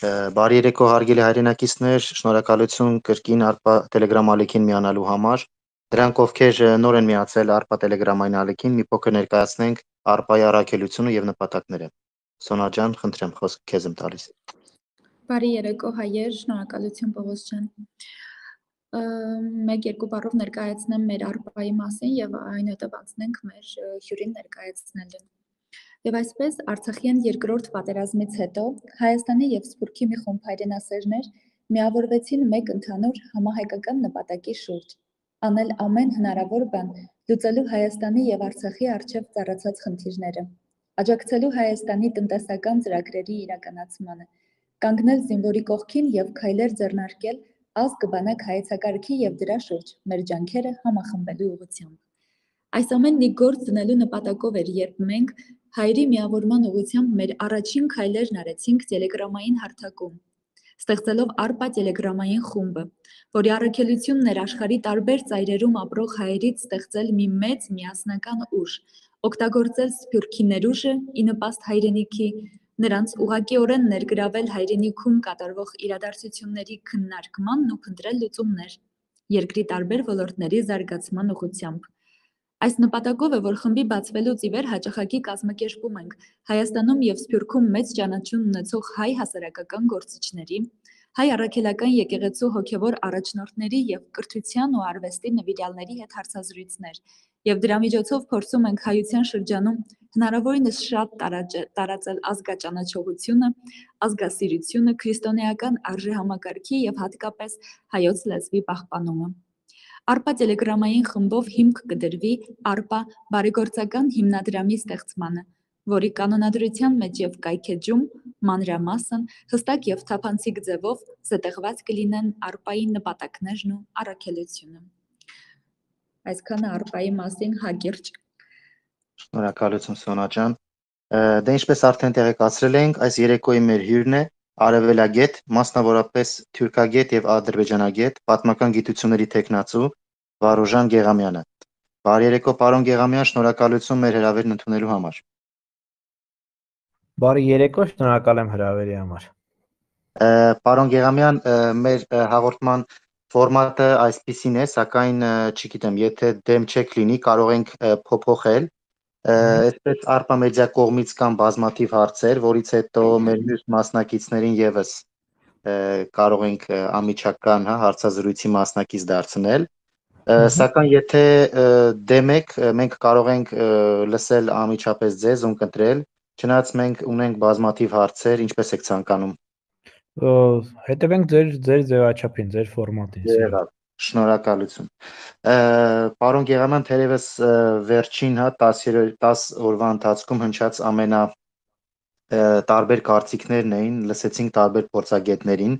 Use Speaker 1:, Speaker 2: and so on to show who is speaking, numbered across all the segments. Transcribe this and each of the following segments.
Speaker 1: Բարի երեկո հարգելի հայրենակիցներ, շնորհակալություն կրկին ARPA Telegram ալիքին միանալու համար։ Դրանք ովքեր նոր են միացել ARPA Telegram-այն ալիքին, մի փոքր ներկայացնենք ARPA-ի առաքելությունը եւ նպատակները։ Սոնա ջան, խնդրեմ, խոսքը քեզ եմ տալիս։
Speaker 2: Բարի երեկո հայեր, շնորհակալություն Պողոս ջան։ Մեկ-երկու բառով ներկայացնեմ մեր ARPA-ի մասին եւ այնուհետեւ անցնենք մեր հյուրին ներկայացնելուն։ Եվ այսպես Արցախյան երկրորդ պատերազմից հետո Հայաստանի եւ Սփյուռքի մի խումբ հայրենասերներ միավորվեցին մեկ ընդհանուր համահայկական նպատակի շուրջ՝ անել ամեն հնարավոր բան լուծելու Հայաստանի եւ Արցախի առջեւ ծառացած խնդիրները, աջակցելու Հայաստանի տնտեսական ծրագրերի իրականացմանը, կանգնել զինվորի կողքին եւ քայլեր ձեռնարկել ազգ բանակ հայեցակարգի եւ դրա շուրջ մեր ջանքերը համախմբելու ուղղությամբ։ Այս ամենն ի գործ դնելու նպատակով էր, երբ մենք հայերի միավորման ուղղությամբ մեր առաջին քայլերն արեցինք տելեգրամային հարթակում, ստեղծելով ARPA տելեգրամային խումբը, որի առաքելությունն էր աշխարհի տարբեր ծայրերում ապրող հայերից ստեղծել մի մեծ միասնական ուժ, օգտագործել Սփյուռքի ներուժը ի նպաստ հայրենիքի, նրանց ուղղակիորեն ներգրավել հայրենիքում կատարվող իրադարձությունների քննարկմանն ու փնտրել լուծումներ երկրի տարբեր ոլորտների զարգացման ուղղությամբ։ Այս նպատակով է, որ խմբի բացվելուց ի վեր հաճախակի կազմակերպում ենք Հայաստանում եւ Սփյուռքում մեծ ճանաչում ունեցող հայ հասարակական գործիչների, հայ առաքելական եկեղեցու հոգևոր առաջնորդների եւ կրթության ու արվեստի նվիրյալների հետ հարցազրույցներ, եւ դրա միջոցով փորձում ենք հայության շրջանում հնարավորինս շատ տարածել ազգաճանաչողությունը, ազգասիրությունը, քրիստոնեական արժեհամակարգի եւ հատկապես հայոց լեզվի պահպանումը։ ARPA տելեգրամային խմբով հիմք կդրվի ARPA բարեգործական հիմնադրամի ստեղծմանը, որի կանոնադրության մեջ եւ կայքեջում մանրամասն հստակ եւ թափանցիկ ձևով զետեղված կլինեն ARPA-ի նպատակներն ու առաքելությունը։ Այսքանը ARPA-ի մասին հակիրճ։
Speaker 1: Շնորհակալություն Սոնա ջան։ Դե ինչպես արդեն տեղեկացրել ենք, այս երեկոյի մեր հյուրն է արևելագետ, մասնավորապես թուրքագետ եւ ադրբեջանագետ, պատմական գիտությունների տեխնացու Վարուժան Գեղամյանը։ Բարի երեկո, պարոն Գեղամյան, շնորհակալություն մեր հրավերն ընդունելու համար։
Speaker 3: Բարի երեկո, շնորհակալ եմ հրավերի համար։
Speaker 1: Պարոն Գեղամյան, մեր հաղորդման ֆորմատը այսպիսին է, սակայն չգիտեմ, եթե դեմ չեք լինի, կարող ենք փոփոխել։ Այսպես ARPA մեդիա կողմից կան բազմաթիվ հարցեր, որից հետո մեր մյուս մասնակիցներին եւս կարող ենք անմիջական հարցազրույցի մասնակից դարձնել։ Սակայն եթե դեմ եք, մենք կարող ենք լսել անմիջապես ձեզ ու ընտրել, չնայած մենք ունենք բազմաթիվ հարցեր, ինչպես եք ցանկանում։
Speaker 3: Հետևենք ձեր ձևաչափին, ձեր ֆորմատին։
Speaker 1: Շնորհակալություն։ Պարոն Գեղամյան, թերևս վերջին 10 օրվա ընթացքում հնչած ամենա տարբեր կարծիքներն էին, լսեցինք տարբեր փորձագետներին։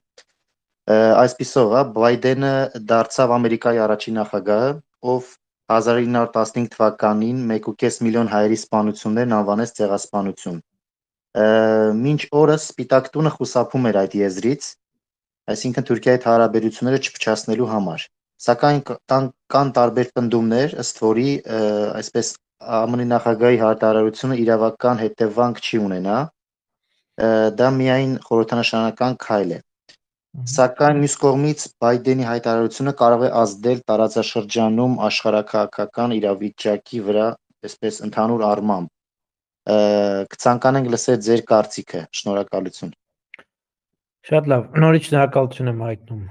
Speaker 1: Այսպիսով, Բայդենը դարձավ Ամերիկայի առաջին նախագահը, ով 1915 թվականին 1.5 միլիոն հայերի սպանություններն անվանեց ցեղասպանություն։ Մինչ օրս Սպիտակ տունը խուսափում էր այդ եզրից, այսինքն Թուրքիայի հետ հարաբերությունները չփչացնելու համար։ Սակայն կան տարբեր պնդումներ, ըստ որի այսպես ԱՄՆ նախագահի հայտարարությունը իրավական հետևանք չի ունենա, դա միայն խորհրդանշանական քայլ է։ Սակայն մյուս կողմից Բայդենի հայտարարությունը կարող է ազդել տարածաշրջանում աշխարհաքաղաքական իրավիճակի վրա, այսպես ընդհանուր առմամբ։ Կցանկանենք լսել ձեր կարծիքը։ Շնորհակալություն։
Speaker 3: Շատ լավ, նորից շնորհակալություն եմ հայտնում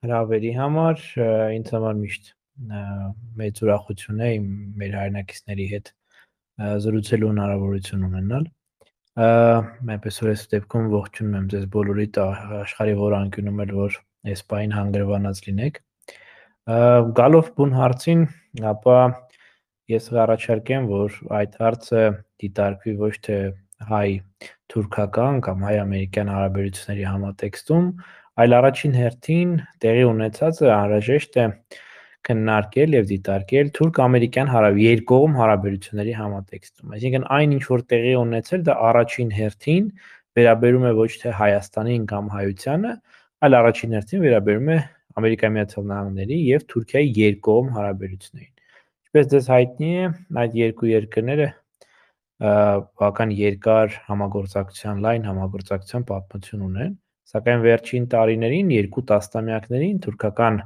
Speaker 3: հրավերի համար, ինձ համար միշտ մեծ ուրախություն է մեր հայրենակիցների հետ զրուցելու հնարավորություն ունենալ։ Այնպես որ այս դեպքում ողջունում եմ ձեզ բոլորիդ աշխարհի որ անկյունում էլ որ այս պահին հանգրվանած լինեք։ Գալով բուն հարցին, ապա ես առաջարկեմ, որ այդ հարցը դիտարկվի ոչ թե հայ-թուրքական կամ հայ-ամերիկյան հարաբերությունների համատեքստում, այլ առաջին հերթին տեղի ունեցածը անհրաժեշտ է քննարկել եւ դիտարկել թուրք-ամերիկյան երկկողմ հարաբերությունների համատեքստում։ Այսինքն այն ինչ որ տեղի ունեցել, դա առաջին հերթին վերաբերում է ոչ թե Հայաստանին կամ հայությանը, այլ առաջին հերթին վերաբերում է Ամերիկայի Միացյալ Նահանգների եւ Թուրքիայի երկկողմ հարաբերություններին։ Ինչպես ձեզ հայտնի է, այդ երկու երկրները բավական երկար համագործակցության, լայն համագործակցության պատմություն ունեն, Սակայն վերջին տարիներին, 2 տասնամյակներին թուրքական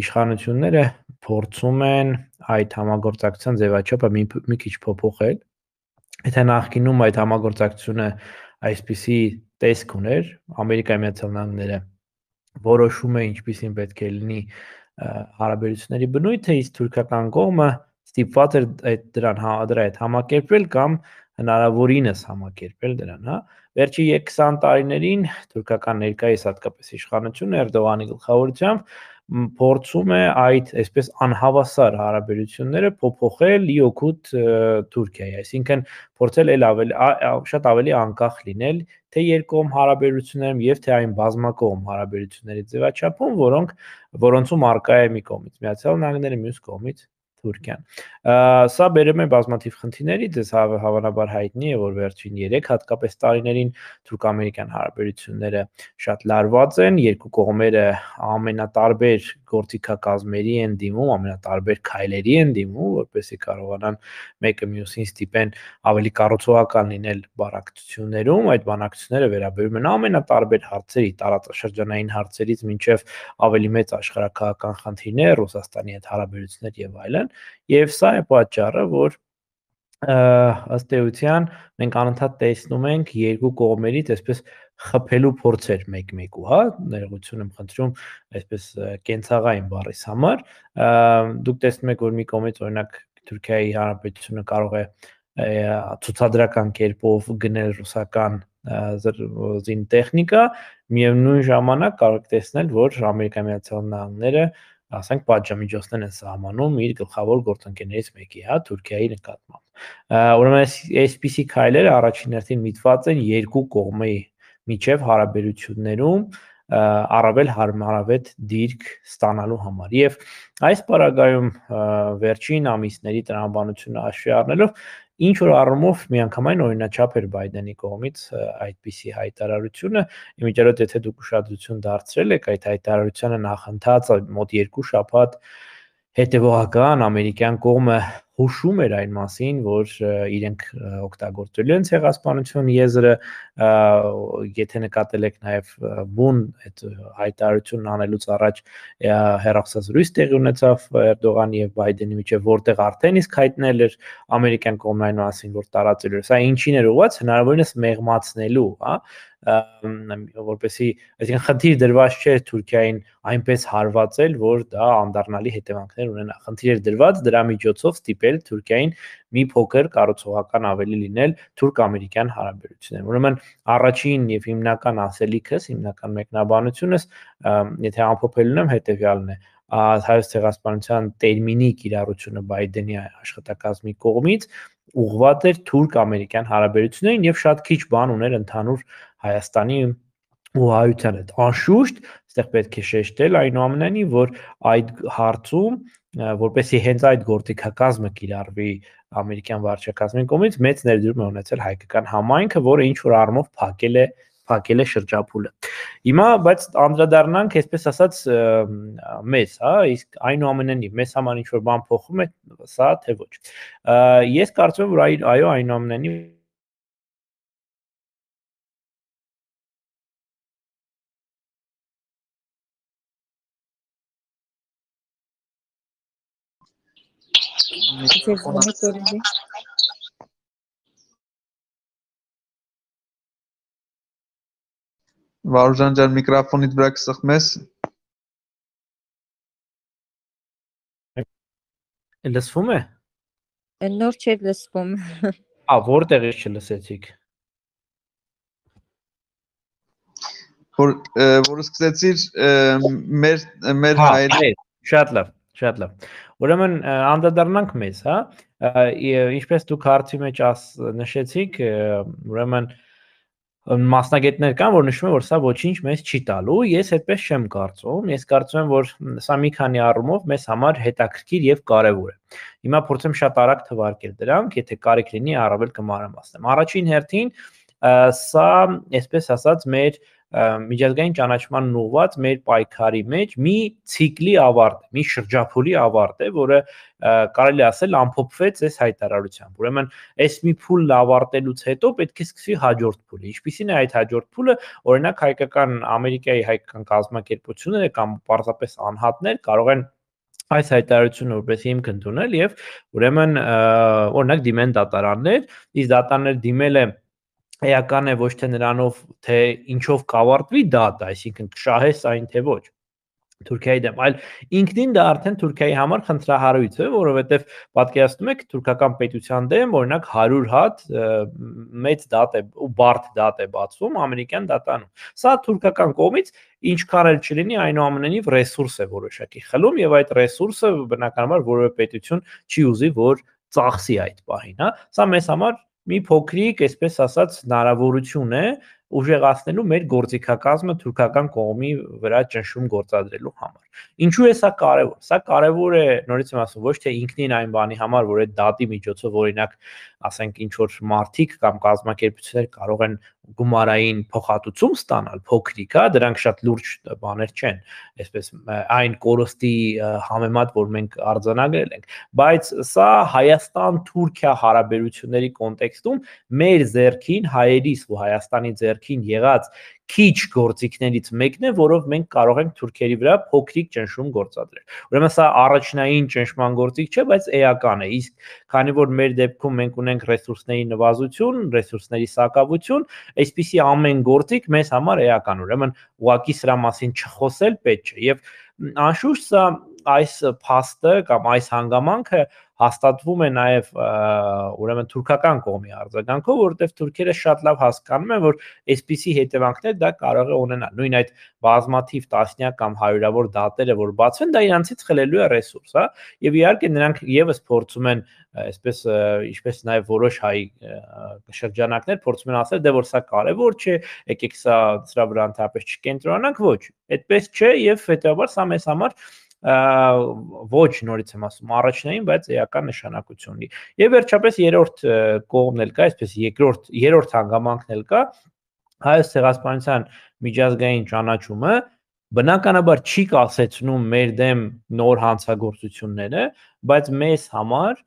Speaker 3: իշխանությունները փորձում են այդ համագործակցության ձևաչափը մի քիչ փոփոխել։ Եթե նախկինում այդ համագործակցությունը այսպիսի տեսք ուներ, Ամերիկայի Միացյալ Նահանգները որոշում է ինչպիսին պետք է լինի հարաբերությունների բնույթը, իսկ թուրքական կողմը ստիպված էր դրա հետ համակերպվել կամ հնարավորինս համակերպել դրան, հա։ Վերջի 20 տարիներին թուրքական ներկայիս հատկապես իշխանությունը Էրդողանի գլխավորությամբ փորձում է այդ այսպես անհավասար հարաբերությունները փոփոխել ի օգուտ Թուրքիայի, այսինքն փորձել շատ ավելի անկախ լինել թե երկկողմ հարաբերություններում եւ թե այն բազմակողմ հարաբերությունների ձևաչափում, որոնցում արկա է մի կողմից Միացյալ Նահանգները, մյուս կողմից Թուրքիան։ Սա բերում է բազմաթիվ խնդիրների, դες հավանաբար հայտնի է, որ վերջին 3 հատկապես տարիներին թուրք-ամերիկյան հարաբերությունները շատ լարված են, երկու կողմերը ամենատարբեր գործիքակազմերի են դիմում, ամենատարբեր քայլերի են դիմում, որպեսզի կարողանան մեկը մյուսին ստիպեն ավելի կառուցողական լինել բանակցություններում, այդ բանակցությունները վերաբերում են ամենատարբեր հարցերի, տարածաշրջանային հարցերից մինչև ավելի մեծ աշխարհակահաղական խնդիրներ, Ռուսաստանի հետ հարաբերություններ եւ այլն, եւ սա է պատճառը, որ ըստ էության մենք անընդհատ տեսնում ենք երկու կողմերից այսպես խփելու փորձեր մեկ-մեկու, հա, ներողություն եմ խնդրում, այսպես կենցաղային բառից համար, դուք տեսնում եք, որ մի կողմից օրինակ Թուրքիայի Հանրապետությունը կարող է ցուցադրական կերպով գնել ռուսական զինտեխնիկա, միևնույն ժամանակ կարող եք տեսնել, որ Ամերիկայի Միացյալ Նահանգները ասենք պատժամիջոցներ են սահմանում իր գլխավոր գործընկերներից մեկի, հա, Թուրքիայի նկատմամբ։ Ուրեմն այսպիսի քայլերը առաջին հերթին միտված են երկու կողմի միջև հարաբերություններում առավել հարմարավետ դիրք ստանալու համար։ Եվ այս պարագայում վերջին ամիսների տրամաբանությունը հաշվի առնելով ինչ որ առումով միանգամայն օրինաչափ էր Բայդենի կողմից այդպիսի հայտարարությունը, իմիջիայլոց եթե դուք ուշադրություն դարձրել եք այդ հայտարարությանը նախընթաց մոտ 2 շաբաթ հետևողական ամերիկյան կողմը հուշում էր այն մասին, որ իրենք օգտագործելու են ցեղասպանություն եզրը, եթե նկատել եք նաև բուն այդ հայտարարությունն անելուց առաջ հեռախոսազրույց տեղի ունեցավ Էրդողանի եւ Բայդենի միջեւ, որտեղ արդեն իսկ հայտնել էր ամերիկյան կողմն այն մասին, որ տարածել էր։ Սա ինչին էր ուղղված, հնարավորինս մեղմացնելու, հա, որպեսզի, այսինքն խնդիր դրված չէր Թուրքիային այնպես հարվածել, որ դա անդառնալի հետևանքներ ունենա։ Խնդիր էր դրված դրա միջոցով ստիպել Թուրքիային մի փոքր կառուցողական ավելի լինել թուրք-ամերիկյան հարաբերություններում։ Ուրեմն առաջին եւ հիմնական ասելիքս, հիմնական մեկնաբանությունս, եթե ամփոփելուն եմ, հետեւյալն է. հայոց ցեղասպանության տերմինի կիրառությունը Բայդենի աշխատակազմի կողմից ուղղված էր թուրք-ամերիկյան հարաբերություններին եւ շատ քիչ բան ուներ ընդհանուր Հայաստանի ու հայության հետ։ Անշուշտ, այստեղ պետք է շեշտել այնուամենայնիվ, որ այդ հարցում, որպեսզի հենց այդ գործիքակազմը կիրառվի ամերիկյան վարչակազմի կողմից, մեծ ներդրում է ունեցել հայկական համայնքը, որը ինչ որ առումով փակել է շրջափուլը։ Հիմա, բայց անդրադառնանք, այսպես ասած, մեզ, հա, իսկ այնուամենայնիվ մեզ համար ինչ որ բան փոխում է, սա թե ոչ։ Ես կարծում եմ, որ այո, այնուամենայնիվ
Speaker 4: Վարուժան ջան, միկրոֆոնից վրա կսխմես։
Speaker 3: Լսվում է։
Speaker 5: Նոր չէ լսվում։
Speaker 3: Որտեղից չլսեցիք։
Speaker 4: Որ սկսեցիր մեր հայր։
Speaker 3: Շատ լավ։ Ուրեմն անդրադառնանք մեզ, հա։ Ինչպես դուք հարցի մեջ նշեցիք, ուրեմն մասնագետներ կան, որ նշում են, որ սա ոչինչ մեզ չի տալու, ես այդպես չեմ կարծում, ես կարծում եմ, որ սա մի քանի առումով մեզ համար հետաքրքիր եւ կարեւոր է։ Հիմա փորձեմ շատ արագ թվարկել դրանք, եթե կարիք լինի առավել կմանրամասնեմ։ Առաջին հերթին սա, այսպես ասած, մեր միջազգային ճանաչման ուղղված մեր պայքարի մեջ մի ցիկլի ավարտ է, մի շրջափուլի ավարտ է, որը կարելի ասել ամփոփվեց այս հայտարարությամբ։ Ուրեմն, այս մի փուլն ավարտելուց հետո պետք է սկսվի հաջորդ փուլը։ Ինչպիսին է այդ հաջորդ փուլը, օրինակ Ամերիկայի հայկական կազմակերպությունները կամ պարզապես անհատներ կարող են այս հայտարարությունը որպես հիմք ընդունել եւ ուրեմն օրինակ դիմեն դատարաններ, իսկ դատարաններ դիմել է էական է ոչ թե նրանով, թե ինչով կավարտվի դատը, այսինքն կշահես այն թե ոչ Թուրքիայի դեմ, այլ ինքնին դա արդեն Թուրքիայի համար խնդրահարույց է, որովհետև պատկերացնում եք թուրքական պետության դեմ օրինակ 100 հատ մեծ դատ է ու բարդ դատ է բացվում ամերիկյան դատարանում։ Սա թուրքական կողմից ինչքան էլ չլինի, այնուամենայնիվ ռեսուրս է որոշակի խլում եւ այդ ռեսուրսը բնականաբար որևէ պետություն չի ուզի, որ ծախսի այդ պահին, հա։ Սա մեզ համար մի փոքրիկ, այսպես ասած, հնարավորություն է ուժեղացնելու մեր գործիքակազմը թուրքական կողմի վրա ճնշում գործադրելու համար։ Ինչու է սա կարևոր։ Սա կարևոր է, նորից եմ ասում, ոչ թե ինքնին այն բանի համար, որ այդ դատի միջոցով օրինակ, ասենք ինչ որ մարդիկ կամ կազմակերպություններ կարող են գումարային փոխհատուցում ստանալ, փոքրիկ, հա, դրանք շատ լուրջ բաներ չեն, այսպես այն կորստի համեմատ, որ մենք արձանագրել ենք, բայց սա Հայաստան-Թուրքիա հարաբերությունների կոնտեքստում մեր ձեռքին, հայերիս ու Հայաստանի ձեռքին եղած քիչ գործիքներից մեկն է, որով մենք կարող ենք թուրքերի վրա փոքրիկ ճնշում գործադրել։ Ուրեմն սա առաջնային ճնշման գործիք չէ, բայց էական է։ Իսկ քանի որ մեր դեպքում մենք ունենք ռեսուրսների նվազություն, ռեսուրսների սակավություն, այսպիսի ամեն գործիք մեզ համար էական։ Ուրեմն ուղղակի սրա մասին չխոսել պետք չէ։ Եվ անշուշտ սա այս փաստը կամ այս հանգամանքը հաստատվում է նաև ուրեմն թուրքական կողմի արձագանքով, որովհետև թուրքերը շատ լավ հասկանում են, որ այսպիսի հետևանքներ դա կարող է ունենալ։ Նույն այդ բազմաթիվ տասնյակ կամ հարյուրավոր դատերը, որ բացվեն, դա իրանցից խլելու է ռեսուրս, հա, եւ իհարկե նրանք եւս փորձում են, այսպես ինչպես նաև որոշ հայ շրջանակներ փորձում են ասել, դե որ սա կարևոր չէ, եկեք սրա վրա ընդհանրապես չկենտրոնանանք, ոչ, այդպես չէ եւ հետեւաբար սա մեզ համար ոչ նորից եմ ասում առաջնային, բայց էական նշանակություն ունի։ Եվ վերջապես երրորդ կողմն էլ կա, այսպես երրորդ հանգամանքն էլ կա, Հայոց ցեղասպանության միջազգային ճանաչումը բնականաբար չի կասեցնում մեր դեմ նոր հանցագործությունները, բայց մեզ համար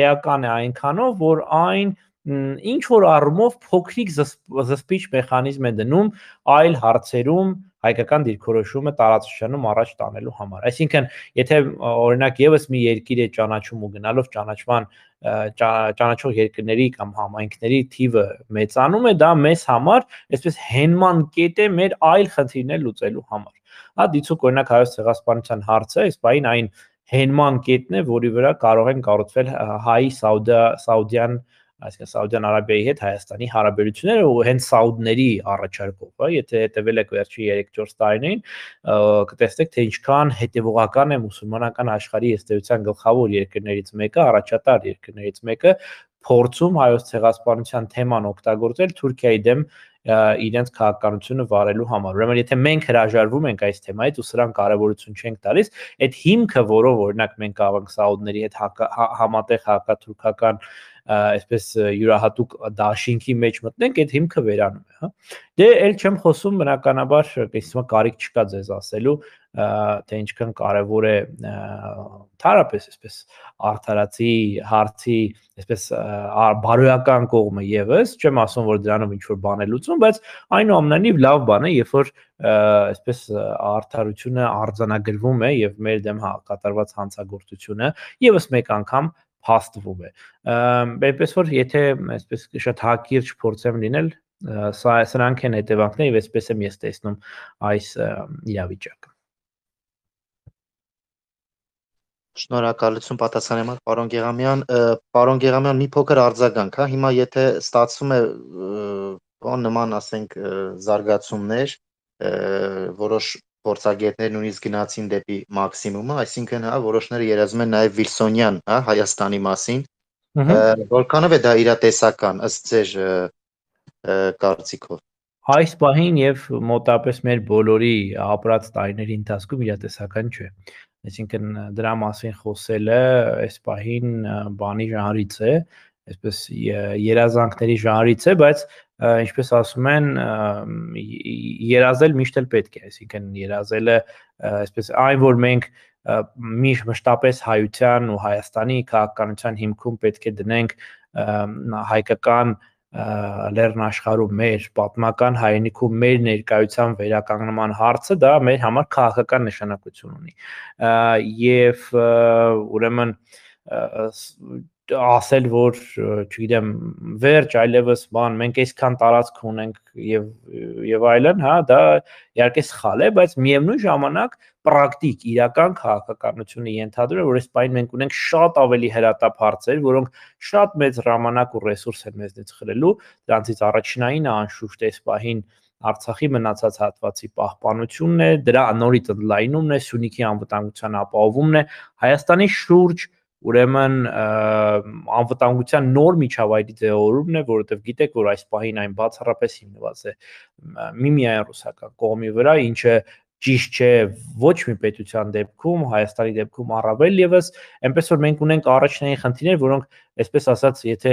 Speaker 3: էական է այնքանով, որ այն ինչ որ առումով փոքրիկ զսպիչ մեխանիզմ է դնում այլ հարցերում հայկական դիրքորոշումը տարածաշրջանում առաջ տանելու համար։ Այսինքն, եթե օրինակ եւս մի երկիր է ճանաչում ու գնալով ճանաչող երկրների կամ համայնքների թիվը մեծանում է, դա մեզ համար այսպես հենման կետ է մեր այլ խնդիրներ լուծելու համար։ Հա, դիցուք օրինակ Հայոց ցեղասպանության հարցը, այս բային այն հենման կետն է, որի վրա կարող են կառուցվել հայ Սաուդյան այսինքն Սաուդյան Արաբիայի հետ Հայաստանի հարաբերությունները ու հենց սաուդների առաջարկով, հա, եթե հետևել եք վերջի 3-4 տարիներին, կտեսնեք, թե ինչքան հետևողական է մուսուլմանական աշխարհի ըստեյության գլխավոր երկրներից մեկը, առաջատար երկրներից մեկը փորձում Հայոց ցեղասպանության թեման օգտագործել Թուրքիայի դեմ իրենց քաղաքականությունը վարելու համար։ Ուրեմն եթե մենք հրաժարվում ենք այս թեմայից ու սրան կարևորություն չենք տալիս, այդ հիմքը, որով օրինակ մենք կարող ենք սաուդների հետ համատեղ հակաթուրքական այսպես յուրահատուկ դաշինքի մեջ մտնենք, այդ հիմքը վերանում է, հա։ Դե էլ չեմ խոսում բնականաբար, այսինքն կարիք չկա ձեզ ասելու, թե ինչքան կարևոր է թարապես այսպես արդարացի հարցի այսպես բարոյական կողմը եւս, չեմ ասում, որ դրանով ինչ որ բան է լուծում, բայց այնուամենայնիվ լավ բան է, երբ որ այսպես արդարությունը արձանագրվում է եւ մեր դեմ կատարված հանցագործությունը եւս մեկ անգամ փաստվում է։ Այնպես որ եթե այսպես շատ հակիրճ փորձեմ լինել, սրանք են հետևանքները եւ այսպես եմ ես տեսնում այս իրավիճակը։
Speaker 1: Շնորհակալություն պատասխանի համար, պարոն Գեղամյան։ Պարոն Գեղամյան, մի փոքր արձագանք, հա, հիմա եթե ստացվում է բան նման, ասենք, զարգացումներ, որոշ փորձագետներ նույնիսկ գնացին դեպի մաքսիմումը, այսինքն, հա, որոշները երազում են նաև Վիլսոնյան, հա, Հայաստանի մասին, որքանով է դա իրատեսական ըստ ձեր կարծիքով։
Speaker 3: Այս պահին եւ մոտապես մեր բոլորի ապրած տարիների ընթացքում իրատեսական չէ։ Այսինքն դրա մասին խոսելը այս պահին բանի ժանրից է, այսպես երազանքների ժանրից է, բայց ինչպես ասում են, երազել միշտ էլ պետք է, այսինքն երազելը այսպես այն որ մենք մշտապես հայության ու Հայաստանի քաղաքականության հիմքում պետք է դնենք հայկական լեռնաշխարհում մեր պատմական հայրենիքում մեր ներկայության վերականգնման հարցը դա մեր համար քաղաքական նշանակություն ունի եւ ուրեմն ասել որ չգիտեմ վերջ այլևս բան մենք այսքան տարածք ունենք եւ այլն հա դա իհարկե սխալ է բայց միևնույն ժամանակ պրակտիկ իրական քաղաքականությունը ենթադրում է որ այս պայն մենք ունենք շատ ավելի հրատապ հարցեր որոնք շատ մեծ ժամանակ ու ռեսուրս են մեզնից խլելու դրանցից առաջնայինը անշուշտ այս պահին Արցախի մնացած հատվածի պահպանությունն է դրա նորից ընդլայնումն է Սյունիքի անվտանգության ապահովումն է Հայաստանի շուրջ ուրեմն անվտանգության նոր միջավայրի ձևավորումն է, որովհետև գիտեք, որ այս պահին այն բացառապես հիմնված է միմիայն ռուսական կողմի վրա, ինչը ճիշտ չէ ոչ մի պետության դեպքում, Հայաստանի դեպքում առավել եւս, այնպես որ մենք ունենք առաջնային խնդիրներ, որոնք այսպես ասած, եթե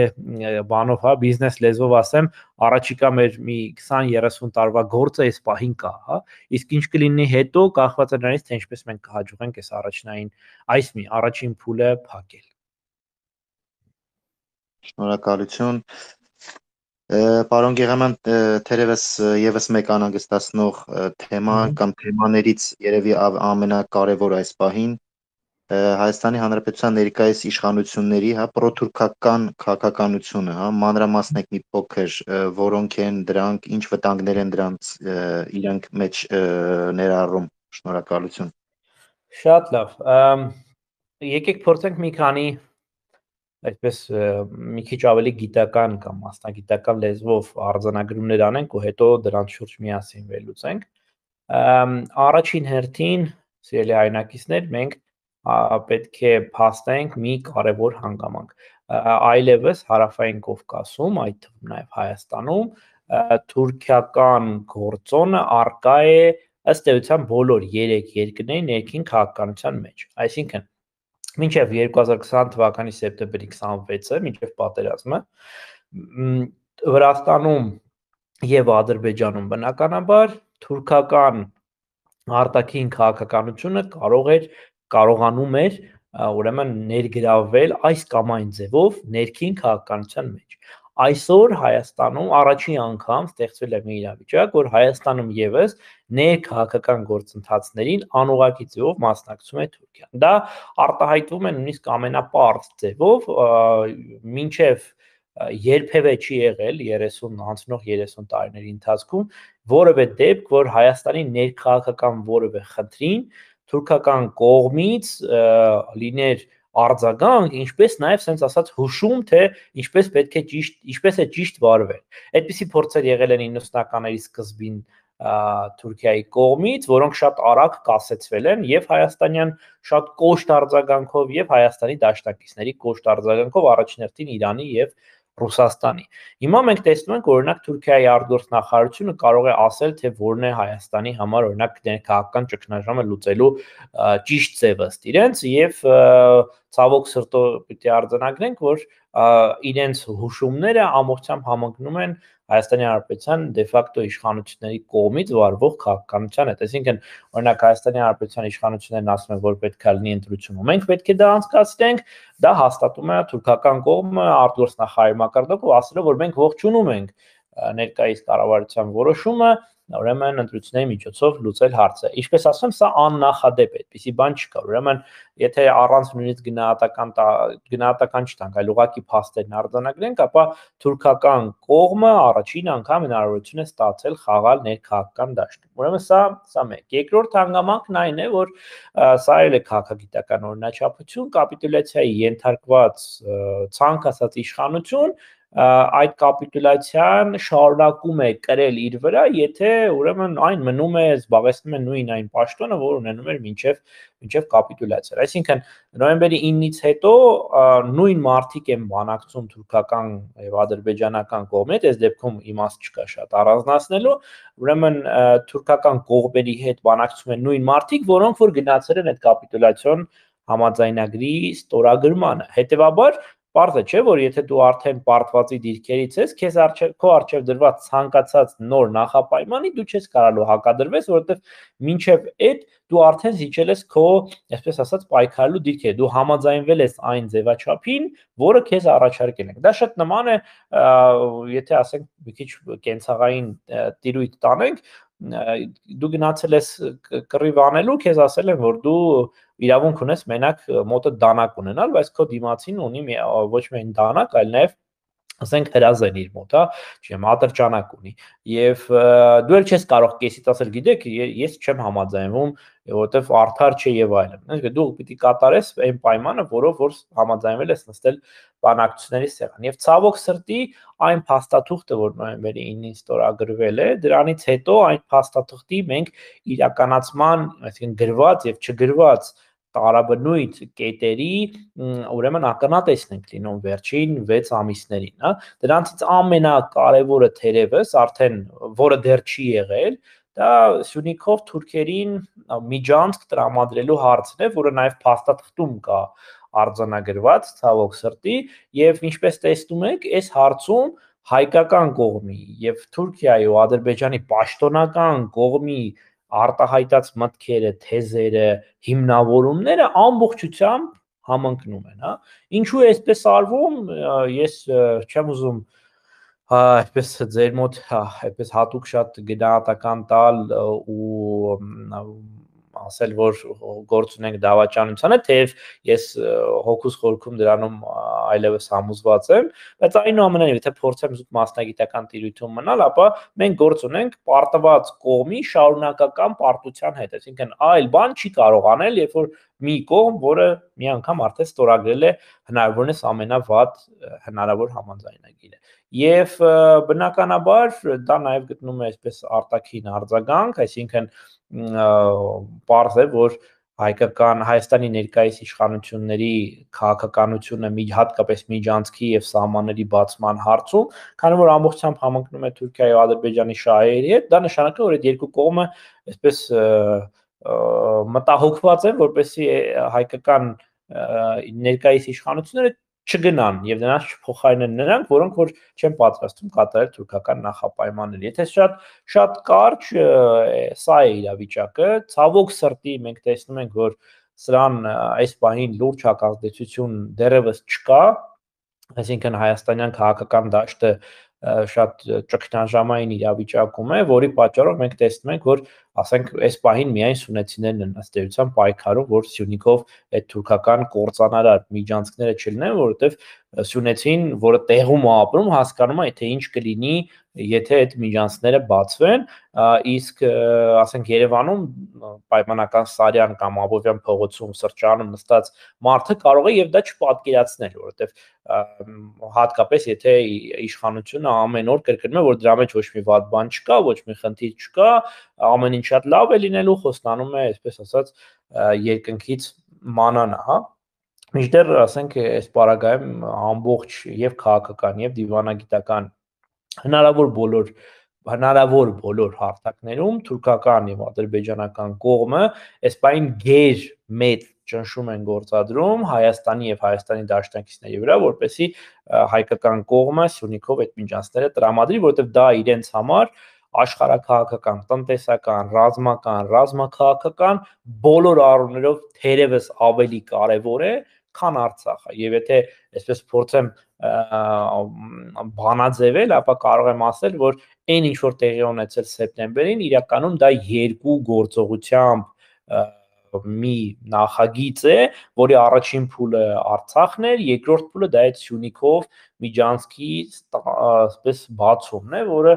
Speaker 3: բանով, հա, բիզնես լեզվով ասեմ, առաջիկա մեր մի 20-30 տարվա գործը այս պահին կա, հա, իսկ ինչ կլինի հետո կախված է նրանից, թե ինչպես մենք կհաջողենք այս առաջնային այս մի առաջին փուլը փակել։
Speaker 1: Շնորհակալություն։ Պարոն Գեղաման, թերևս եւս մեկ անհանգստացնող թեմա կամ թեմաներից երևի ամենակարևոր այս պահին Հայաստանի Հանրապետության ներկայիս իշխանությունների, հա, պրոթուրքական քաղաքականությունը, հա, մանրամասնեք մի փոքր, որոնք են դրանք, ինչ վտանգներ են դրանց իրենք մեջ ներառում։ Շնորհակալություն։
Speaker 3: Շատ լավ։ Եկեք փորձենք մի քանի այսպես մի քիչ ավելի գիտական կամ մասնագիտական լեզվով արձանագրումներ անենք ու հետո դրանց շուրջ միասին վերլուծենք։ Առաջին հերթին, սիրելի հայրենակիցներ, մենք պետք է փաստենք մի կարևոր հանգամանք։ Այլևս Հարավային Կովկասում, այդ թվում նաև Հայաստանում, թուրքիական գործոնը արկա է ըստ էության բոլոր 3 երկրների ներքին քաղաքականության մեջ։ Այսինքն մինչև 2020 թվականի սեպտեմբերի 26-ը, մինչև պատերազմը, Վրաստանում եւ Ադրբեջանում բնականաբար թուրքական արտաքին քաղաքականությունը կարողանում էր ուրեմն ներգրավել այս կամ այն ձևով ներքին քաղաքականության մեջ։ Այսօր Հայաստանում առաջին անգամ ստեղծվել է մի իրավիճակ, որ Հայաստանում եւս ներքաղաքական գործընթացներին անուղղակի ձևով մասնակցում է Թուրքիան։ Դա արտահայտվում է նույնիսկ ամենապարզ ձևով, մինչև երբևէ չի եղել 30 տարիների ընթացքում որևէ դեպք, որ Հայաստանի ներքաղաքական որևէ խնդրին թուրքական կողմից լիներ արձագանք, ինչպես նաև sense ասած հուշում, թե ինչպես է ճիշտ վարվել։ Այդպիսի փորձեր եղել են 90-ականների սկզբին Թուրքիայի կողմից, որոնք շատ արագ կասեցվել են եւ հայաստանյան շատ կոշտ արձագանքով եւ Հայաստանի դաշնակիցների կոշտ արձագանքով առաջին հերթին Իրանի եւ Ռուսաստանի։ Հիմա մենք տեսնում ենք, օրինակ Թուրքիայի արտգործնախարարությունը կարող է ասել, թե որն է Հայաստանի համար օրինակ ներքաղաքական ճգնաժամը լուծելու ճիշտ ձևը ըստ իրենց եւ ցավոք սրտով պիտի արձանագրենք, որ իրենց հուշումները ամբողջությամբ համընկնում են Հայաստանի Հանրապետության դե ֆակտո իշխանությունների կողմից վարվող քաղաքականության հետ։ Այսինքն, օրինակ Հայաստանի Հանրապետության իշխանություններն ասում են, որ պետք է լինի ընտրություն, ու մենք պետք է դա անցկացնենք, դա հաստատում է թուրքական կողմը արտգործնախարարի մակարդակով, ասելով, որ մենք ողջունում ենք ներկայիս կառավարության որոշումը ուրեմն ընտրությունների միջոցով լուծել հարցը։ Ինչպես ասում եմ, սա աննախադեպ է, այդպիսի բան չկա։ Ուրեմն, եթե առանց նույնիսկ գնահատական չտանք, այլ ուղղակի փաստերն արձանագրենք, ապա թուրքական կողմը առաջին անգամ հնարավորություն է ստացել խաղալ ներքաղաքական դաշտում։ Ուրեմն սա մեկ։ Երկրորդ հանգամանքն այն է, որ սա էլ է քաղաքագիտական օրինաչափություն, կապիտուլյացիայի ենթարկված ցանկացած իշխանություն այդ կապիտուլյացիան շարունակում է կրել իր վրա, եթե ուրեմն այն մնում է զբաղեցնում է նույն այն պաշտոնը, որ ունենում էր մինչև կապիտուլյացիան։ Այսինքն նոյեմբերի 9-ից հետո նույն մարտիկ են բանակցում թուրքական եւ ադրբեջանական կողմից, այս դեպքում իմաստ չկա շատ առանձնացնելու, ուրեմն թուրքական կողմերի հետ բանակցում են նույն մարտիկ, որոնք որ գնացել են այդ կապիտուլյացիոն համաձայնագրի ստորագրմանը։ Հետևաբար Պարզ է, չէ, որ եթե դու արդեն պարտվածի դիրքերից ես, քեզ քո առջև դրված ցանկացած նոր նախապայմանի դու չես կարալու հակադրվես, որովհետև մինչև այդ դու արդեն զիջել ես քո, այսպես ասած, պայքարելու դիրքերը, դու համաձայնվել ես այն ձևաչափին, որը քեզ առաջարկել են։ Դա շատ նման է, եթե ասենք մի քիչ կենցաղային տիրույթ տանենք, դու գնացել ես կռիվ անելու, քեզ ասել են, որ դու իրավունք ունես մենակ մոտը դանակ ունենալ, բայց քո դիմացին ունի ոչ միայն դանակ, այլ նաև ասենք հրազեն իր մոտ, հա, չեմ ատրճանակ ունի եւ դու էլ չես կարող կեսից ասել, գիտեք, ես չեմ համաձայնվում, որովհետեւ արդար չէ եւ այլն։ Այսինքն դու պիտի կատարես այն պայմանը, որով որ համաձայնվել ես նստել բանակցությունների սեղան։ Եվ ցավոք սրտի այն փաստաթուղթը, որ նոյեմբերի 9-ին ստորագրվել է, դրանից հետո այն փաստաթղթի մենք իրականացման, այսինքն գրված եւ չգրված տարաբնույթ կետերի ուրեմն ականատեսն ենք լինում վերջին 6 ամիսներին, հա։ Դրանցից ամենակարևորը թերևս արդեն որը դեռ չի եղել, դա Սյունիքով թուրքերին միջանցք տրամադրելու հարցն է, որը նաև փաստաթղթում կա արձանագրված, ցավոք սրտի, եւ ինչպես տեսնում եք, այս հարցում հայկական կողմի եւ Թուրքիայի ու Ադրբեջանի պաշտոնական կողմի արտահայտած մտքերը, թեզերը, հիմնավորումները ամբողջությամբ համընկնում են, հա։ Ինչու է այսպես արվում, ես չեմ ուզում այսպես ձեր մոտ այսպես հատուկ շատ գնահատական տալ ու ասել, որ գործ ունենք դավաճանությանը, թեև ես հոգուս խորքում դրանում այլևս համոզված եմ, բայց այնուամենայնիվ, եթե փորձեմ զուտ մասնագիտական տիրույթում մնալ, ապա մենք գործ ունենք պարտված կողմի շարունակական պարտության հետ, այսինքն այլ բան չի կարող անել, երբ որ մի կողմ, որը մի անգամ արդեն ստորագրել է հնարավորինս ամենավատ հնարավոր համաձայնագիրը։ Եվ բնականաբար դա նաև գտնում է այսպես արտաքին արձագանք, այսինքն պարզ է, որ Հայաստանի ներկայիս իշխանությունների քաղաքականությունը հատկապես միջանցքի եւ սահմանների բացման հարցում, քանի որ ամբողջությամբ համընկնում է Թուրքիայի ու Ադրբեջանի շահերի հետ, դա նշանակում է, որ այդ երկու կողմը այսպես մտահոգված են, որպեսզի հայկական ներկայիս իշխանությունները չգնան եւ նրանց չփոխարինեն նրանք, որոնք որ չեն պատրաստվում կատարել թուրքական նախապայմանները։ Եթե շատ կարճ սա է իրավիճակը, ցավոք սրտի մենք տեսնում ենք, որ սրան այս պահին լուրջ հակազդեցություն դեռևս չկա, այսինքն հայաստանյան քաղաքական դաշտը շատ ճգնաժամային իրավիճակում է, որի պատճառով մենք տեսնում ենք, որ ասենք այս պահին միայն սյունեցիներն են ըստ էության պայքարում, որ Սյունիքով այդ թուրքական կորցանարար միջանցքները չլինեն, որովհետև Սյունեցին, որը տեղում է ապրում, հասկանում է, թե ինչ կլինի, եթե այդ միջանցքները բացվեն, իսկ ասենք Երևանում պայմանական Սարյան կամ Աբովյան փողոցում սրճարանում նստած մարդը կարող է եւ դա չպատկերացնել, որովհետեւ հատկապես եթե իշխանությունը ամեն օր կրկնում է, որ դրա մեջ ոչ մի վատ բան չկա, ոչ մի խնդիր չկա, ամեն ինչ շատ լավ է լինելու, խոստանում է, այսպես ասած, երկնքից մանանա, հա։ Մինչդեռ ասենք այս պարագայում ամբողջ եւ քաղաքական եւ դիվանագիտական հնարավոր բոլոր հարթակներում թուրքական եւ ադրբեջանական կողմը այս բային գեր մեծ ճնշում են գործադրում Հայաստանի եւ Հայաստանի դաշնակիցների վրա, որպեսզի հայկական կողմը Սյունիքով այդ միջանցքները տրամադրի, որովհետեւ դա իրենց համար աշխարհաքաղաքական, տնտեսական, ռազմական, ռազմաքաղաքական բոլոր առումներով թերևս ավելի կարևոր է, քան Արցախը։ Եվ եթե այսպես փորձեմ բանաձևել, ապա կարող եմ ասել, որ այն ինչ որ տեղի ունեցել սեպտեմբերին, իրականում դա երկու գործողությամբ մի նախագիծ է, որի առաջին փուլը Արցախն էր, երկրորդ փուլը դա այդ Սյունիքով միջանցքի այսպես բացումն է, որը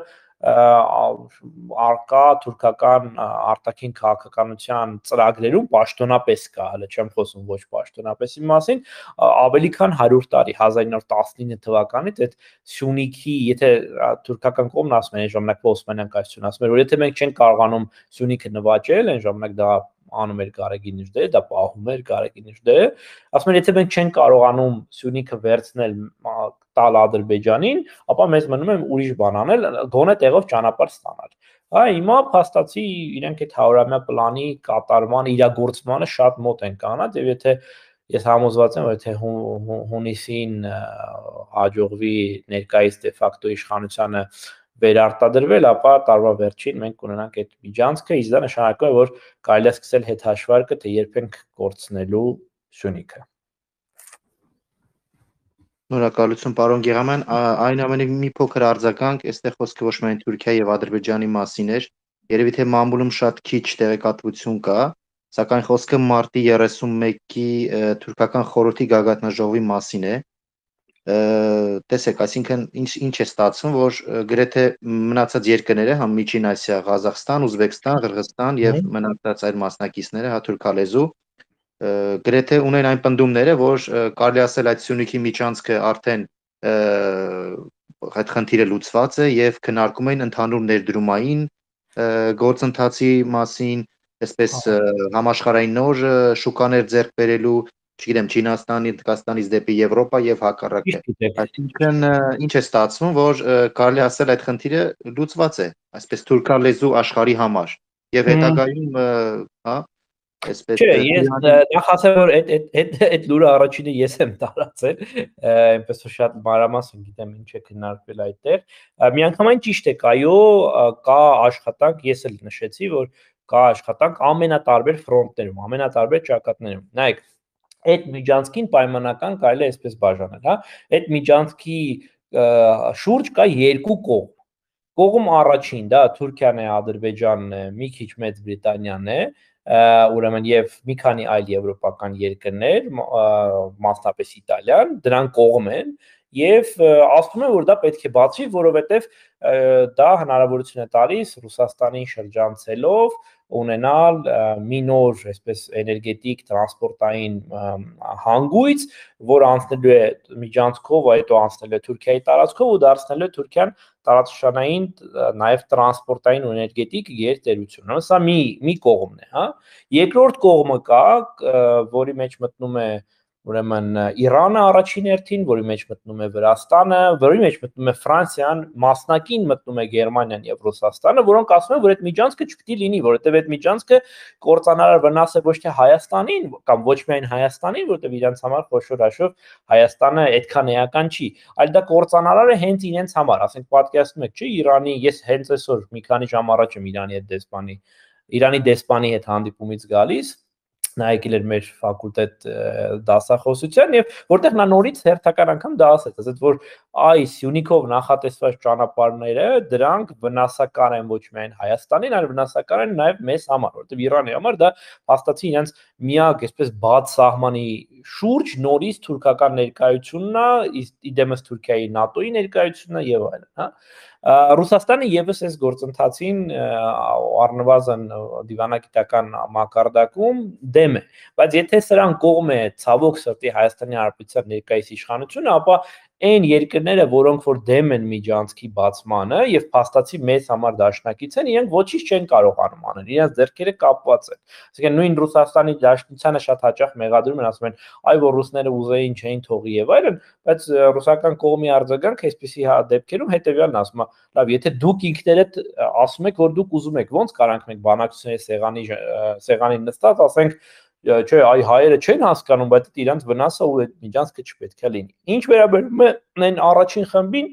Speaker 3: արկա թուրքական արտաքին քաղաքականության ծրագրերում պաշտոնապես կա, հələ չեմ խոսում ոչ պաշտոնապեսի մասին, ավելի քան 100 տարի 1919 թվականից այդ Սյունիքի, եթե թուրքական կողմն ասում է, այն ժամանակ Օսմանյան կայսրությունը ասում էր, որ եթե մենք չենք կարողանում Սյունիքը նվաճել, այն ժամանակ դա անում էր Գարեգին Նժդեհը, դա պահում էր Գարեգին Նժդեհը, ասում էր, եթե մենք չենք կարողանում Սյունիքը վերցնել տալ Ադրբեջանին, ապա մեզ մնում է ուրիշ բան անել, գոնե տեղով ճանապարհ ստանալ։ Հա, հիմա փաստացի իրենք այդ 100-ամյա պլանի կատարման, իրագործմանը շատ մոտ են կանած, եւ եթե ես համոզված եմ, որ եթե հունիսին հաջողվի ներկայիս դե ֆակտո իշխանությանը վերարտադրվել, ապա տարվա վերջին մենք կունենանք այդ միջանցքը, իսկ դա նշանակում է, որ կարելի է սկսել հետհաշվարկը, թե երբ ենք կորցնելու Սյունիքը։
Speaker 1: Շնորհակալություն, պարոն Գեղամյան, այն ամենի մի փոքր արձագանք, այստեղ խոսքը ոչ միայն Թուրքիայի եւ Ադրբեջանի մասին էր, երևի թե մամուլում շատ քիչ տեղեկատվություն կա, սակայն խոսքը մարտի 31-ի թուրքական խորհրդի գագաթնաժողովի մասին է։ Տեսեք, այսինքն ինչ է ստացվում, որ գրեթե մնացած երկրները, համ Միջին Ասիա, Ղազախստան, Ուզբեկստան, Ղրղստան եւ մնացած այլ մասնակիցները, հա թուրքալեզու, գրեթե ունեն այն պնդումները, որ կարելի ասել այդ Սյունիքի միջանցքը արդեն այդ խնդիրը լուծված է եւ քննարկում են ընդհանուր ներդրումային գործընթացի մասին, այսպես համաշխարհային նոր շուկաներ ձեռք բերելու, չգիտեմ, Չինաստանի, Հնդկաստանից դեպի Եվրոպա եւ հակառակը։ Այսինքն ինչ է ստացվում, որ կարելի ասել այդ խնդիրը լուծված է, այսպես թուրքալեզու աշխարհի համար եւ հետագայում, հա, այսպես
Speaker 3: Չէ, ես նախասեմ որ այդ լուրը առաջինը ես եմ տարածել, այնպես որ շատ մանրամասն գիտեմ ինչ է քննարկվել այդտեղ։ Միանգամայն ճիշտ է, այո, կա աշխատանք, ես էլ նշեցի, որ կա աշխատանք ամենատարբեր ֆրոնտներում, ամենատարբեր ճակատներում։ Նայեք, այդ միջանցքին պայմանական կարելի է այսպես բաժանել, հա։ Այդ միջանցքի շուրջ կա երկու կողմ։ Կողմ առաջին, դա Թուրքիան է, Ադրբեջանն է, մի քիչ Մեծ Բրիտանիան է, ուրեմն եւ մի քանի այլ եվրոպական երկրներ, մասնապես Իտալիան, դրան կողմ են եւ ասում են, որ դա պետք է բացվի, որովհետեւ դա հնարավորություն է տալիս Ռուսաստանին շրջանցելով ունենալ մի նոր, այսպես էներգետիկ տրանսպորտային հանգույց, որ անցնելու է միջանցքով, հետո անցնելու է Թուրքիայի տարածքով ու դարձնելու է Թուրքիան տարածաշրջանային նաև տրանսպորտային ու էներգետիկ գերտերություն։ Սա մի կողմն է, հա։ Երկրորդ կողմը կա, որի մեջ մտնում է ուրեմն Իրանը առաջին հերթին, որի մեջ մտնում է Վրաստանը, որի մեջ մտնում է Ֆրանսիան, մասնակին մտնում է Գերմանիան եւ Ռուսաստանը, որոնք ասում են, որ այդ միջանցքը չպետք է լինի, որովհետեւ այդ միջանցքը կործանարար վնաս է ոչ թե Հայաստանին կամ ոչ միայն Հայաստանին, որովհետեւ իրենց համար խոշոր հաշվով Հայաստանը այդքան էական չի, այլ դա կործանարար է հենց իրենց համար, ասենք պատկերացնում եք, չէ, Իրանի, ես հենց այսօր մի քանի ժամ առաջ եմ Իրանի դեսպանի հետ հանդիպումից գալիս, նա եկել էր մեր ֆակուլտետ դասախոսության եւ որտեղ նա նորից հերթական անգամ դա ասեց, որ այ Սյունիքով նախատեսված ճանապարհները դրանք վնասակար են ոչ միայն Հայաստանին, այլ վնասակար են նաեւ մեզ համար, որովհետեւ Իրանի համար դա փաստացի իրենց միակ այսպես բաց սահմանի շուրջ նորից թուրքական ներկայությունն է, իդեմս Թուրքիայի ՆԱՏՕ-ի ներկայությունն է եւ այլն, հա։ Ռուսաստանը եւս այս գործընթացին առնվազն դիվանագիտական մակարդակում դեմ է, բայց եթե սրան կողմ է ցավոք սրտի Հայաստանի Հանրապետության ներկայիս իշխանությունը, ապա այն երկրները, որոնք որ դեմ են միջանցքի բացմանը եւ փաստացի մեծ համար դաշնակից են, իրենք ոչինչ չեն կարողանում անել, իրենց ձեռքերը կապված են։ Այսինքն նույն Ռուսաստանի դաշնությանը շատ հաճախ մեղադրում են, ասում են, այ որ ռուսները ուզեին չէին թողի եւ այլն, բայց ռուսական կողմի արձագանքը այսպիսի դեպքերում հետեւյալն ասում է, լավ, եթե դուք ինքներդ ասում եք, որ դուք ուզում եք, ոնց կարանք մենք բանակցությունների սեղանին նստած ասենք չէ, այ հայերը չեն հասկանում, բայց դա իրանց վնասը ու այդ միջանցքը չպետք է լինի։ Ինչ վերաբերում է այն առաջին խմբին,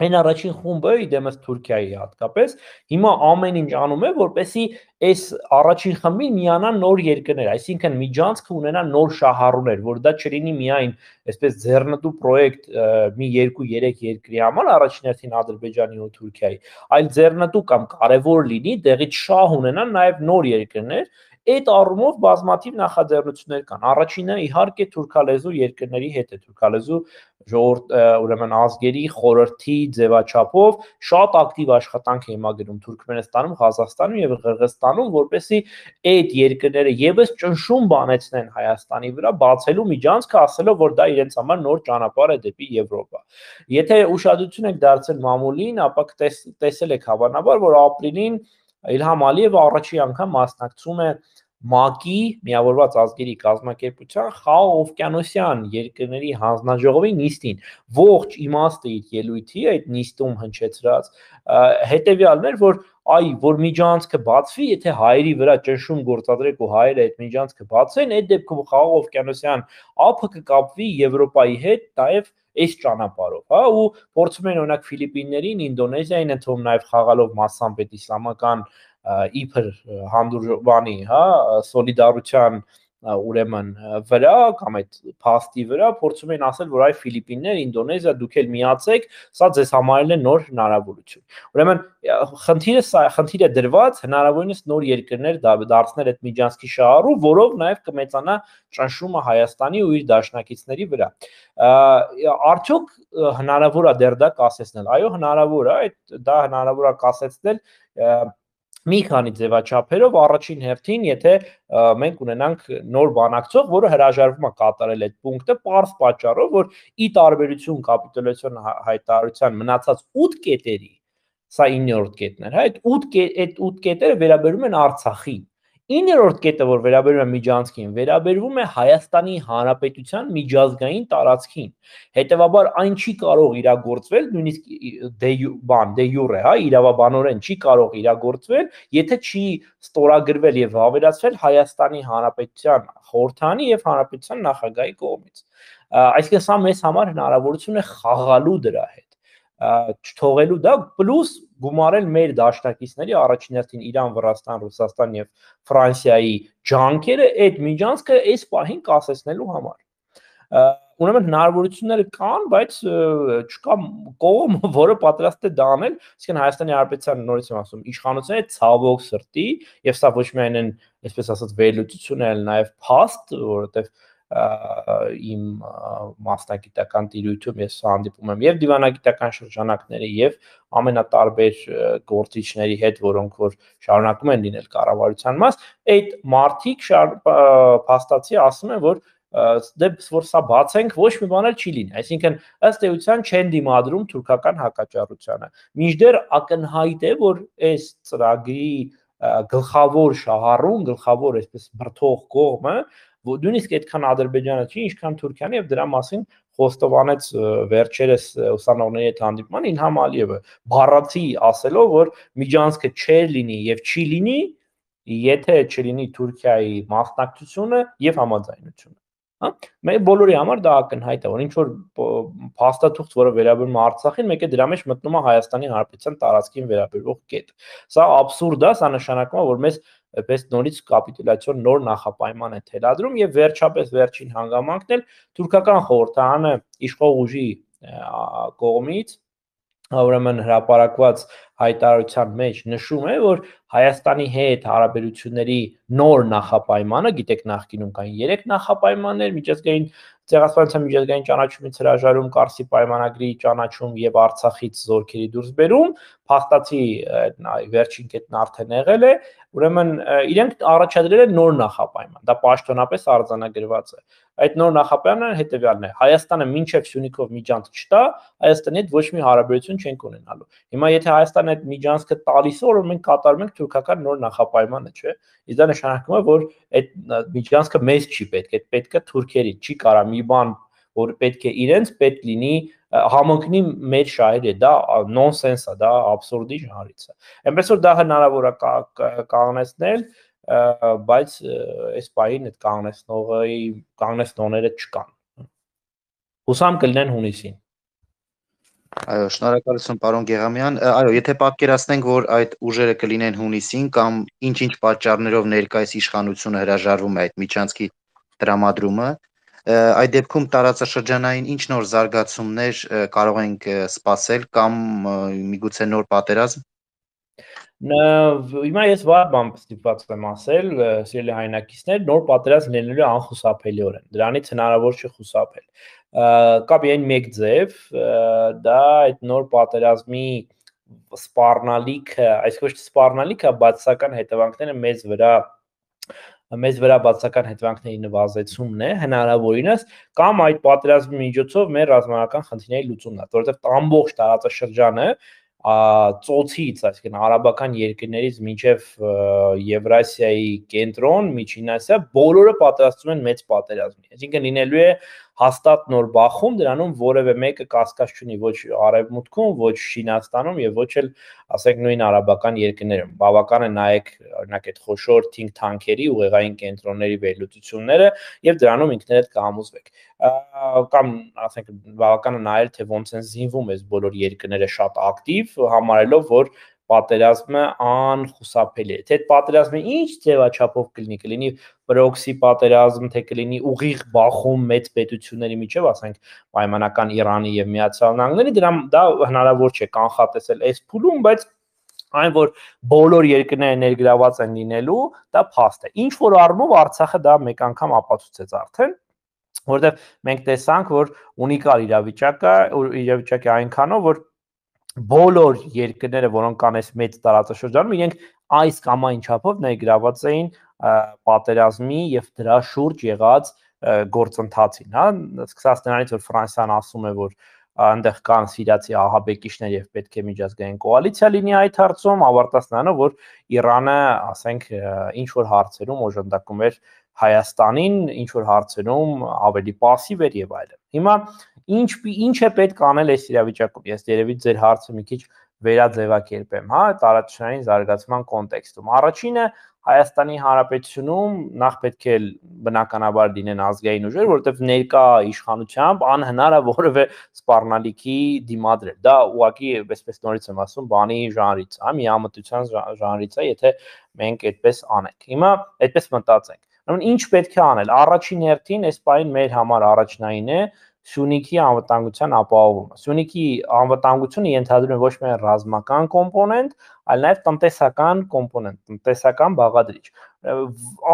Speaker 3: այն առաջին խումբը, իդեմս Թուրքիայի հատկապես, հիմա ամեն ինչ անում է, որպեսզի այս առաջին խմբին միանան նոր երկրներ, այսինքն միջանցքը ունենա նոր շահառուներ, որ դա չլինի միայն այսպես ձեռնտու պրոյեկտ մի 2-3 երկրի համար, առաջին հերթին Ադրբեջանի ու Թուրքիայի, այլ ձեռնտու կամ կարևոր լինի, դեղից շահ ունենան նաև նոր երկրներ։ Այդ առումով բազմաթիվ նախաձեռնություններ կան։ Առաջինը իհարկե թուրքալեզու երկրների հետ է, թուրքալեզու ժողովուրդ, ուրեմն ազգերի խորհրդի ձևաչափով շատ ակտիվ աշխատանք է հիմա գնում Թուրքմենստանում, Ղազախստանում եւ Ղրղստանում, որպեսզի այդ երկրները եւս ճնշում բանեցնեն Հայաստանի վրա, բացելու միջանցքը, ասելով, որ դա իրենց համար նոր ճանապարհ է դեպի Եվրոպա։ Եթե ուշադրություն եք դարձել մամուլին, ապա տեսել եք հավանաբար, որ ապրիլին Իլհամ Ալիևը առաջին անգամ մասնակցում է ՄԱԿ-ի միավորված ազգերի կազմակերպության խաղաղ օվկիանոսյան երկրների հանձնաժողովի նիստին ողջ իմաստը իր ելույթի այդ նիստում հնչեցրած հետեւյալն էր, որ միջանցքը բացվի, եթե հայերի վրա ճնշում գործադրեք ու հայերը այդ միջանցքը բացեն, այդ դեպքում խաղաղ օվկիանոսյան ափը կկապվի Եվրոպայի հետ, նաև այս ճանապարհով, հա, ու փորձում են օրինակ Ֆիլիպիններին, Ինդոնեզիային ընդհանուր նաև խաղալով massամբ այդ իսլամական իբր հանդուրժանի, հա, սոլիդարության ուրեմն վրա կամ այդ փաստի վրա փորձում են ասել, որ այ Ֆիլիպիններ, Ինդոնեզիա, դուք էլ միացեք, սա ձեզ համարել է նոր հնարավորություն։ Ուրեմն խնդիրը դրված հնարավորինս նոր երկրներ դարձնել այդ միջանցքի շահառու, որով նաև կմեծանա ճնշումը Հայաստանի ու իր դաշնակիցների վրա։ Արդյոք հնարավոր է դեռ դա կասեցնել։ Այո, հնարավոր է, դա հնարավոր է կասեցնել մի քանի ձևաչափերով, առաջին հերթին, եթե մենք ունենանք նոր բանակցող, որը հրաժարվում է կատարել այդ պունկտը պարզ պատճառով, որ ի տարբերություն կապիտուլյացիոն հայտարարության մնացած 8 կետերի, սա 9-րդ կետն էր, հա, այդ 8 կետերը վերաբերում են Արցախին։ 9-րդ կետը, որ վերաբերում է միջանցքին, վերաբերվում է Հայաստանի Հանրապետության միջազգային տարածքին։ Հետևաբար այն չի կարող իրագործվել, նույնիսկ դե յուրե, հա, իրավաբանորեն չի կարող իրագործվել, եթե չի ստորագրվել եւ հավելացվել Հայաստանի Հանրապետության խորհրդանի եւ Հանրապետության նախագահի կողմից։ Այսինքն սա մեզ համար հնարավորություն է խաղալու դրա հետ, չթողելու դա, պլյուս գումարել մեր դաշնակիցների առաջին հերթին Իրան, Վրաստան, Ռուսաստան եւ Ֆրանսիայի ջանքերը այդ միջանցքը այս պահին կասեցնելու համար։ Ուրեմն հնարավորությունները կան, բայց չկա կողմ, որը պատրաստ է դա անել, այսինքն Հայաստանի Հանրապետության նորից եմ ասում, իշխանությունը ցավոք սրտի, եւ սա ոչ միայն են, այսպես ասած, վերլուծություն, այլ նաեւ փաստ, որովհետեւ իմ մասնագիտական տիրույթում ես հանդիպում եմ եւ դիվանագիտական շրջանակների եւ ամենատարբեր գործիչների հետ, որոնք որ շարունակում են լինել կառավարության մաս, այդ մարդիկ փաստացի ասում են, որ որ սա բացենք ոչ մի բան էլ չի լինի, այսինքն ըստ էության չեն դիմադրում թուրքական հակաճառությանը։ Մինչդեռ ակնհայտ է, որ այս ծրագրի գլխավոր շահառուն, գլխավոր այսպես բրդող կողմը նույնիսկ այդքան Ադրբեջանը չի, ինչքան Թուրքիան, եւ դրա մասին խոստովանեց վերջերս ուսանողների հետ հանդիպման Իլհամ Ալիևը, բառացի ասելով, որ միջանցքը չէր լինի եւ չի լինի, եթե չլինի Թուրքիայի մասնակցությունը եւ համաձայնությունը։ Հա, մեր բոլորի համար դա ակնհայտ է, որ ինչ որ փաստաթուղթ, որը վերաբերում է Արցախին, մեկ է դրա մեջ մտնում է Հայաստանի Հանրապետության տարածքին վերաբերող կետ։ Սա աբսուրդ է, սա նշանակում է, որ մեզ պես նորից կապիտուլյացիոն նոր նախապայման է թելադրում եւ վերջապես վերջին հանգամանքն էլ թուրքական խորհրդարանը իշխող ուժի կողմից ուրեմն հրապարակված հայտարարության մեջ նշում է, որ Հայաստանի հետ հարաբերությունների նոր նախապայմանը, գիտեք, նախկինում կային 3 նախապայմաններ՝ միջազգային ցեղասպանության միջազգային ճանաչումից հրաժարում, Կարսի պայմանագրի ճանաչում եւ Արցախից զորքերի դուրսբերում, փաստացի վերջին կետն արդեն եղել է, ուրեմն իրենք առաջադրել են նոր նախապայման, դա պաշտոնապես արձանագրված է։ Այդ նոր նախապայմանը հետեւյալն է. Հայաստանը մինչև Սյունիքով միջանցք չտա, Հայաստանի հետ ոչ մի հարաբերություն չենք ունենալու։ Հիմա եթե Հայաստանը այդ միջանցքը տալիս է, որ մենք կատարում ենք թուրքական նոր նախապայմանը, չէ՞։ Իսկ դա նշանակում է, որ այդ միջանցքը մեզ չի պետք, այդ պետք է թուրքերին, չի կարա մի բան, որ պետք է իրենց պետք լինի համընկնի մեր շահերի, դա նոնսենս է, դա աբսուրդի ժանրից է։ Այնպես որ դա հնարավոր է կանգնեցնել, բայց այս պահին այդ կանգնեցնողները չկան։ Հուսամ կլինեն հունիսին։
Speaker 1: Այո, շնորհակալություն պարոն Գեղամյան։ Այո, եթե պատկերացնենք, որ այդ ուժերը կլինեն հունիսին կամ ինչ-ինչ պատճառներով ներկայիս իշխանությունը հրաժարվում է այդ միջանցքի տրամադրումը, այդ դեպքում տարածաշրջանային ինչ նոր զարգացումներ կարող ենք սպասել կամ միգուցե նոր պատերազմ։
Speaker 3: Հիմա ես վառ բան ստիպված եմ ասել, սիրելի հայրենակիցներ, նոր պատերազմ լինելու անխուսափելիորեն, դրանից հնարավոր չի խուսափել։ Կա միայն մեկ ձև, դա այդ նոր պատերազմի սպառնալիքը, այսինքն ոչ թե սպառնալիքը, բացասական հետևանքները մեզ վրա բացասական հետևանքների նվազեցումն է հնարավորինս, կամ այդ պատերազմի միջոցով մեր ռազմական խնդիրների լուծումն է, որովհետև ամբողջ տարածաշրջանը ծոցից, այսինքն արաբական երկրներից մինչև Եվրասիայի կենտրոն, Միջին Ասիա, բոլորը պատրաստվում են մեծ պատերազմի։ Այսինքն լինելու է հաստատ նոր բախում, դրանում որևէ մեկը կասկած չունի ոչ Արևմուտքում, ոչ Չինաստանում եւ ոչ էլ, ասենք, նույն արաբական երկրներում։ Բավական է նայեք օրինակ այդ խոշոր think tank-երի ուղեղային կենտրոնների վերլուծությունները եւ դրանում ինքներդ կհամոզվեք։ Կամ ասենք բավական է նայել թե ոնց են զինվում այս բոլոր երկրները շատ ակտիվ, համարելով որ պատերազմը անխուսափելի է։ Թե այդ պատերազմը ինչ ձևաչափով կլինի պրոքսի պատերազմ, թե կլինի ուղիղ բախում մեծ պետությունների միջև, ասենք պայմանական Իրանի եւ Միացյալ Նահանգների, դա հնարավոր չէ կանխատեսել այս փուլում, բայց այն որ բոլոր երկրները ներգրաված են լինելու, դա փաստ է։ Ինչ որ առումով Արցախը դա մեկ անգամ ապացուցեց արդեն, որտեղ մենք տեսանք, որ ունիկալ իրավիճակ է այնքանով, որ բոլոր երկրները, որոնք կան այս մեծ տարածաշրջանում, իրենք այս կամ այն չափով ներգրաված էին պատերազմի եւ դրա շուրջ եղած գործընթացին, հա, սկսած նրանից, որ Ֆրանսիան ասում է, որ այնտեղ կան սիրիացի ահաբեկիչներ եւ պետք է միջազգային կոալիցիա լինի այդ հարցում, ավարտած նրանով, որ Իրանը, ասենք, ինչ որ հարցերում օժանդակում էր Հայաստանին, ինչ որ հարցերում ավելի пассив էր եւ այլն։ Հիմա ինչ է պետք անել այս իրավիճակում։ Ես երևի ձեր հարցը մի քիչ վերաձևակերպեմ, հա, տարածաշրջանային զարգացման կոնտեքստում։ Առաջինը Հայաստանի Հանրապետությունում նախ պետք է բնականաբար լինեն ազգային ուժեր, որովհետև ներկա իշխանությամբ անհնար է որևէ սպառնալիքի դիմադրել։ Դա ուղղակի այսպես նորից եմ ասում, բանի ժանրից է, միամտության ժանրից է, եթե մենք այդպես անենք։ Հիմա այդպես մտածենք։ Ուրեմն ինչ պետք է անել։ Առաջին հերթին այս պահին մեր համար առաջնային է Սյունիքի անվտանգության ապահովումը։ Սյունիքի անվտանգությունը ենթադրում է ոչ միայն ռազմական կոմպոնենտ, այլ նաև տնտեսական կոմպոնենտ, տնտեսական բաղադրիչ։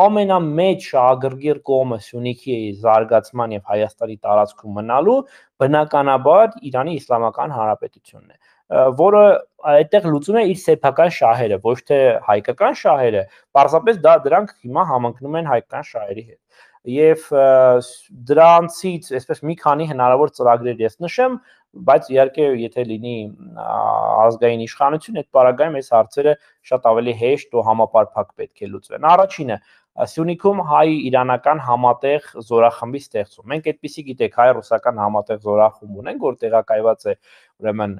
Speaker 3: Ամենամեծ շահագրգիռ կողմը Սյունիքի զարգացման եւ Հայաստանի տարածքում մնալու բնականաբար Իրանի Իսլամական Հանրապետությունն է, որը այդտեղ լուծում է իր սեփական շահերը, ոչ թե հայկական շահերը, պարզապես դրանք հիմա համընկնում են հայկական շահերի հետ։ Եվ դրանցից այսպես մի քանի հնարավոր ծրագրեր ես նշեմ, բայց իհարկե եթե լինի ազգային իշխանություն, այդ պարագայում այս հարցերը շատ ավելի հեշտ ու համապարփակ պետք է լուծվեն։ Առաջինը Սյունիքում հայ-իրանական համատեղ զորախմբի ստեղծում։ Մենք այդպեսի գիտեք, հայ-ռուսական համատեղ զորախումբ ունենք, որ տեղակայված է ուրեմն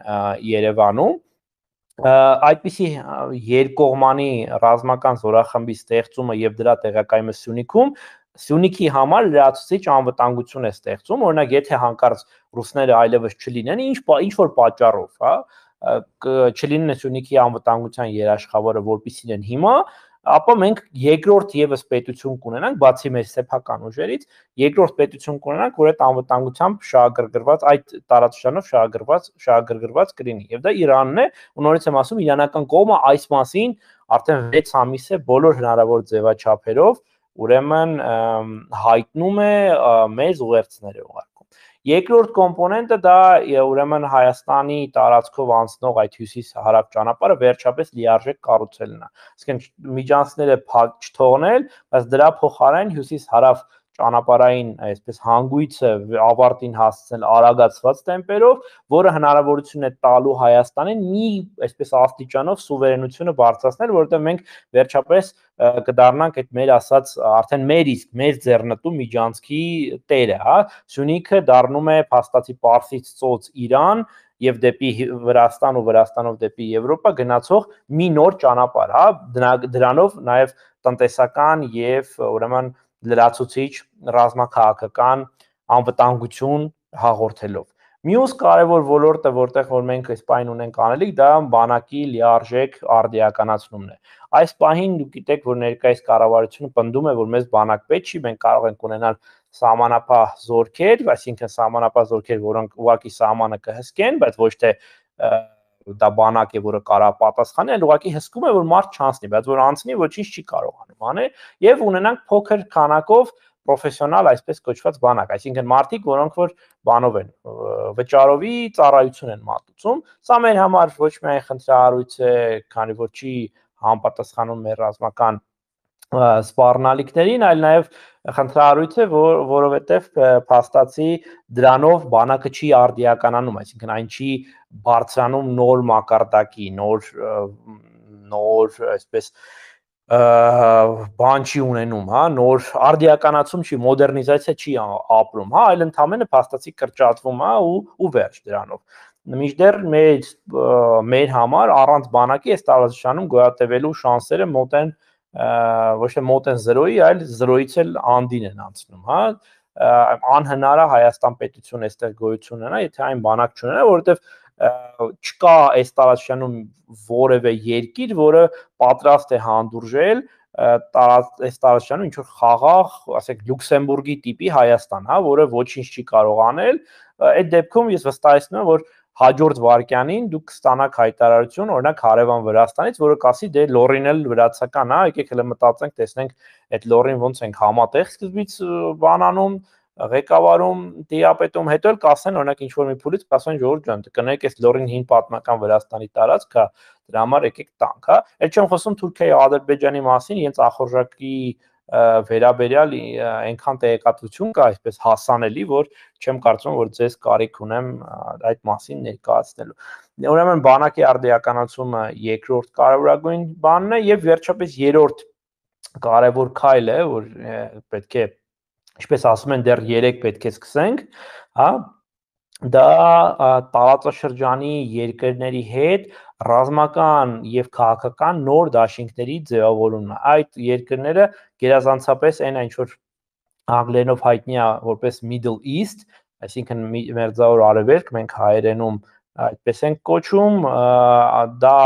Speaker 3: Երևանում։ Այդպիսի երկկողմանի ռազմական զորախմբի ստեղծումը եւ դրա տեղակայումը Սյունիքում Սյունիքի համար լրացուցիչ անվտանգություն է ստեղծում, օրինակ եթե հանկարծ ռուսները այլևս չլինեն, ինչ որ պատճառով, հա, չլինեն Սյունիքի անվտանգության երաշխավորը, որպեսզի են հիմա, ապա մենք երկրորդ եւս պետություն կունենանք, բացի մեր սեփական ուժերից, երկրորդ պետություն կունենանք, որ այդ անվտանգությամբ շահագրգռված, այդ տարածաշրջանով շահագրգռված կլինի։ Եվ դա Իրանն է, ու նորից եմ ասում, իրանական կողմը այս մասին արդեն 6 ամիս է բոլոր հնարավոր ձևաչափերով ուրեմն հայտնում է մեծ ուղերձներ է ուղարկում։ Երկրորդ կոմպոնենտը դա ուրեմն Հայաստանի տարածքով անցնող այդ հյուսիս-հարավ ճանապարհը վերջապես լիարժեք կառուցելն է։ Այսինքն միջանցքները փակ չթողնել, բայց դրա փոխարեն հյուսիս-հարավ ճանապարհային այսպես հանգույցը ավարտին հասցնել արագացված տեմպերով, որը հնարավորություն է տալու Հայաստանին մի այսպես աստիճանով սուվերենությունը բարձրացնել, որովհետև մենք վերջապես կդառնանք այդ մեր ասած արդեն մեր իսկ մեր ձեռնտու միջանցքի տերը, հա, Սյունիքը դառնում է փաստացի Պարսից ծոց Իրան եւ դեպի Վրաստան ու Վրաստանով դեպի Եվրոպա գնացող մի նոր ճանապարհ, հա, դրանով նաեւ տնտեսական եւ ուրեմն լրացուցիչ ռազմաքաղաքական անվտանգություն հաղորդելով։ Մյուս կարևոր ոլորտը, որտեղ որ մենք այս պահին ունենք անելիք, դա բանակի լիարժեք արդիականացումն է։ Այս պահին դուք գիտեք, որ ներկայիս կառավարությունը պնդում է, որ մեզ բանակ պետք չի, մենք կարող ենք ունենալ սահմանապահ զորքեր, այսինքն սահմանապահ զորքեր, որոնք ուղղակի սահմանը կհսկեն, բայց ոչ թե դա բանակ է, որը կարող պատասխանի, այլ ուղղակի հսկում է, որ մարդ չանցնի, բայց որ անցնի, ոչինչ չի կարողանում անել, եւ ունենանք փոքր քանակով պրոֆեսիոնալ այսպես կոչված բանակ, այսինքն մարդիկ, որոնք որ բանով են վճարովի ծառայություն են մատուցում, սա մեր համար ոչ միայն խնդրահարույց է, քանի որ չի համապատասխանում մեր ռազմական սպառնալիքներին, այլ նաև խնդրահարույց է, որովհետև փաստացի դրանով բանակը չի արդիականանում, այսինքն այն չի բարձրանում նոր մակարդակի, նոր այսպես բան չի ունենում, հա, նոր արդիականացում չի, մոդեռնիզացիա չի ապրում, հա, այլ ընդհանրապես փաստացի կրճատվում, հա, ու վերջ դրանով։ Մինչդեռ մեր համար առանց բանակի այս տարածաշրջանում գոյատևելու շանսերը մոտ են ոչ թե մոտ են 0-ի, այլ 0-ից էլ անդին են անցնում, հա, անհնար է Հայաստան պետություն այստեղ գոյություն ունենա, եթե այն բանակ չունենա, որովհետև չկա այս տարածաշրջանում որևէ երկիր, որը պատրաստ է հանդուրժել այս տարածաշրջանում ինչ որ խաղաղ, ասենք Լյուքսեմբուրգի տիպի Հայաստան, հա, որը ոչինչ չի կարող անել, այդ դեպքում ես վստահեցնում եմ, որ հաջորդ վարքյանին դուք կստանաք հայտարարություն, օրինակ հարևան Վրաստանից, որը կասի դե լոռին էլ վրացական է, եկեք հələ մտածենք, տեսնենք այդ լոռին ոնց ենք համատեղ սկզբից բանանում, ղեկավարում, տիրապետում, հետո էլ կասեն, օրինակ ինչ որ մի փուլից կասեն ժողովուրդ ջան, կներեք այս լոռին հին պատմական Վրաստանի տարածք է, դրա համար եկեք տանք, հա։ Այդ չեմ խոսում Թուրքիայի ու Ադրբեջանի մասին, իրենց ախորժակի վերաբերյալ այնքան տեղեկատվություն կա, այսպես հասանելի, որ չեմ կարծում, որ ձեզ կարիք ունեմ այդ մասին ներկայացնելու։ Ուրեմն բանակի արդիականացումը երկրորդ կարևորագույն բանն է եւ վերջապես երրորդ կարևոր քայլը, որ պետք է, ինչպես ասում են, դեռ 3 պետք է սկսենք, հա, դա տարածաշրջանի երկրների հետ ռազմական եւ քաղաքական նոր դաշինքների ձևավորումն է։ Այդ երկրները գերազանցապես այն ինչ որ անգլերենով հայտնի է որպես Middle East, այսինքն Մերձավոր Արևելք, մենք հայերենում այդպես ենք կոչում, դա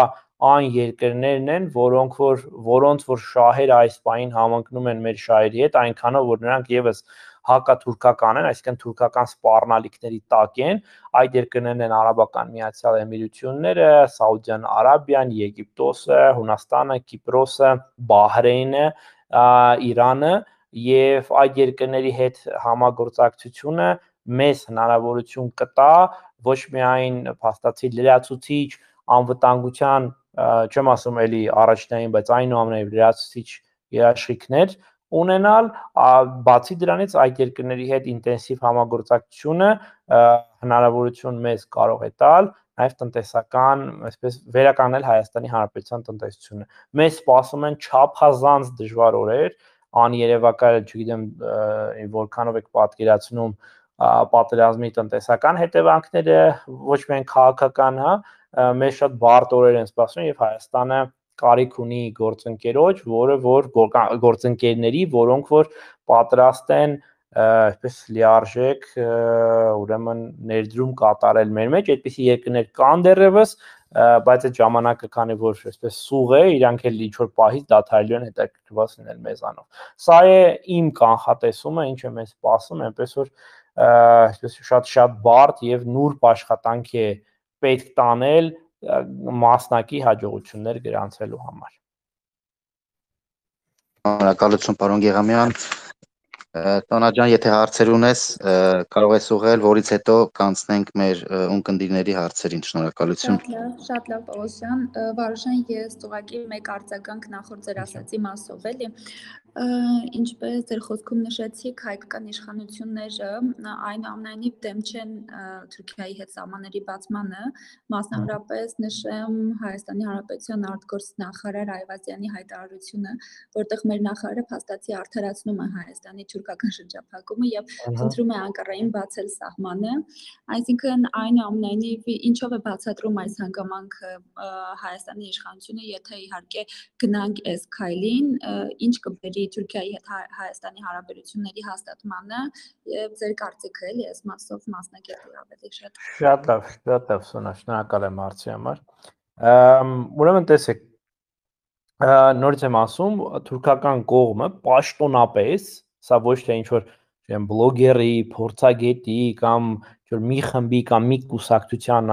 Speaker 3: այն երկրներն են, որոնց որ շահերը այս պահին համընկնում են մեր շահերի հետ, այնքանով որ նրանք եւս հակաթուրքական են, այսինքն թուրքական սպառնալիքների տակ են, այդ երկրներն են Արաբական Միացյալ Էմիրությունները, Սաուդյան Արաբիան, Եգիպտոսը, Հունաստանը, Կիպրոսը, Բահրեյնը, Իրանը եւ այդ երկրների հետ համագործակցությունը մեզ հնարավորություն կտա ոչ միայն փաստացի լրացուցիչ անվտանգության, չեմ ասում էլի առաջնային, բայց այնուամենայնիվ լրացուցիչ երաշխիքներ ունենալ, բացի դրանից այդ երկրների հետ ինտենսիվ համագործակցությունը հնարավորություն մեզ կարող է տալ նաև տնտեսական, այսպես վերականգնել Հայաստանի Հանրապետության տնտեսությունը։ Մեզ սպասում են չափազանց դժվար օրեր, աներևակայել, չգիտեմ, որքանով եք պատկերացնում պատերազմի տնտեսական հետևանքները, ոչ միայն քաղաքական, հա, մեզ շատ բարդ օրեր են սպասում եւ Հայաստանը կարիք ունի գործընկերոջ, գործընկերների, որոնք որ պատրաստ են այսպես լիարժեք ուրեմն ներդրում կատարել մեր մեջ, այդպիսի երկրներ կան դեռևս, բայց այդ ժամանակը քանի որ այսպես սուղ է, իրանք էլ ինչ որ պահից դադարելու են հետաքրքրված լինել մեզանով։ Սա է իմ կանխատեսումը, ինչ է մեզ սպասում, այնպես որ այսպես շատ բարդ եւ նուրբ աշխատանք է պետք տանել մասնակի հաջողություններ գրանցելու համար։
Speaker 1: Շնորհակալություն, պարոն Գեղամյան։ Տոնա ջան, եթե հարցեր ունես, կարող ես ուղղել, որից հետո կանցնենք մեր ունկնդիրների հարցերին։ Շնորհակալություն։
Speaker 2: Շատ լավ, Պողոս ջան, Վարուժան, ես ուղղակի մեկ արձագանք նախորդ ձեր ասացի մասով էլի։ Ինչպես ձեր խոսքում նշեցիք, հայկական իշխանությունները այնուամենայնիվ դեմ չեն Թուրքիայի հետ սահմանների բացմանը, մասնավորապես նշեմ Հայաստանի Հանրապետության արտգործ նախարար Այվազյանի հայտարարությունը, որտեղ մեր նախարարը փաստացի արդարացնում է Հայաստանի թուրքական շրջափակումը եւ խնդրում է Անկարային բացել սահմանը, այսինքն այնուամենայնիվ ինչով է բացատրում այս հանգամանքը Հայաստանի իշխանությունը, եթե իհարկե գնանք այս քայլին, ինչ կբերի Թուրքիայի հետ Հայաստանի հարաբերությունների հաստատմանը եւ ձեր կարծիքը էլի այս մասով մասնագետի ավելի շատ։
Speaker 3: Շատ լավ, Սոնա, շնորհակալ եմ հարցի համար։ Ուրեմն տեսեք, նորից եմ ասում, թուրքական կողմը պաշտոնապես, սա ոչ թե ինչ որ բլոգերի, փորձագետի կամ մի խմբի կամ մի կուսակցության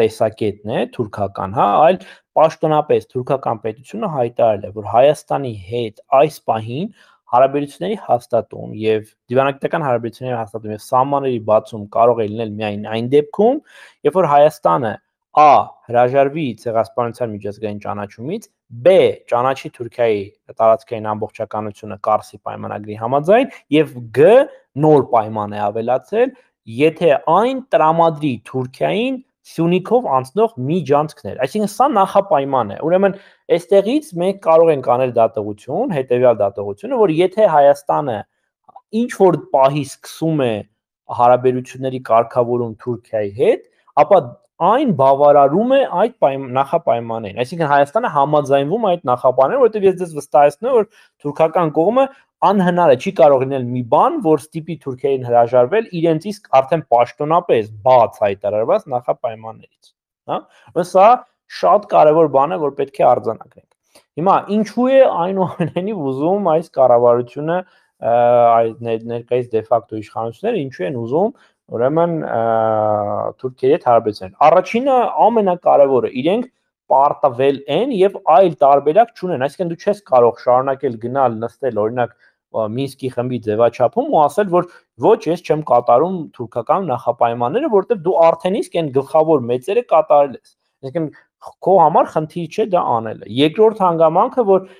Speaker 3: տեսակետն է թուրքական, հա, այլ պաշտոնապես թուրքական պետությունը հայտարարել է, որ Հայաստանի հետ այս պահին հարաբերությունների հաստատում եւ դիվանագիտական հարաբերությունների հաստատում եւ սահմանների բացում կարող է լինել միայն այն դեպքում, երբ որ Հայաստանը A. Հրաժարվի ցեղասպանության միջազգային ճանաչումից, B. Ճանաչի Թուրքիայի տարածքային ամբողջականությունը Կարսի պայմանագրի համաձայն եւ G. Նոր պայման է ավելացել, եթե այն տրամադրի Թուրքիային Սյունիքով անցնող միջանցքներ։ Այսինքն սա նախապայման է։ Ուրեմն այստեղից մենք կարող ենք անել դատողություն, հետեւյալ դատողությունը, որ եթե Հայաստանը ինչ որ պահի սկսում է հարաբերությունների կարգավորում Թուրքիայի հետ, ապա այն բավարարում է այդ նախապայմաններին։ Այսինքն Հայաստանը համաձայնվում է այդ նախապայմաններին, որովհետև ես ձեզ վստահեցնում եմ, որ թուրքական կողմը անհնար է, չի կարող լինել մի բան, որ ստիպի Թուրքիային հրաժարվել իրենց իսկ արդեն պաշտոնապես բաց հայտարարված նախապայմաններից, հա։ Բայց սա շատ կարևոր բան է, որ պետք է արձանագրենք։ Հիմա ինչու է այնուամենայնիվ ուզում այս կառավարությունը այդ ներկայիս դե ֆակտո իշխանությունները ինչու են ուզում ուրեմն Թուրքիայի հետ հարաբերություններ։ Առաջինը ամենակարևորը իրենք պարտվել են եւ այլ տարբերակ չունեն, այսինքն դու չես կարող շարունակել գնալ նստել օրինակ Մինսկի խմբի ձևաչափում ու ասել, որ ոչ, ես չեմ կատարում թուրքական նախապայմանները, որովհետեւ դու արդեն իսկ այն գլխավոր մեծերը կատարել ես։ Այսինքն քո համար խնդիր չէ դա անելը։ Երկրորդ հանգամանքը, որ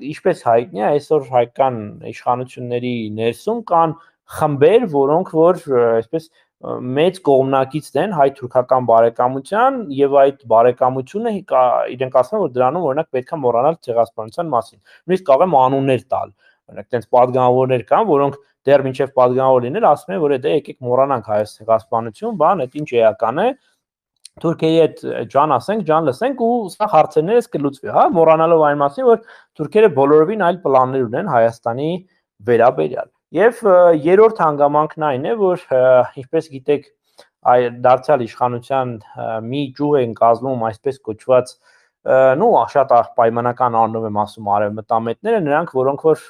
Speaker 3: ինչպես հայտնի է, այսօր հայկական իշխանությունների ներսում կան խմբեր, որոնք որ այսպես մեծ կողմնակից են հայ-թուրքական բարեկամության եւ այդ բարեկամությունը իրենք ասում են, որ դրանում օրինակ պետքա մոռանալ ցեղասպանության մասին։ Նույնիսկ կարող եմ անուններ տալ։ Օրինակ այդպես падգամավորներ կան, որոնք դեռ մինչև падգամավոր լինել ասում են, որ դե եկեք մոռանանք հայոց ցեղասպանություն, բան, այդ ինչ էական է։ Թուրքիայի հետ ջան ասենք, ջան լսենք ու սա հարցերներս կլուծվի, հա, մոռանալով այն մասին, որ թուրքերը բոլորովին այլ պլաններ ունեն Հայաստանի վերաբերյալ։ Եվ երրորդ հանգամանքն այն է, որ ինչպես գիտեք, դարձյալ իշխանության մի ճյուղ են կազմում այսպես կոչված, նու շատ պայմանական առնով եմ ասում արևմտամետները, նրանք, որոնք որ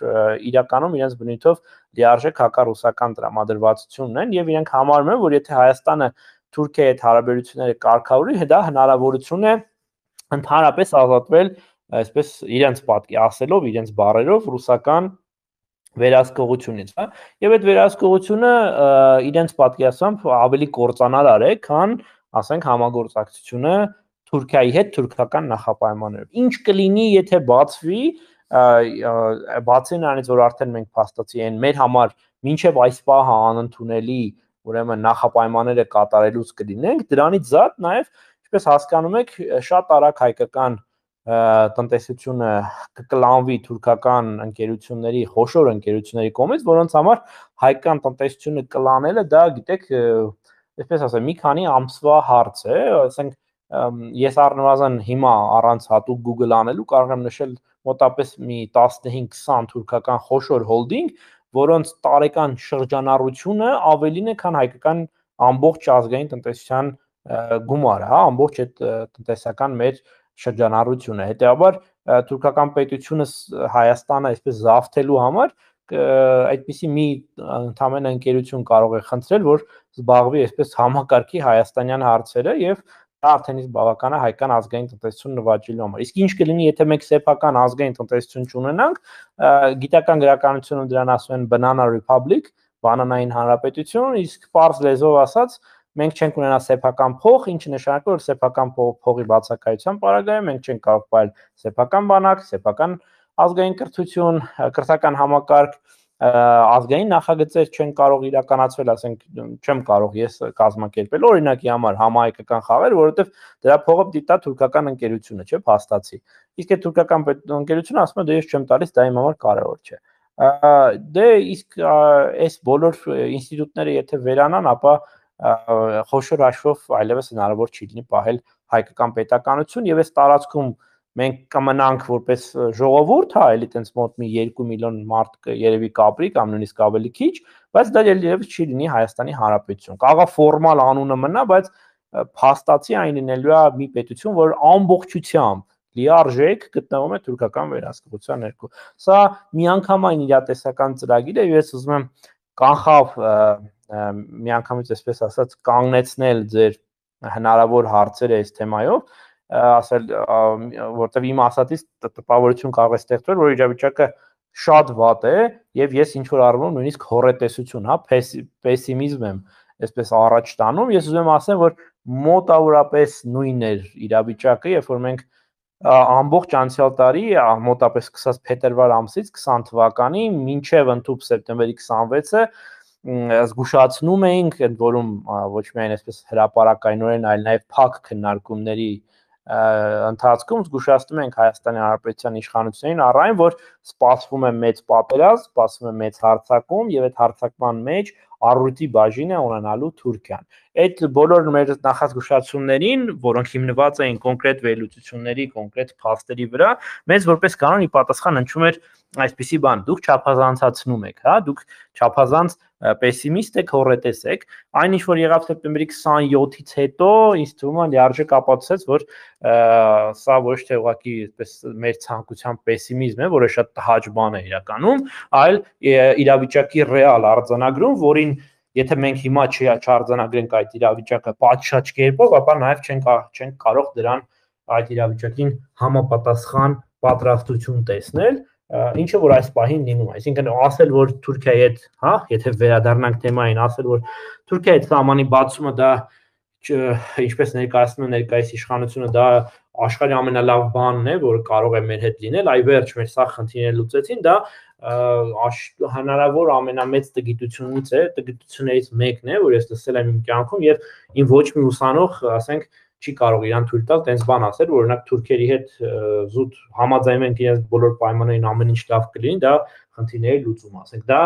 Speaker 3: իրականում իրենց բնույթով լիարժեք հակառուսական տրամադրվածություն ունեն եւ իրենք համարում են, որ եթե Հայաստանը Թուրքիայի հետ հարաբերությունները կարգավորի, դա հնարավորություն է ընդհանրապես ազատվել, այսպես իրենց պատկի ասելով, իրենց բառերով ռուսական վերահսկողությունից, հա, եւ այդ վերահսկողությունը իրենց պատկերացմամբ ավելի կործանարար է, քան, ասենք, համագործակցությունը Թուրքիայի հետ թուրքական նախապայմաններով։ Ինչ կլինի, եթե բացվի, բացի նրանից, որ արդեն մենք փաստացի են մեր համար մինչև այս պահը անընդունելի, ուրեմն նախապայմանները կատարելուց կլինենք, դրանից զատ նաև, ինչպես հասկանում եք, շատ արագ հայկական տնտեսությունը կկլանվի թուրքական ընկերությունների, խոշոր ընկերությունների կողմից, որոնց համար հայկական տնտեսությունը կլանելը դա, գիտեք, այսպես ասեմ, մի քանի ամսվա հարց է, ասենք, ես առնվազն հիմա առանց հատուկ Google անելու կարող եմ նշել մոտապես մի 15-20 թուրքական խոշոր հոլդինգ, որոնց տարեկան շրջանառությունը ավելին է, քան հայկական ամբողջ ազգային տնտեսության գումարը, հա, ամբողջ այդ տնտեսական մեր շրջանառությունը։ Հետեւաբար թուրքական պետությունը Հայաստանը այսպես զավթելու համար այդպիսի մի ընդհանրեն ընկերություն կարող է խնդրել, որ զբաղվի այսպես համակարգի հայաստանյան հարցերը եւ դա արդեն իսկ բավական է հայկական ազգային տնտեսություն նվաճելու համար։ Իսկ ինչ կլինի, եթե մենք սեփական ազգային տնտեսություն չունենանք, գիտական գրականությունը դրան ասում են banana republic, բանանային հանրապետություն, իսկ պարզ լեզվով ասած մենք չենք ունենա սեփական փող, ինչը նշանակում է, որ սեփական փողի բացակայության պարագայում մենք չենք կարող պահել սեփական բանակ, սեփական ազգային կրթություն, կրթական համակարգ, ազգային նախագծեր չեն կարող իրականացվել, ասենք, չեմ կարող ես կազմակերպել օրինակի համար համահայկական խաղեր, որովհետև դրա փողը դիտա թուրքական ընկերությունը, չէ՞, փաստացի։ Իսկ այդ թուրքական ընկերությունը ասում է, դե ես չեմ տալիս, դա իմ համար կարևոր չէ։ Դե իսկ այս բոլոր ինստիտուտները եթե վերանան, ապա խոշոր հաշվով այլևս հնարավոր չի լինի պահել հայկական պետականություն եւ այս տարածքում մենք կմնանք որպես ժողովուրդ, հա, էլի տենց մոտ մի 2 միլիոն մարդ երևի կապրի կամ նույնիսկ ավելի քիչ, բայց դա երևի չի լինի Հայաստանի Հանրապետություն։ Կաղա ֆորմալ անունը մնա, բայց փաստացի այն լինելու է մի պետություն, որ ամբողջությամբ լիարժեք գտնվում է թուրքական վերահսկողության ներքո։ Սա միանգամայն իրատեսական ծրագիր է, ես ուզում եմ կանխավ միանգամից այսպես ասած կանգնեցնել ձեր հնարավոր հարցերը այս թեմայով, ասել, որտեվ իմ ասածից տպավորություն կարող է ստեղծվել, որ իրավիճակը շատ վատ է եւ ես ինչ որ առնում նույնիսկ հոռետեսություն, հա, պեսիմիզմ եմ այսպես առաջ տանում, ես ուզում եմ ասեմ, որ մոտավորապես նույնն էր իրավիճակը, երբ որ մենք ամբողջ անցյալ տարի մոտապես սկսած փետրվար ամսից 20 թվականի մինչև ընդհուպ սեպտեմբերի 26-ը զգուշացնում էինք, ընդ որում ոչ միայն այսպես հրապարակայնորեն, այլ նաև փակ քննարկումների ընթացքում զգուշացնում ենք Հայաստանի Հանրապետության իշխանություններին առայն, որ սպասվում է մեծ պատերազմ, սպասվում է մեծ հարձակում եւ այդ հարձակման մեջ առույթի բաժին է ունենալու Թուրքիան։ Այդ բոլոր մեր նախազգուշացումներին, որոնք հիմնված էին կոնկրետ վերլուծությունների, կոնկրետ փաստերի վրա, մեզ որպես կանոն ի պատասխան հնչում էր այսպիսի բան. դուք չափազանցացնում եք, հա, դուք չափազանց պեսիմիստ եք, հոռետես եք։ Այն ինչ որ եղավ սեպտեմբերի 27-ից հետո, ինձ թվում է լիարժեք ապացուցեց, որ սա ոչ թե ուղղակի այսպես մեր ցանկության պեսիմիզմ է, որը շատ տհաճ բան է իրականում, այլ իրավիճակի ռեալ արձանագրում, որին եթե մենք հիմա չարձանագրենք այդ իրավիճակը պատշաճ կերպով, ապա նաև չենք կարող դրան այդ իրավիճակին համապատասխան պատրաստություն տեսնել, ինչը որ այս պահին լինում է։ Այսինքն ասել, որ Թուրքիայի հետ, հա, եթե վերադառնանք թեմային, ասել, որ Թուրքիայի հետ սահմանի բացումը դա ինչպես ներկայացնում է ներկայիս իշխանությունը, դա աշխարհի ամենալավ բանն է, որ կարող է մեր հետ լինել, այ վերջ մեր սա խնդիրները լուծեցին, դա հնարավոր ամենամեծ տգիտությունից է, տգիտություններից մեկն է, որ ես լսել եմ իմ կյանքում եւ իմ ոչ մի ուսանող, ասենք, չի կարող իրան թույլ տալ տենց բան ասել, որ օրինակ թուրքերի հետ զուտ համաձայնում ենք իրենց բոլոր պայմաններին ամեն ինչ լավ կլինի, դա խնդիրների լուծում, ասենք, դա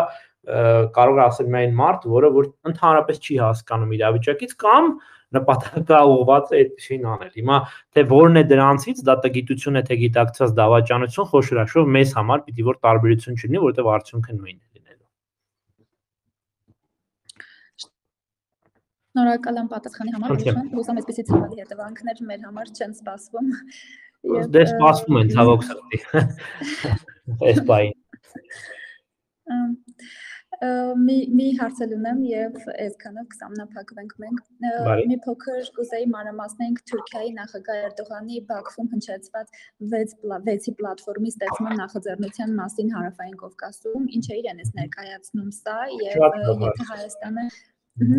Speaker 3: կարող է ասել միայն մարդ, որը որ ընդհանրապես չի հասկանում իրավիճակից կամ նպատակաուղղված է այդպեսին անել։ Հիմա թե որն է դրանցից, դա տգիտություն է, թե գիտակցած դավաճանություն, խոշորաշով մեզ համար պիտի որ տարբերություն չլինի, որովհետև արդյունքը նույնն է լինելու։
Speaker 2: Շնորհակալ եմ պատասխանի համար, հուսամ այսպեսի ցավալի հետևանքներ մեր համար չեն սպասվում։
Speaker 3: Դե սպասվում են ցավոք սրտի։ Այս բային։
Speaker 2: Մի հարցել ունեմ եւ այսքանով կսամնափակվենք մենք։ Մի փոքր կուզեի մանրամասնենք Թուրքիայի նախագահ Էրդողանի Բաքվում հնչեցված 6-ի պլատֆորմի ստեղծման նախաձեռնության մասին Հարավային Կովկասում, ինչ է իրենից ներկայացնում սա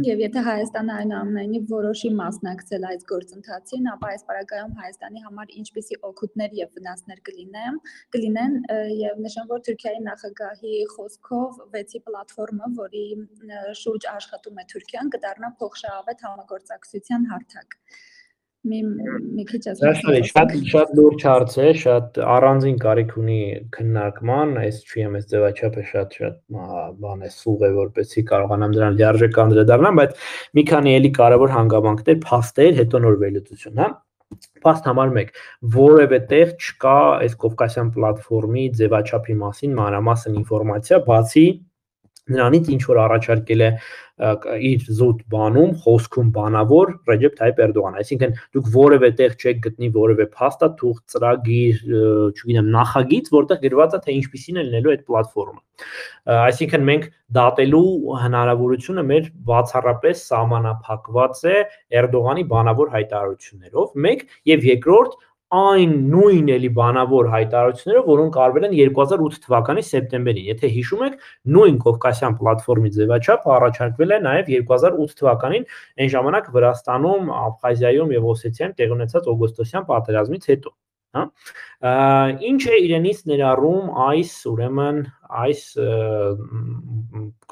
Speaker 2: եւ եթե Հայաստանը այնուամենայնիվ որոշի մասնակցել այս գործընթացին, ապա այս պարագայում Հայաստանի համար ինչպիսի օգուտներ եւ վնասներ կլինեն եւ նշեմ, որ Թուրքիայի նախագահի խոսքով 6-ի պլատֆորմը, որի շուրջ աշխատում է Թուրքիան, կդառնա փոխշահավետ համագործակցության հարթակ։ Մի քիչ
Speaker 3: շատ լուրջ հարց է, շատ առանձին կարիք ունի քննարկման, այս չեմ այս ձևաչափը շատ բան է սուղ է, որպեսզի կարողանամ դրան լիարժեք անդրադառնամ, բայց մի քանի էլի կարևոր հանգամանքներ, փաստեր, հետո նոր վերլուծություն, հա։ Փաստ համար 1, որևէ տեղ չկա այս Կովկասյան պլատֆորմի ձևաչափի մասին մանրամասն ինֆորմացիա, բացի նրանից ինչ որ առաջարկել է իր զուտ բանում, խոսքում բանավոր Ռեջեփ Թայիփ Էրդողանը, այսինքն դուք որևէ տեղ չեք գտնի որևէ փաստաթուղթ, ծրագիր, չգիտեմ, նախագիծ, որտեղ գրված է թե ինչպիսին է լինելու այդ պլատֆորմը։ Այսինքն մենք դատելու հնարավորությունը մեր բացառապես սահմանափակված է Էրդողանի բանավոր հայտարարություններով, 1 եւ երկրորդ այն նույն էլի բանավոր հայտարարությունները, որոնք արվել են 2008 թվականի սեպտեմբերին։ Եթե հիշում եք, նույն Կովկասյան պլատֆորմի ձևաչափը առաջարկվել է նաև 2008 թվականին, այն ժամանակ Վրաստանում, Աբխազիայում եւ Օսեթիայում տեղի ունեցած օգոստոսյան պատերազմից հետո, հա։ Ինչ է իրենից ներառում ուրեմն այս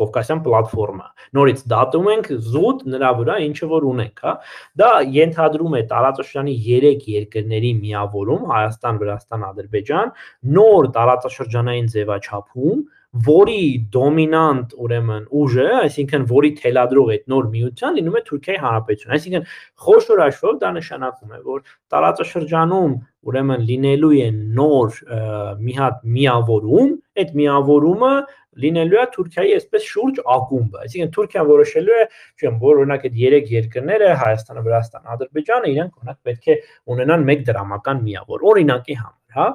Speaker 3: Կովկասյան պլատֆորմը։ Նորից դատում ենք զուտ նրա վրա ինչը որ ունենք, հա։ Դա ենթադրում է տարածաշրջանի 3 երկրների միավորում՝ Հայաստան, Վրաստան, Ադրբեջան, նոր տարածաշրջանային ձևաչափում, որի դոմինանտ ուրեմն ուժը, այսինքն որի թելադրող այդ նոր միության լինում է Թուրքիայի Հանրապետությունը։ Այսինքն խոշոր հաշվով դա նշանակում է, որ տարածաշրջանում ուրեմն լինելու է նոր մի հատ միավորում, այդ միավորումը լինելու է Թուրքիայի այսպես շուրջ ակումբը, այսինքն Թուրքիան որոշելու է, չեմ, որ օրինակ այդ 3 երկրները, Հայաստանը, Վրաստանը, Ադրբեջանը, իրենք օրինակ պետք է ունենան մեկ դրամական միավոր, օրինակի համար, հա,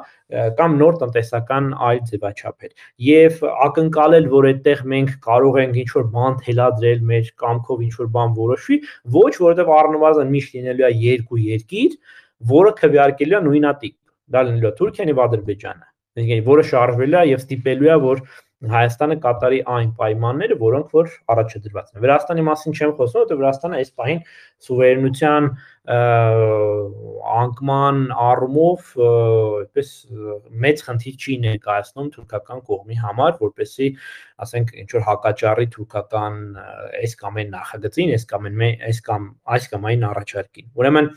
Speaker 3: կամ նոր տնտեսական այլ ձևաչափեր։ Եվ ակնկալել, որ այդտեղ մենք կարող ենք ինչ որ բան թելադրել, մեր կամքով ինչ որ բան որոշվի, ոչ, որովհետև առնվազն միշտ լինելու է 2 երկիր, որը քվեարկելու է նույնատիպ։ Դա լինելու է Թուրքիան եւ Ադրբեջանը, որը շարժվելու է եւ ստիպելու է, որ Հայաստանը կատարի այն պայմանները, որոնք որ առաջադրված են։ Վրաստանի մասին չեմ խոսում, որովհետև Վրաստանը այս պահին սուվերենության անկման առումով այդպես մեծ խնդիր չի ներկայացնում թուրքական կողմի համար, որպեսզի ասենք ինչ որ հակաճառի թուրքական այս կամ այն նախագծին, այս կամ այն առաջարկին։ Ուրեմն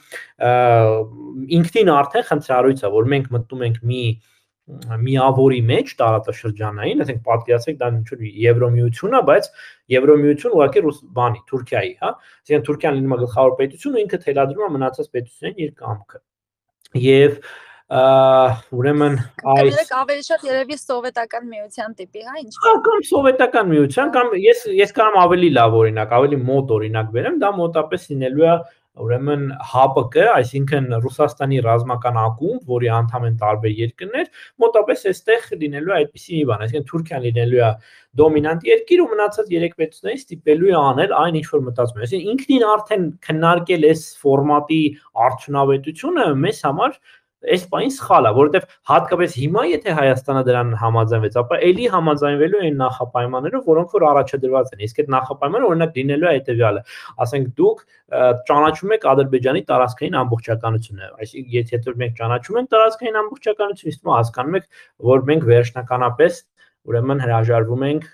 Speaker 3: ինքնին արդեն խնդրառույց է, որ մենք մտնում ենք մի միավորի մեջ տարածաշրջանային, ասենք պատկերացրեք դա ինչ որ Եվրոմիություն է, բայց Եվրոմիություն ուղղակի բանի Թուրքիայի, հա, այսինքն Թուրքիան լինում է գլխավոր պետություն ու ինքը թելադրում է մնացած պետություններին իր կամքը։ Եվ ուրեմն
Speaker 2: այս ավելի շատ երևի սովետական միության տիպի, հա, ինչ։
Speaker 3: Կամ սովետական միության, կամ ես կարամ ավելի լավ օրինակ, ավելի մոտ օրինակ բերեմ, դա մոտապես լինելու է ուրեմն ՀԱՊԿ, այսինքն Ռուսաստանի ռազմական ակումբ, որի անդամ են տարբեր երկրներ, մոտապես այստեղ լինելու է այդպիսի մի բան, այսինքն Թուրքիան լինելու է դոմինանտ երկիր ու մնացած երեք պետություններից ստիպելու է անել այն ինչ որ մտածում է։ Այսինքն ինքնին արդեն քննարկել այս ֆորմատի արդյունավետությունը մեզ համար այս բանին սխալ է, որովհետև հատկապես հիմա եթե Հայաստանը դրան համաձայնվեց, ապա էլի համաձայնվելու են նախապայմաններով, որոնք որ առաջադրված են։ Իսկ այդ նախապայմանը օրինակ լինելու է հետևյալը, ասենք դուք ճանաչում եք Ադրբեջանի տարածքային ամբողջականությունը, այսինքն եթե մենք ճանաչում ենք տարածքային ամբողջականությունը, իսկ հասկանում եք, որ մենք վերջնականապես ուրեմն հրաժարվում ենք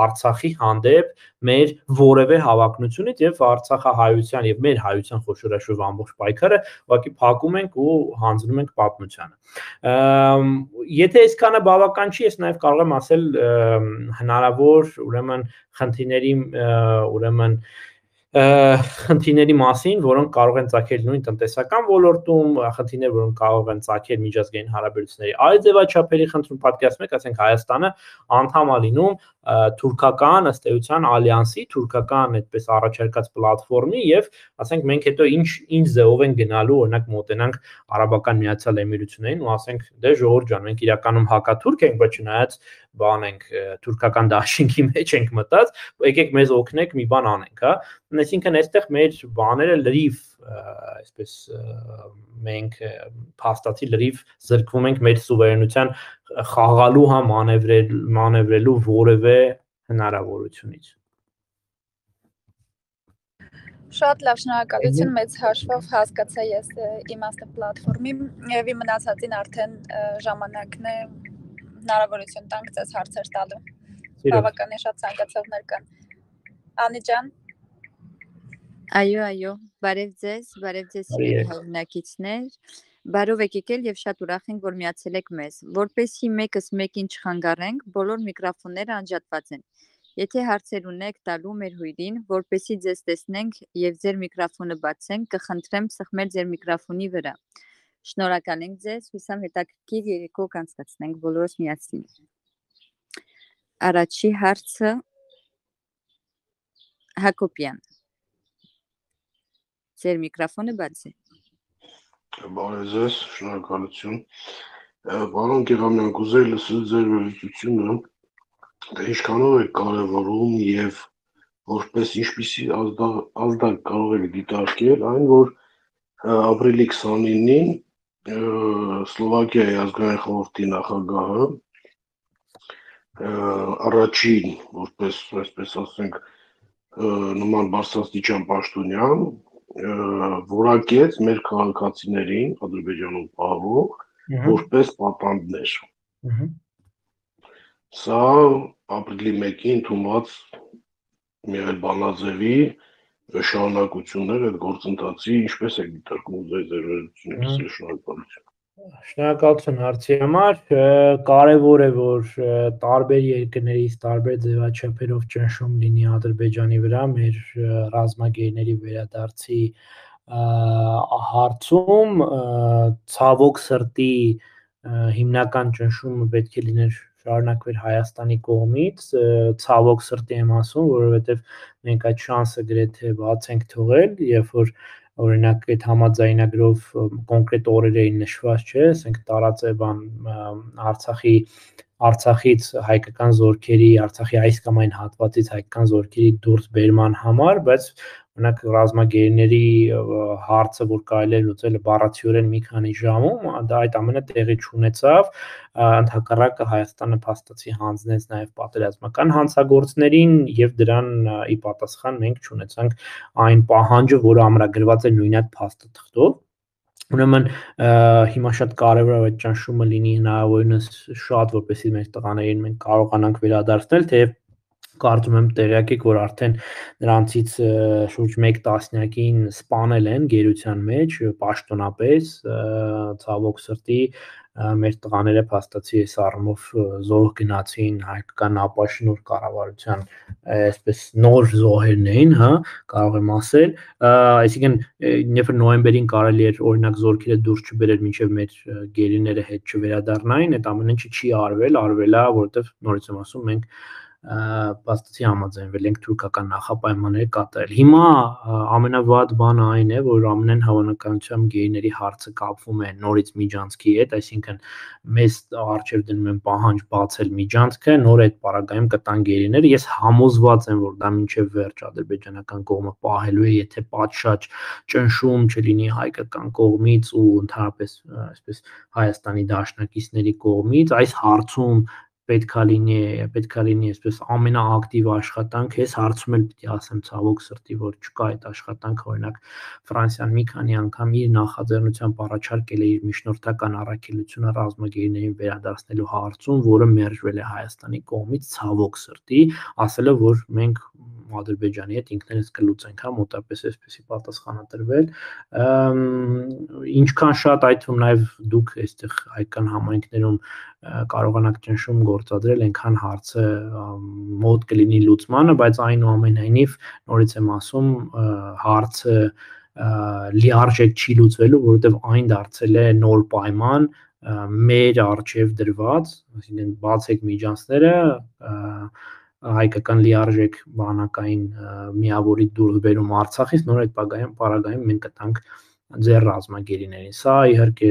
Speaker 3: Արցախի հանդեպ մեր որևէ հավակնությունից եւ Արցախահայության եւ մեր հայության խոշորաշով ամբողջ պայքարը ուղղակի փակում ենք ու հանձնում ենք պատմությանը։ Եթե այսքանը բավական չի, ես նաեւ կարող եմ ասել հնարավոր ուրեմն խնդիրների մասին, որոնք կարող են ծագել նույն տնտեսական ոլորտում, խնդիրներ, որոնք կարող են ծագել միջազգային հարաբերությունների այլ ձևաչափերի խնդրում, պատկերացնում եք, ասենք Հայաստանը անդամ է լինում թուրքական ըստ էության ալյանսի, թուրքական այդպես առաջարկած պլատֆորմի եւ ասենք մենք հետո ինչ ձևով են գնալու, օրինակ մոտենանք Արաբական Միացյալ Էմիրություններին ու ասենք դե ժողովուրդ ջան, մենք իրականում հակաթուրք ենք, բայց չնայած բան ենք թուրքական դաշինքի մեջ ենք մտած, եկեք մեզ օգնեք մի բան անենք, հա։ Այսինքն այստեղ մեր բաները լրիվ այսպես մենք փաստացի լրիվ զրկվում ենք մեր սուվերենության խաղալու հա մանևրելու որևէ հնարավորությունից։
Speaker 2: Շատ լավ, շնորհակալություն, մեծ հաշվով հասկացա ես իմաստը պլատֆորմի եւ մնացածին արդեն ժամանակն է հնարավորություն տանք ձեզ հարցեր տալու։ Բավականին շատ ցանկացողներ կան։ Անի ջան։
Speaker 5: Այո, բարև ձեզ հայրենակիցներ, բարով եք եկել եւ շատ ուրախ ենք, որ միացել եք մեզ։ Որպեսզի մեկս մեկին չխանգարենք, բոլոր միկրոֆոնները անջատված են։ Եթե հարցեր ունեք տալու մեր հյուրին, որպեսզի ձեզ տեսնենք եւ ձեր միկրոֆոնը բացենք, կխնդրեմ սխմել ձեր միկրոֆոնի վրա։ Շնորհակալ ենք ձեզ, հուսամ հետաքրքիր երեկո կանցկացնենք բոլորս միասին։ Առաջի հարցը Հակոբյան։ Ձեր միկրոֆոնը բաց է։
Speaker 6: Բարև ձեզ, շնորհակալություն։ Պարոն Գեղամյան, կուզեի լսել ձեր վերլուծությունը, թե ինչքանով է կարևորում եւ որպես ինչպիսի ազդակ կարող եք դիտարկել այն, որ ապրիլի 29-ին Սլովակիայի ազգային խորհրդի նախագահը առաջին, որպես այսպես ասենք, նման բարձրաստիճան պաշտոնյան որակեց մեր քաղաքացիներին Ադրբեջանում պահվող որպես պատանդներ։ Սա ապրիլի 1-ին ընդունված Միղել Բանաձևի շարունակություններ այդ գործընթացի ինչպես է դիտարկում ձեր վերլուծությունից, շնորհակալություն։
Speaker 3: Շնորհակալություն հարցի համար, կարևոր է, որ տարբեր երկրներից տարբեր ձևաչափերով ճնշում լինի Ադրբեջանի վրա մեր ռազմագերիների վերադարձի հարցում, ցավոք սրտի հիմնական ճնշումը պետք է լիներ շարունակվեր Հայաստանի կողմից, ցավոք սրտի եմ ասում, որովհետև մենք այդ շանսը գրեթե բաց ենք թողել, երբ որ օրինակ այդ համաձայնագրով կոնկրետ օրեր էին նշված, չէ, ասենք տարածե բան Արցախից հայկական զորքերի, Արցախի այս կամ այն հատվածից հայկական զորքերի դուրս բերման համար, բայց Օրինակ ռազմագերիների հարցը, որ կարելի է լուծել բառացիորեն մի քանի ժամում, դա այդ ամենը տեղի չունեցավ, ընդհակառակը Հայաստանը փաստացի հանձնեց նաև պատերազմական հանցագործներին եւ դրան ի պատասխան մենք չունեցանք այն պահանջը, որը ամրագրված է նույն այդ փաստաթղթով։ Ուրեմն հիմա շատ կարևոր է այդ ճնշումը լինի հնարավորինս շատ, որպեսզի մեր տղաներին մենք կարողանանք վերադարձնել, թեև կարծում եմ տեղյակ եք, որ արդեն նրանցից շուրջ 1 տասնյակին սպանել են գերության մեջ պաշտոնապես, ցավոք սրտի մեր տղաները փաստացի այս առումով զոհ գնացին հայկական ապաշնոր կառավարության այսպես նոր զոհերն էին, հա, կարող եմ ասել, այսինքն երբ նոյեմբերին կարելի էր օրինակ զորքերը դուրս չբերել մինչև մեր գերիները հետ չվերադառնային, այդ ամեն ինչը չի արվել է, որովհետև նորից եմ ասում, մենք փաստացի համաձայնվել ենք թուրքական նախապայմանները կատարել։ Հիմա ամենավատ բանը այն է, որ ամենայն հավանականությամբ գերիների հարցը կապվում է նորից միջանցքի հետ, այսինքն մեզ առջև դնում են պահանջ բացել միջանցքը, նոր այդ պարագայում կտան գերիները։ Ես համոզված եմ, որ դա մինչև վերջ ադրբեջանական կողմը պահելու է, եթե պատշաճ ճնշում չլինի հայկական կողմից ու ընդհանրապես այսպես Հայաստանի դաշնակիցների կողմից, այս հարցում պետքա լինի այսպես ամենաակտիվ աշխատանք, այս հարցում էլ պիտի ասեմ ցավոք սրտի, որ չկա այդ աշխատանքը, օրինակ Ֆրանսիան մի քանի անգամ իր նախաձեռնությամբ առաջարկել է իր միջնորդական առաքելությունը ռազմագերիներին վերադարձնելու հարցում, որը մերժվել է Հայաստանի կողմից ցավոք սրտի, ասել է, որ մենք Ադրբեջանի հետ ինքներս կլուծենք, հա, մոտապես այսպեսի պատասխան է տրվել, ինչքան շատ այդ թվում նաև դուք այստեղ հայկական համայնքներում կարողանաք ճնշում գործադրել, այնքան հարցը մոտ կլինի լուծմանը, բայց այնուամենայնիվ նորից եմ ասում, հարցը լիարժեք չի լուծվելու, որովհետև այն դարձել է նոր պայման մեր առջև դրված, այսինքն բացեք միջանցքները, հայկական լիարժեք բանակային միավորի դուրս բերում Արցախից, նոր այդ պարագայում մենք կտանք ձեր ռազմագերիներին։ Սա իհարկե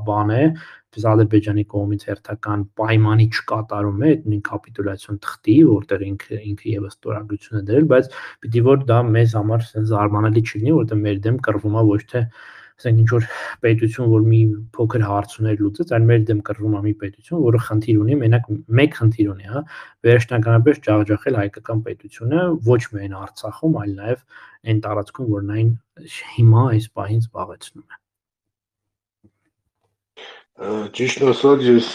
Speaker 3: բան է, biz Ադրբեջանի կողմից հերթական պայմանի չկատարում է, այդ նույն կապիտուլյացիոն թղթի, որտեղ ինքը եւս ստորագրություն է դրել, բայց պիտի որ դա մեզ համար զարմանալի չլինի, որտեղ մեր դեմ կռվում է ոչ թե ասենք ինչ որ պետություն, որ մի փոքր հարցուներ լուծեց, այլ մեր դեմ կռվում է մի պետություն, որը խնդիր ունի, մենակ մեկ խնդիր ունի, հա, վերջնականապես ջախջախել հայկական պետությունը ոչ միայն Արցախում, այլ նաև այն տարածքում, որն այն հիմա այս պահին զբաղեցնում է։
Speaker 6: Ճիշտ ասած, ես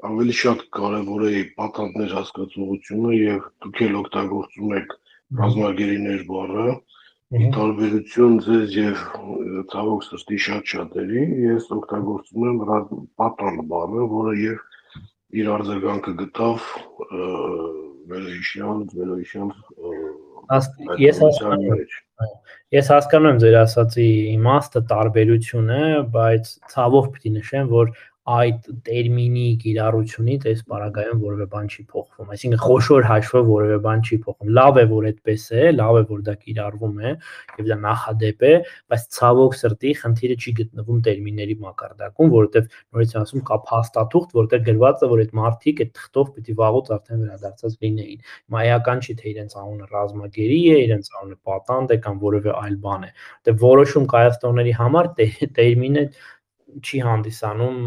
Speaker 6: ավելի շատ կարևոր է պատանդներ հասկացողությունը եւ դուք էլ օգտագործում եք ռազմագերիներ բառը, ի տարբերություն ձեզ եւ ցավոք սրտի շատերի, ես օգտագործում եմ պատանդ բառը, որը եւ իր արձագանքը գտավ վերոհիշյալ
Speaker 3: Ես հասկանում եմ ձեր ասացի իմաստը, տարբերությունը, բայց ցավով պիտի նշեմ, որ այդ տերմինի կիրառությունից այս պարագայում որևէ բան չի փոխվում, այսինքն խոշոր հաշվով որևէ բան չի փոխվում։ Լավ է, որ այդպես է, լավ է, որ դա կիրառվում է եւ դա նախադեպ է, բայց ցավոք սրտի խնդիրը չի գտնվում տերմինների մակարդակում, որովհետեւ նորից ասում կա փաստաթուղթ, որտեղ գրված է, որ այդ մարդիկ այդ թղթով պիտի վաղուց արդեն վերադարձած լինեին։ Մայական չի թե իրենց անունը ռազմագերի է, իրենց անունը պատանդ է կամ որևէ այլ բան է։ Դե որոշում կայացնողների համար տերմինը չի հանդիսանում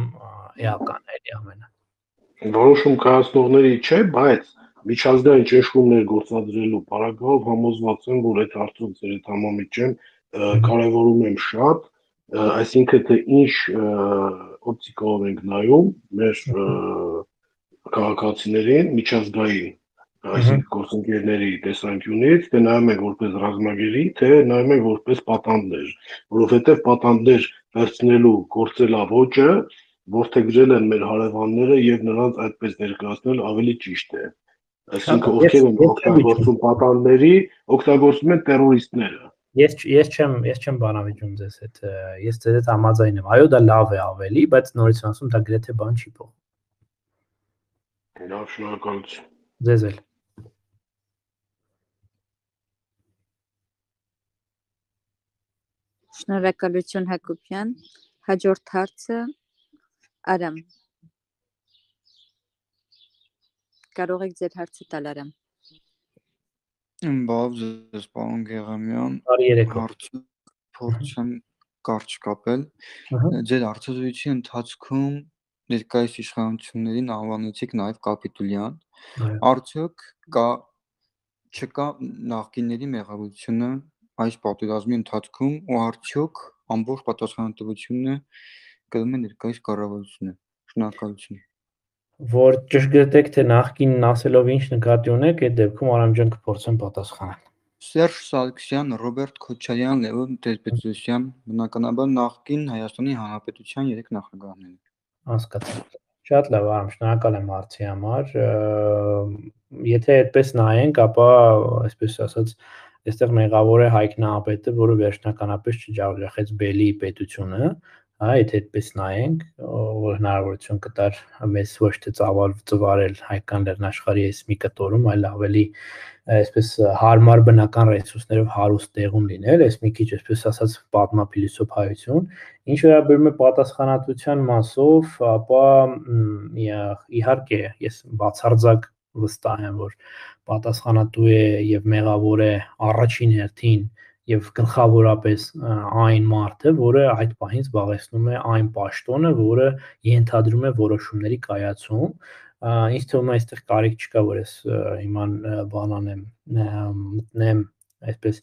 Speaker 3: էական էլի ամենը։
Speaker 6: Որոշում կայացնողների չէ, բայց միջազգային ճնշումներ գործադրելու պարագայով համոզված եմ, որ այդ հարցով ձեր հետ համամիջ եմ, կարևորում եմ շատ, այսինքն թե ինչ օպտիկով ենք նայում մեր քաղաքացիներին միջազգային, այսինքն գործընկերների տեսանկյունից, թե նայում ենք որպես ռազմագերի, թե նայում ենք որպես պատանդներ, որովհետև պատանդներ վերցնելու գործելավոճը որդեգրել են մեր հարևանները եւ նրանց այդպես ներկայացնել ավելի ճիշտ է։ Այսինքն ովքեր են օգտագործում պատանդների, օգտագործում են տերորիստները։
Speaker 3: Ես չեմ բանավիճում ձեզ հետ, ես ձեզ հետ համաձայն եմ։ Այո, դա լավ է ավելի, բայց նորից ասում, դա գրեթե բան չի փոխում։
Speaker 6: Լավ, շնորհակալություն։
Speaker 3: Ձեզ էլ։
Speaker 5: Շնորհակալություն Հակոբյան, հաջորդ հարցը Արամ։ Կարող եք ձեր հարցը տալ Արամ։
Speaker 7: Բավ ձեզ, պարոն Գեղամյան,
Speaker 3: Բարի երեկո։
Speaker 7: հարցը փորձեմ կարճ կապել։
Speaker 3: Ահա։
Speaker 7: Ձեր հարցազրույցի ընթացքում ներկայիս իշխանություններին անվանեցիք նաև կապիտուլյան։
Speaker 3: Այո։
Speaker 7: Արդյոք չկա նախկինների մեղավորությունը այս պատերազմի ընթացքում ու արդյոք ամբողջ պատասխանատվությունը կրում է ներկայիս կառավարությունը։ Շնորհակալություն։
Speaker 3: Որ ճշգրտեք թե նախկինն ասելով ինչ նկատի ունեք, այդ դեպքում Արամ ջան կփորձեմ պատասխանել։
Speaker 7: Սերժ Սարգսյան, Ռոբերտ Քոչարյան, Լևոն Տեր-Պետրոսյան, բնականաբար նախկին Հայաստանի Հանրապետության 3 նախագահներ։
Speaker 3: Հասկացա։ Շատ լավ, Արամ, շնորհակալ եմ հարցի համար։ Եթե այդպես նայենք, ապա այսպես ասած, այստեղ մեղավոր է Հայկ Նահապետը, որը վերջնականապես չջախջախեց Բելի պետությունը, հա, եթե այդպես նայենք, որ հնարավորություն կտար մեզ ոչ թե ծավալել հայկական լեռնաշխարհի այս մի կտորում, այլ ավելի այսպես հարմար բնական ռեսուրսներով հարուստ տեղում լինել, այս մի քիչ այսպես ասած պատմափիլիսոփայություն, ինչ վերաբերում է պատասխանատվության մասով, ապա իհարկե ես բացարձակ վստահ եմ, որ պատասխանատու է եւ մեղավոր է առաջին հերթին եւ գլխավորապես այն մարդը, որը այդ պահին զբաղեցնում է այն պաշտոնը, որը ենթադրում է որոշումների կայացում։ Ինձ թվում է այստեղ կարիք չկա, որ ես հիմա բան անեմ, մտնեմ այսպես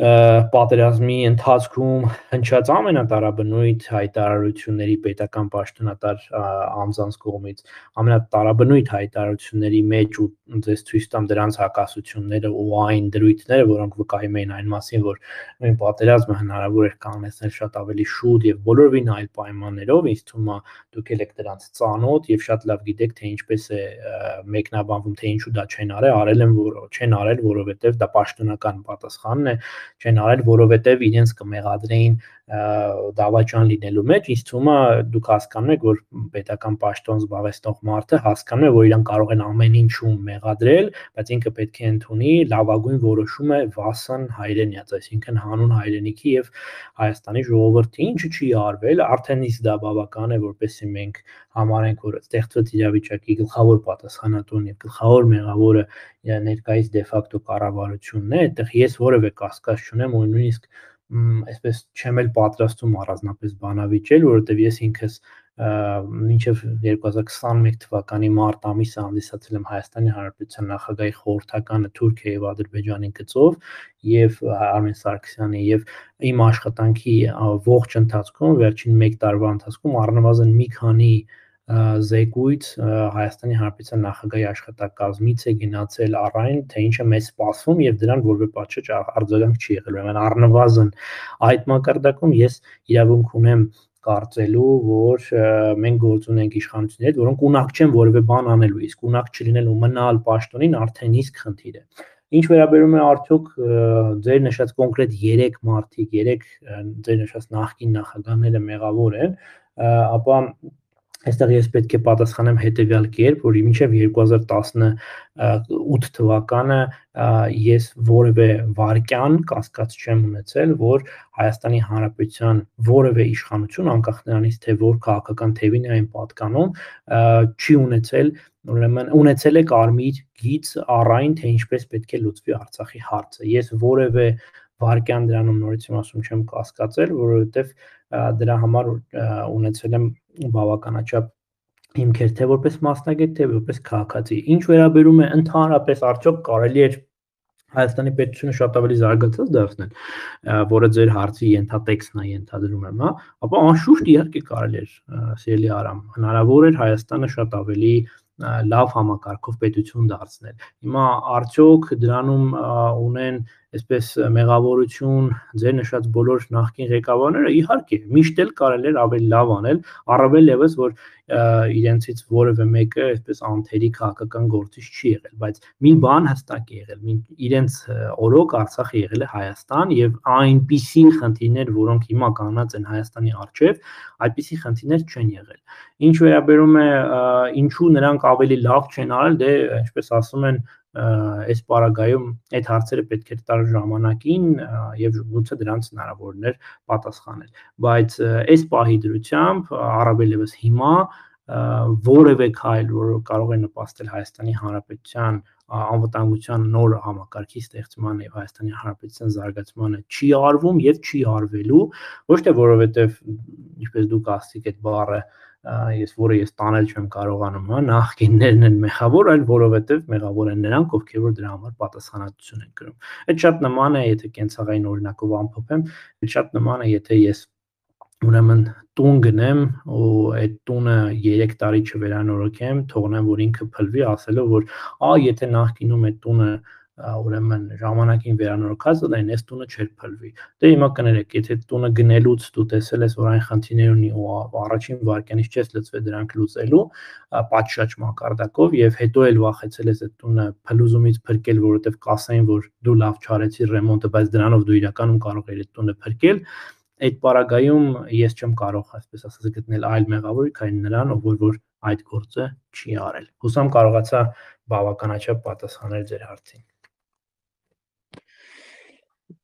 Speaker 3: պատերազմի ընթացքում հնչած ամենատարաբնույթ հայտարարությունների պետական պաշտոնատար անձանց կողմից ամենատարաբնույթ հայտարարությունների մեջ ու ձեզ ցույց տամ դրանց հակասությունները ու այն դրույթները, որոնք վկայում էին այն մասին, որ նույն պատերազմը հնարավոր էր կանգնեցնել շատ ավելի շուտ եւ բոլորովին այլ պայմաններով, ինձ թվում է դուք եք դրանց ծանոթ եւ շատ լավ գիտեք, թե ինչպես է մեկնաբանվում, թե ինչու դա չեն արել, որովհետեւ դա պաշտոնական պատասխանն է, չեն արել, որովհետեւ իրենց կմեղադրեին դավաճան լինելու մեջ, ինձ թվում է դուք հասկանում եք, որ պետական պաշտոն զբաղեցնող մարդը հասկանում է, որ իրեն կարող են ամեն ինչում մեղադրել, բայց ինքը պետք է ընդունի լավագույն որոշումը վասն հայրենիաց, այսինքն հանուն հայրենիքի եւ Հայաստանի ժողովրդի, ինչը չի արվել, արդեն իսկ դա բավական է, որպեսզի մենք համարենք, որ ստեղծված իրավիճակի գլխավոր պատասխանատուն եւ գլխավոր մեղավորը ներկայիս դեֆակտո կառավարությունն է, այդտեղ ես որևէ կասկած չունեմ ու նույնիսկ այսպես չեմ էլ պատրաստում առանձնապես բանավիճել, որովհետև ես ինքս մինչև 2021 թվականի մարտ ամիսը հանդիսացել եմ Հայաստանի Հանրապետության նախագահի խորհրդականը Թուրքիայի եւ Ադրբեջանի գծով եւ Արմեն Սարգսյանի եւ իմ աշխատանքի ողջ ընթացքում վերջին 1 տարվա ընթացքում առնվազն մի քանի զեկույց Հայաստանի Հանրապետության նախագահի աշխատակազմից է գնացել առայն, թե ինչ է մեզ սպասվում եւ դրան որևէ պատշաճ արձագանք չի եղել։ Ուրեմն առնվազն այդ մակարդակում ես իրավունք ունեմ կարծելու, որ մենք գործ ունենք իշխանությունների հետ, որոնք ունակ չեն որևէ բան անելու, իսկ ունակ չլինելու մնալ պաշտոնին արդեն իսկ խնդիր է։ Ինչ վերաբերում է արդյոք ձեր նշած կոնկրետ 3 մարդիկ, 3 ձեր նշած նախկին նախագահները մեղավոր են, ապա այստեղ ես պետք է պատասխանեմ հետևյալ կերպ, որ մինչև 2018 թվականը ես որևէ վարկյան կասկած չեմ ունեցել, որ Հայաստանի Հանրապետության որևէ իշխանություն, անկախ նրանից, թե որ քաղաքական թևին է այն պատկանում, չի ունեցել, ուրեմն ունեցել է կարմիր գիծ առայն, թե ինչպես պետք է լուծվի Արցախի հարցը։ Ես որևէ վարկյան դրանում նորից եմ ասում չեմ կասկածել, որովհետև դրա համար ունեցել եմ բավականաչափ հիմքեր թե որպես մասնագետ, թե որպես քաղաքացի։ Ինչ վերաբերում է ընդհանրապես արդյոք կարելի է Հայաստանի պետությունը շատ ավելի զարգացած դարձնել, որը ձեր հարցի ենթատեքստն է, ենթադրում եմ, հա, ապա անշուշտ իհարկե կարելի էր, սիրելի Արամ, հնարավոր էր Հայաստանը շատ ավելի լավ համակարգով պետություն դարձնել։ Հիմա արդյոք դրանում ունեն այսպես մեղավորություն ձեր նշած բոլոր նախկին ղեկավարները, իհարկե, միշտ էլ կարելի էր ավելի լավ անել, առավել եւս որ իրենցից որևէ մեկը այսպես անթերի քաղաքական գործիչ չի եղել, բայց մի բան հստակ է եղել, իրենց օրոք Արցախը եղել է Հայաստան եւ այնպիսի խնդիրներ, որոնք հիմա կանած են Հայաստանի առջեւ, այդպիսի խնդիրներ չեն եղել։ Ինչ վերաբերում է ինչու նրանք ավելի լավ չեն արել, դե ինչպես ասում են այս պարագայում այդ հարցերը պետք է տար ժամանակին եւ գուցե դրանց հնարավորներ պատասխանել, բայց այս պահի դրությամբ առավել եւս հիմա որևէ քայլ, որը կարող է նպաստել Հայաստանի Հանրապետության անվտանգության նոր համակարգի ստեղծմանը եւ Հայաստանի Հանրապետության զարգացմանը չի արվում եւ չի արվելու, ոչ թե որովհետեւ ինչպես դուք ասացիք այդ բառը ես տանել չեմ կարողանում, հա, նախկիններն են մեղավոր, այլ որովհետև մեղավոր են նրանք, ովքեր որ դրա համար պատասխանատվություն են կրում։ Այդ շատ նման է, եթե կենցաղային օրինակով ամփոփեմ, շատ նման է, եթե ես ուրեմն տուն գնեմ ու այդ տունը 3 տարի չվերանորոգեմ, թողնեմ, որ ինքը փլվի, ասելով, որ եթե նախկինում այդ տունը ուրեմն ժամանակին վերանորոգած դեն այս տունը չէր փլվի։ Դե հիմա կներեք, եթե տունը գնելուց դու տեսել ես, որ այն խնդիրներ ունի ու առաջին վարքյանից չես լծվել դրանք լուծելու, պատշաճ մակարդակով եւ հետո էլ վախեցել ես այդ տունը փլուզումից փրկել, որովհետեւ կասային, որ դու լավ չարեցիր ռեմոնտը, բայց դրանով դու իրականում կարող ես այդ տունը փրկել, այդ պարագայում ես չեմ կարող, այսպես ասած, գտնել այլ մեղավոր, քան նրան, ով որ այդ գործը չի արել։ Հուսամ կարողացա բավականաչափ պատասխանել ձեր հարցին։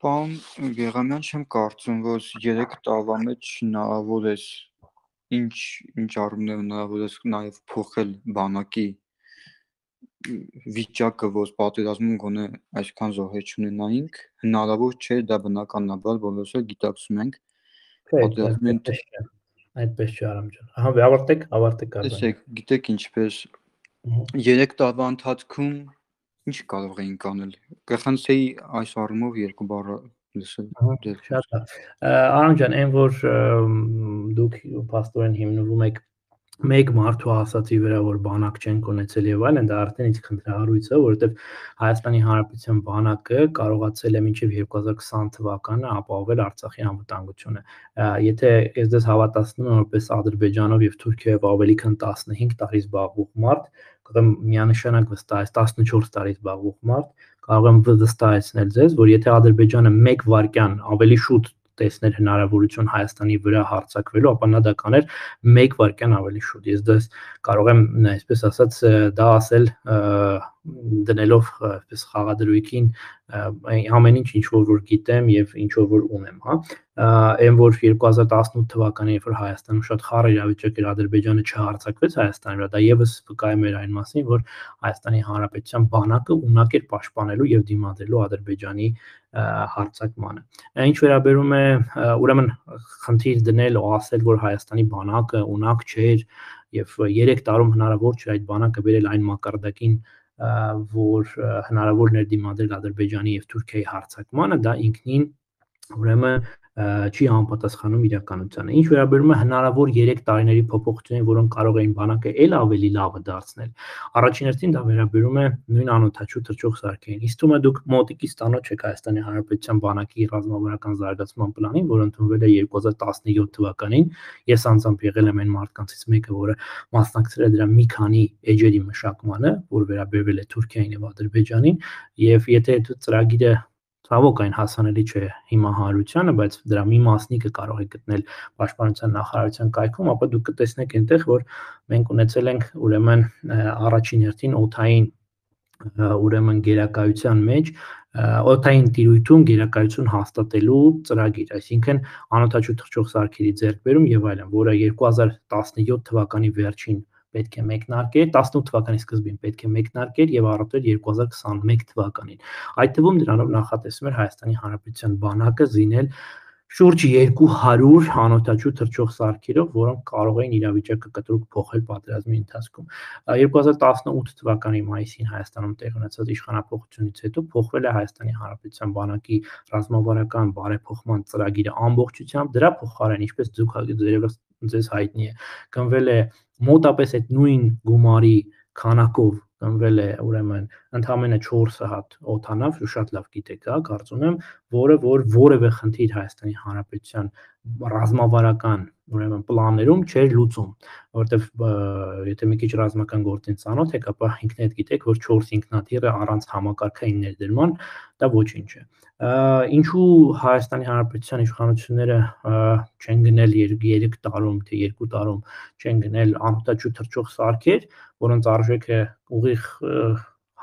Speaker 7: Պարոն Գեղամյան, չեմ կարծում, որ 3 տարվա մեջ հնարավոր է ինչ առումներով հնարավոր է նաև փոխել բանակի վիճակը, որ պատերազմում գոնե այսքան զոհեր չունենայինք, հնարավոր չէ, դա բնականաբար բոլորս էլ գիտակցում ենք։
Speaker 3: Այդպես չէ, Արամ ջան։ Ահա, ավարտեք արդ։
Speaker 7: Տեսեք, գիտեք ինչպես 3 տարվա ընթացքում ինչ կարող էինք անել։ Կխնդրեի այս առումով 2 բառ լսել։
Speaker 3: Շատ լավ։ Արամ ջան, այն որ դուք փաստորեն հիմնվում եք մեկ մարդու ասացի վրա, որ բանակ չեն կոնեցել եւ այլն, դա արդեն ինձ խնդրահարույց է, որովհետեւ Հայաստանի Հանրապետության բանակը կարողացել է մինչեւ 2020 թվականը ապահովել Արցախի անվտանգությունը։ Եթե ես դες հավատացնում եմ, որպես Ադրբեջանով եւ Թուրքիայով ավելի քան 15 տարի զբաղվող մարդ, կարող եմ միանշանակ վստահել 14 տարի զբաղվող մարդ, կարող եմ վստահեցնել ձեզ, որ եթե Ադրբեջանը 1 վայրկյան ավելի շուտ տեսներ հնարավորություն Հայաստանի վրա հարձակվելու, ապա նա դա կաներ 1 վայրկյան ավելի շուտ։ Ես դες կարող եմ, այսպես ասած, դա ասել դնելով այսպես խաղադրույքին ամեն ինչ որ գիտեմ եւ ինչ որ ունեմ, հա։ Այն որ 2018 թվականին, երբ որ Հայաստանում շատ խառը իրավիճակ էր, Ադրբեջանը չհարձակվեց Հայաստանի վրա, դա եւս վկայում էր այն մասին, որ Հայաստանի Հանրապետության բանակը ունակ էր պաշտպանելու եւ դիմադրելու Ադրբեջանի հարձակմանը։ Ինչ վերաբերում է ուրեմն խնդիր դնել ու ասել, որ Հայաստանի բանակը ունակ չէր եւ 3 տարում հնարավոր չէ այդ բանակը բերել այն մակարդակին, որ հնարավոր էր դիմադրել Ադրբեջանի եւ Թուրքիայի հարձակմանը, դա ինքնին ուրեմն չի համապատասխանում իրականությանը։ Ինչ վերաբերում է հնարավոր 3 տարիների փոփոխություններին, որոնք կարող էին բանակը ել ավելի լավը դարձնել, առաջին հերթին դա վերաբերում է նույն անօդաչու թռչող սարքերին։ Իսկ թվում է դուք մոտիկից տանոթ չեք Հայաստանի Հանրապետության բանակի ռազմավարական զարգացման պլանին, որը ընդունվել է 2017 թվականին։ Ես անձամբ եղել եմ այն մարդկանցից մեկը, որը մասնակցել է դրա մի քանի էջերի մշակմանը, որ վերաբերվել է Թուրքիային եւ Ադրբեջանին, եւ եթե այդ ծրագիրը ցավոք այն հասանելի չէ հիմա հանրությանը, բայց դրա մի մասնիկը կարող է գտնել Պաշտպանության նախարարության կայքում, ապա դուք կտեսնեք այնտեղ, որ մենք ունեցել ենք ուրեմն առաջին հերթին օդային ուրեմն գերակայության մեջ օդային տիրույթում գերակայություն հաստատելու ծրագիր, այսինքն անօդաչու թռչող սարքերի ձեռքբերում եւ այլն, որը 2017 թվականի վերջին պետք է մեկնարկեր, 18 թվականի սկզբին պետք է մեկնարկեր եւ առատել 2021 թվականին։ Այդ թվում դրանով նախատեսվում էր Հայաստանի Հանրապետության բանակը զինել շուրջ 200 անօդաչու թռչող սարքերով, որոնք կարող էին իրավիճակը կտրուկ փոխել պատերազմի ընթացքում։ 2018 թվականի մայիսին Հայաստանում տեղի ունեցած իշխանապողությունից հետո փոխվել է Հայաստանի Հանրապետության բանակի ռազմավարական բարեփոխման ծրագիրը ամբողջությամբ, դրա փոխարեն, ինչպես ձեզ հայտնի է, գնվել է մոտապես այդ նույն գումարի քանակով գնվել է ուրեմն ընդամենը 4 հատ օդանավ, շատ լավ գիտեք, հա, կարծում եմ, որը որևէ խնդիր Հայաստանի Հանրապետության ռազմավարական ուրեմն պլաններում չէր լուծում, որովհետև եթե մի քիչ ռազմական գործին ծանոթ եք, ապա ինքներդ գիտեք, որ 4 ինքնաթիռը առանց համակարգային ներդրման դա ոչինչ է։ Ինչու Հայաստանի Հանրապետության իշխանությունները չեն գնել 3 տարում, թե 2 տարում չեն գնել անօդաչու թռչող սարքեր, որոնց արժեքը ուղիղ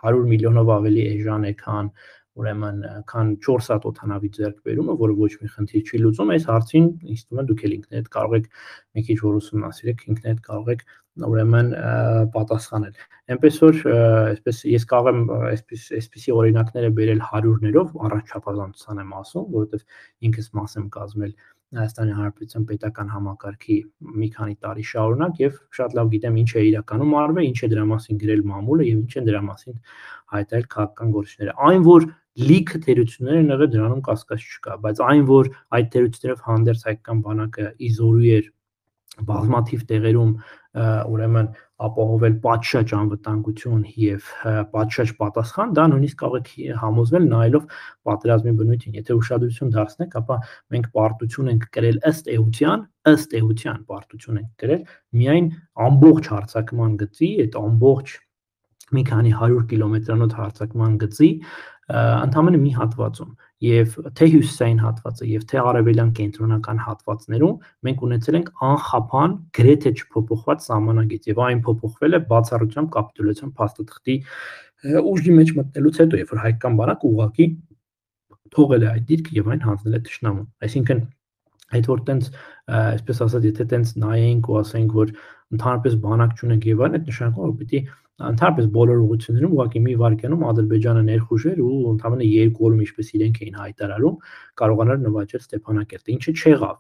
Speaker 3: 100 միլիոնով ավելի էժան է, քան ուրեմն քան 4 հատ օդանավի ձեռք բերումը, որը ոչ մի խնդիր չի լուծում, այս հարցին ինձ թվում է դուք էլ ինքներդ կարող եք մի քիչ որ ուսումնասիրեք, ինքներդ կարող եք ուրեմն պատասխանել։ Այնպես որ այսպես ես կարող եմ այսպիսի օրինակները բերել հարյուրներով, առանց չափազանցության եմ ասում, որովհետև ինքս մաս եմ կազմել Հայաստանի Հանրապետության պետական համակարգի մի քանի տարի շարունակ եւ շատ լավ գիտեմ ինչ է իրականում արվել, ինչ է դրա մասին գրել մամուլը եւ ինչ են դրա մասին հայտարարել քաղաքական գործիչները։ Այն որ լիքը թերություններ են եղել դրանում կասկած չկա, բայց այն որ այդ թերություններով հանդերձ հայկական բանակը իզորու էր բազմաթիվ տեղերում ուրեմն ապահովել պատշաճ անվտանգություն եւ պատշաճ պատասխան, դա նույնիսկ կարող է համոզվել նայելով պատերազմի բնույթին։ Եթե ուշադրություն դարձնեք, ապա մենք պարտություն ենք կրել ըստ էության պարտություն ենք կրել միայն ամբողջ հարձակման գծի, այդ ամբողջ մի քանի 100 կիլոմետրանոց հարձակման գծի ընդամենը մի հատվածում եւ թե հյուսիսային հատվածը եւ թե արևելյան կենտրոնական հատվածներում մենք ունեցել ենք անխափան գրեթե չփոփոխված սահմանագիծ եւ այն փոփոխվել է բացառությամբ կապիտուլյացիոն փաստաթղթի ուժի մեջ մտնելուց հետո, երբ որ հայկական բանակը ուղղակի թողել է այդ դիրքը եւ այն հանձնել է թշնամուն։ Այսինքն այդ որ տենց այսպես ասած, եթե տենց նայենք ու ասենք, որ ընդհանրապես բանակ չունենք եւ այլն, այդ նշանակում որ պիտի ընդհանրապես բոլոր ուղղություններում ուղղակի մի վայրկյանում Ադրբեջանը ներխուժեր ու ընդհանրապես երկու օրում ինչպես իրենք էին հայտարարում կարողանար նվաճել Ստեփանակերտը, ինչը չեղավ։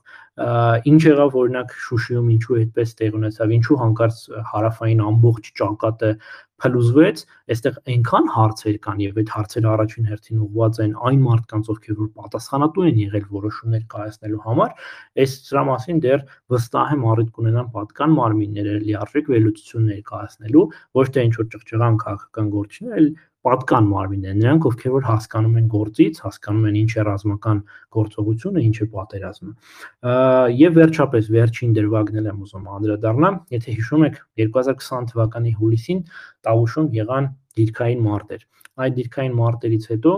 Speaker 3: Ինչ եղավ օրինակ Շուշիում, ինչու այդպես տեղ ունեցավ, ինչու հանկարծ հարավային ամբողջ ճակատը փլուզվեց, այստեղ այնքան հարցեր կան եւ այդ հարցերը առաջին հերթին ուղղված են այն մարդկանց, ովքեր որ պատասխանատու են եղել որոշումներ կայացնելու համար, այս սրա մասին դեռ վստահ եմ առիթ կունենան պատկան մարմինները լիարժեք վերլուծություններ կայացնելու, ոչ թե ինչ որ ճղճղան քաղաքական գործիչներ, այլ պատկան մարմիններ, նրանք ովքեր որ հասկանում են գործից, հասկանում են ինչ է ռազմական գործողությունը, ինչ է պատերազմը։ Եվ վերջապես վերջին դրվագն եմ ուզում անդրադառնամ, եթե հիշում եք 2020 թվականի հուլիսին Տավուշում եղան դիրքային մարտեր։ Այդ դիրքային մարտերից հետո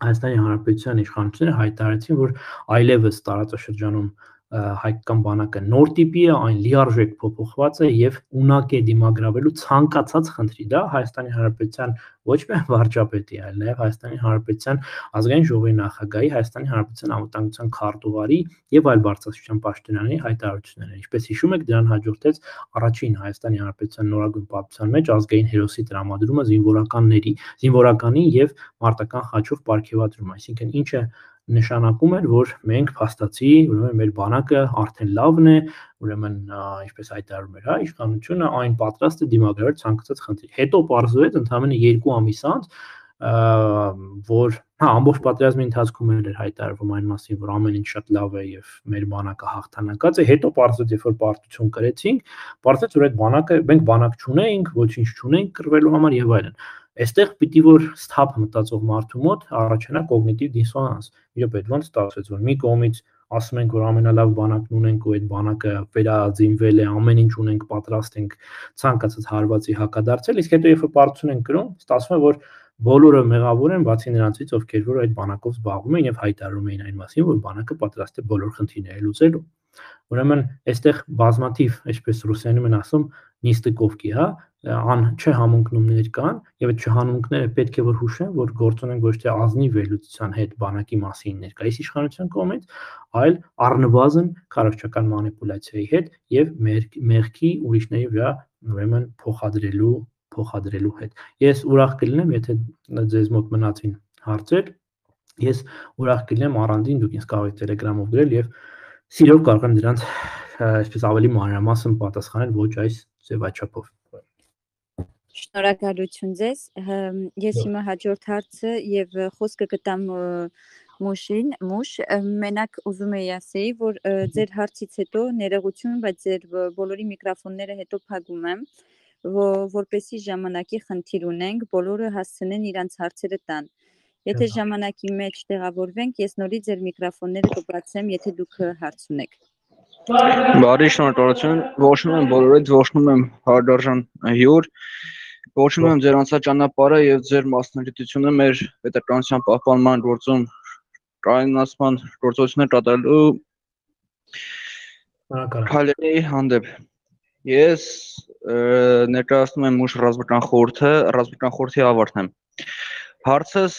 Speaker 3: Հայաստանի Հանրապետության իշխանությունները հայտարարեցին, որ այլևս տարածաշրջանում հայկական բանակը նոր տիպի է, այն լիարժեք փոփոխված է եւ ունակ է դիմագրավելու ցանկացած խնդրի։ Դա Հայաստանի Հանրապետության ոչ միայն վարչապետի, այլ նաեւ Հայաստանի Հանրապետության ազգային ժողովի նախագահի, Հայաստանի Հանրապետության անվտանգության քարտուղարի եւ այլ բարձրաստիճան պաշտոնյաների հայտարարությունները։ Ինչպես հիշում եք, դրան հաջորդեց առաջին Հայաստանի Հանրապետության նորագույն պատմության մեջ ազգային հերոսի տրամադրումը զինվորականի եւ մարտական խաչով պարգեւատրում, այսինքն ինչը նշանակում էր, որ մենք փաստացի, ուրեմն մեր բանակը արդեն լավն է, ուրեմն ինչպես հայտարարում էր, հա, իշխանությունը այն պատրաստ է դիմագրավել ցանկացած խնդրի։ Հետո պարզվեց ընդամենը 2 ամիս անց, որ ամբողջ պատերազմի ընթացքում էր հայտարարվում այն մասին, որ ամեն ինչ շատ լավ է եւ մեր բանակը հաղթանակած է, հետո պարզվեց, երբ որ պարտություն կրեցինք, պարզվեց, որ այդ բանակը մենք բանակ չունեինք, ոչինչ չունեինք կռվելու համար եւ այլն։ Այստեղ պիտի որ սթափ մտածող մարդու մոտ առաջանա կոգնիտիվ դիսոնանս։ Իրոք այդ ոնց ստացվեց, որ մի կողմից ասում ենք, որ ամենալավ բանակն ունենք ու այդ բանակը վերաձինվել է, ամեն ինչ ունենք, պատրաստ ենք ցանկացած հարվածի հակադարձել, իսկ հետո երբ որ պարտություն ենք կրում, ստացվում է, որ բոլորը մեղավոր են, բացի նրանցից, ովքեր որ այդ բանակով զբաղվում են եւ հայտարարում էին այն մասին, որ բանակը պատրաստ է բոլոր խնդիրները լուծելու։ Ուրեմն այստեղ բազմաթիվ, այսպես ռուսերենում են ասում, նիստիկովկի, հա, չհամընկնումներ կան եւ այդ չհամընկները պետք է որ հուշեն, որ գործ ունեն ոչ թե ազնիվ վերլուծության հետ բանակի մասին ներկայիս իշխանության կողմից, այլ առնվազն քարոզչական մանիպուլյացիայի հետ եւ մեղքի ուրիշների վրա ուրեմն փոխադրելու հետ։ Ես ուրախ կլինեմ, եթե ձեզ մոտ մնացին հարցեր, ես ուրախ կլինեմ առանձին դուք ինձ կարող եք Telegram-ով գրել եւ սիրով կարող եմ դրանց այսպես ավելի մանրամասն պատասխանել ոչ այս ձևաչափով։
Speaker 5: Շնորհակալություն ձեզ։ Ես հիմա հաջորդ հարցը եւ խոսքը կտամ Մուշ, մենակ ուզում եի ասեի, որ ձեր հարցից հետո ներողություն, բայց ձեր բոլորի միկրոֆոնները հետո փակում եմ, որպեսզի ժամանակի խնդիր ունենք, բոլորը հասցնեն իրանց հարցերը տան։ Եթե ժամանակի մեջ տեղավորվենք, ես նորից ձեր միկրոֆոնները կբացեմ, եթե դուք հարց ունեք։
Speaker 7: Բարի շնորհակալություն, ողջունում եմ բոլորիդ, ողջունում եմ հարգարժան հյուր, ողջունում եմ ձեր անցաճանապարհը եւ ձեր մասնագիտությունը մեր պետականության պահպանման գործում կայունացման գործողություններ կատարելու քայլերի հանդեպ։ Ես ներկայացնում եմ Մուշ ռազմական խորհրդի ավարտն եմ։ Հարցս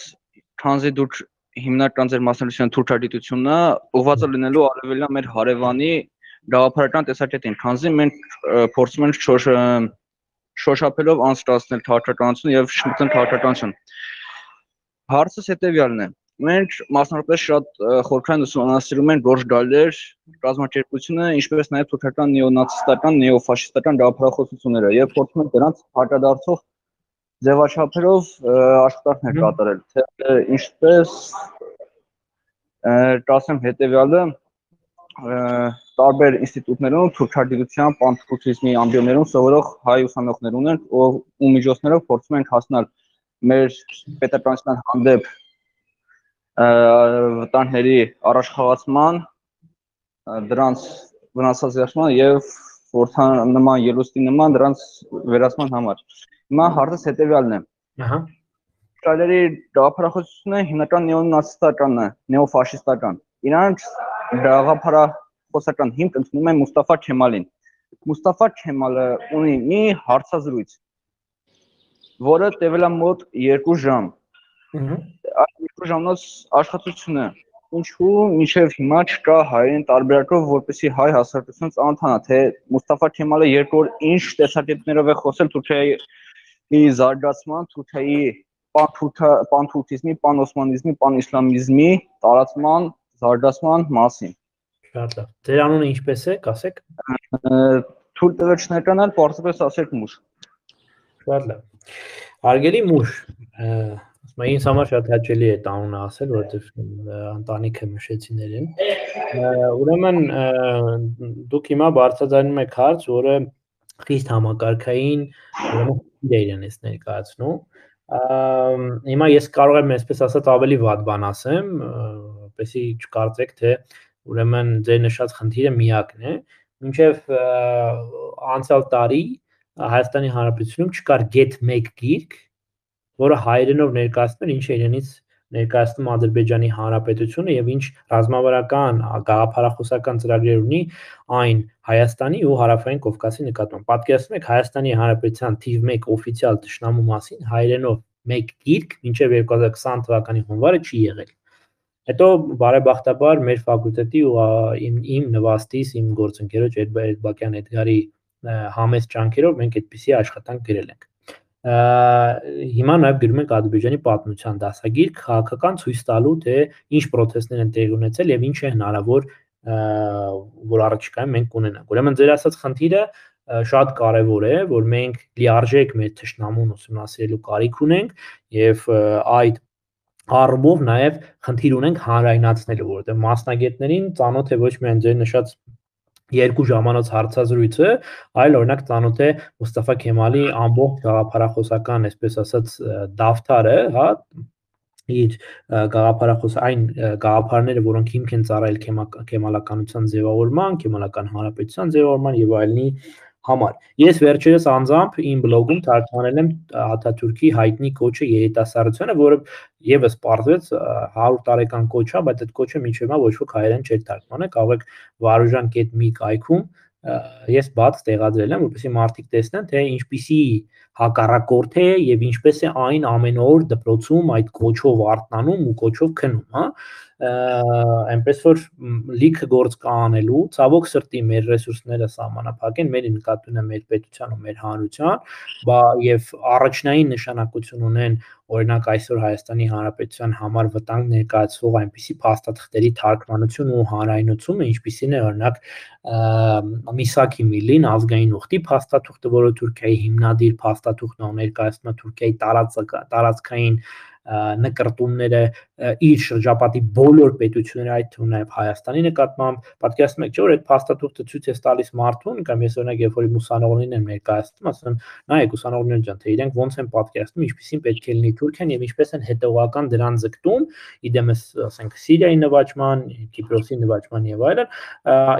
Speaker 7: քանզի դուք հիմնական ձեր մասնագիտության թուրքագիտությունը ուղղված է լինելու արևելյան մեր հարևանի գաղափարական տեսակետին, քանզի մենք փորձում ենք շոշափելով անցկացնել քաղաքականություն եւ շփոթել քաղաքականություն։ Հարցս հետեւյալն է. մենք մասնավորապես շատ խորքային ուսումնասիրում ենք Գորժ Գալեր կազմակերպությունը, ինչպես նաեւ թուրքական նեոնացիստական, նեոֆաշիստական գաղափարախոսությունները եւ փորձում ենք դրանց հակադարձող ձևաչափերով աշխատանքներ կատարել, թե ինչպես կասեմ հետեւյալը տարբեր ինստիտուտներում թուրքագիտության, պանթուրքիզմի ամբիոններում սովորող հայ ուսանողներ ունենք, ու միջոցներով փորձում ենք հասնել մեր պետականության հանդեպ վտանգների առաջխաղացման, դրանց վնասազերծման եւ նման ելուստի նման դրանց վերացման համար։ Հիմա հարցս հետեւյալն է։ Գալերի գաղափարախոսությունը հիմնական նեոնացիստական է, նեոֆաշիստական։ Իրանք գաղափարախոսական հիմք ընդունում են Մուստաֆա Քեմալին։ Մուստաֆա Քեմալը ունի մի հարցազրույց, որը տևել է մոտ 2 ժամ։ Այդ 2 ժամանոց աշխատությունը ինչու մինչև հիմա չկա հայերեն տարբերակով, որպեսզի հայ հասարակությունը ծանոթանա, թե Մուստաֆա Քեմալը երկու օր ինչ տեսակետներով է խոսել Թուրքիայի զարգացման, Թուրքիայի պանթուրքիզմի, պանօսմանիզմի, պանիսլամիզմի տարածման, զարգացման մասին։
Speaker 3: Շատ լավ։ Ձեր անունը ինչպես է, կասեք։
Speaker 7: Թույլ տվեք շնորհկանալ, պարզապես ասեք մուշ։
Speaker 3: Շատ լավ։ Հարգելի մուշ, ինձ համար շատ հաճելի է տանունը ասել, որովհետև ընտանիքը մշեցիներին։ Ուրեմն դուք հիմա բարձրացնում եք հարց, որը խիստ համակարգային, ուրեմն իր իրենից ներկայացնում։ Հիմա ես կարող եմ այսպես ասած ավելի վատ բան ասեմ, որպեսզի չկարծեք, թե ուրեմն ձեր նշած խնդիրը միակն է, մինչև անցյալ տարի Հայաստանի Հանրապետությունում չկար get 1 գիրք, որը հայերենով ներկայացնում էր ինչ իրենից ներկայացնում Ադրբեջանի Հանրապետությունը եւ ինչ ռազմավարական, գաղափարախոսական ծրագրեր ունի այն Հայաստանի ու Հարավային Կովկասի նկատմամբ։ Պատկերացնում եք Հայաստանի Հանրապետության թիվ 1 օֆիցիալ ճշնամու մասին հայերենով 1 գիրք մինչև 2020 թվականի հունվարը չի եղել։ Հետո բարեբախտաբար մեր ֆակուլտետի ու իմ նվաստիս, իմ գործընկերոջ Էրբակյան Էդգարի համեստ ջանքերով մենք այդպիսի աշխատանք գրել ենք։ Հիմա նաև գրում ենք Ադրբեջանի պատմության դասագիրք, քաղաքական ցույց տալու, թե ինչ պրոցեսներ են տեղի ունեցել եւ ինչ է հնարավոր, որ առաջիկայում մենք կունենանք։ Ուրեմն ձեր ասած խնդիրը շատ կարևոր է, որ մենք լիարժեք մեր թշնամուն ուսումնասիրելու կարիք ունենք եւ այդ առումով նաև խնդիր ունենք հանրայնացնելու, որովհետեւ մասնագետներին ծանոթ է ոչ միայն ձեր նշած 2 ժամանոց հարցազրույցը, այլ օրինակ ծանոթ է Մուստաֆա Քեմալի ամբողջ գաղափարախոսական, այսպես ասած, դավթարը, հա, իր այն գաղափարները, որոնք հիմք են ծառայել քեմալականության ձևավորման, քեմալական հանրապետության ձևավորման եւ այլնի համար։ Ես վերջերս անձամբ իմ բլոգում թարգմանել եմ Աթաթուրքի հայտնի կոչը երիտասարդությանը, որը եւս պարզվեց 100 տարեկան կոչ է, բայց այդ կոչը մինչև հիմա ոչ ոք հայերեն չէր թարգմանել, կարող եք varujan.mi կայքում ես բաց տեղադրել եմ, որպեսզի մարդիկ տեսնեն, թե ինչպիսի հակառակորդ է եւ ինչպես է այն ամեն օր դպրոցում այդ կոչով արթնանում ու կոչով քնում, հա, այնպես որ լիքը գործ կա անելու, ցավոք սրտի մեր ռեսուրսները սահմանափակ են, մեր նկատունը մեր պետության ու մեր հանրության, եւ առաջնային նշանակություն ունեն օրինակ այսօր Հայաստանի Հանրապետության համար վտանգ ներկայացվող այնպիսի փաստաթղթերի թարգմանություն ու հանրայնացումը, ինչպիսին է օրինակ Միսակի Միլին ազգային ուխտի փաստաթուղթը, որը Թուրքիայի հիմնադիր փաստաթուղթն է, ներկայացնում է Թուրքիայի տարածքային նկարտումները իր շրջապատի բոլոր պետությունների, այդ թվում նաև Հայաստանի նկատմամբ, պատկերացնում եք, չէ՞ որ այդ փաստաթուղթը ցույց է տալիս մարդուն, կամ ես օրինակ երբ որ ուսանողներին եմ ներկայացնում, ասում եմ, նայեք ուսանողներ ջան, թե իրենք ոնց են պատկերացնում, ինչպեսին պետք է լինի Թուրքիան եւ ինչպես են հետեւական դրան ձգտում, իդեմս ասենք Սիրիայի նվաճման, Կիպրոսի նվաճման եւ այլն,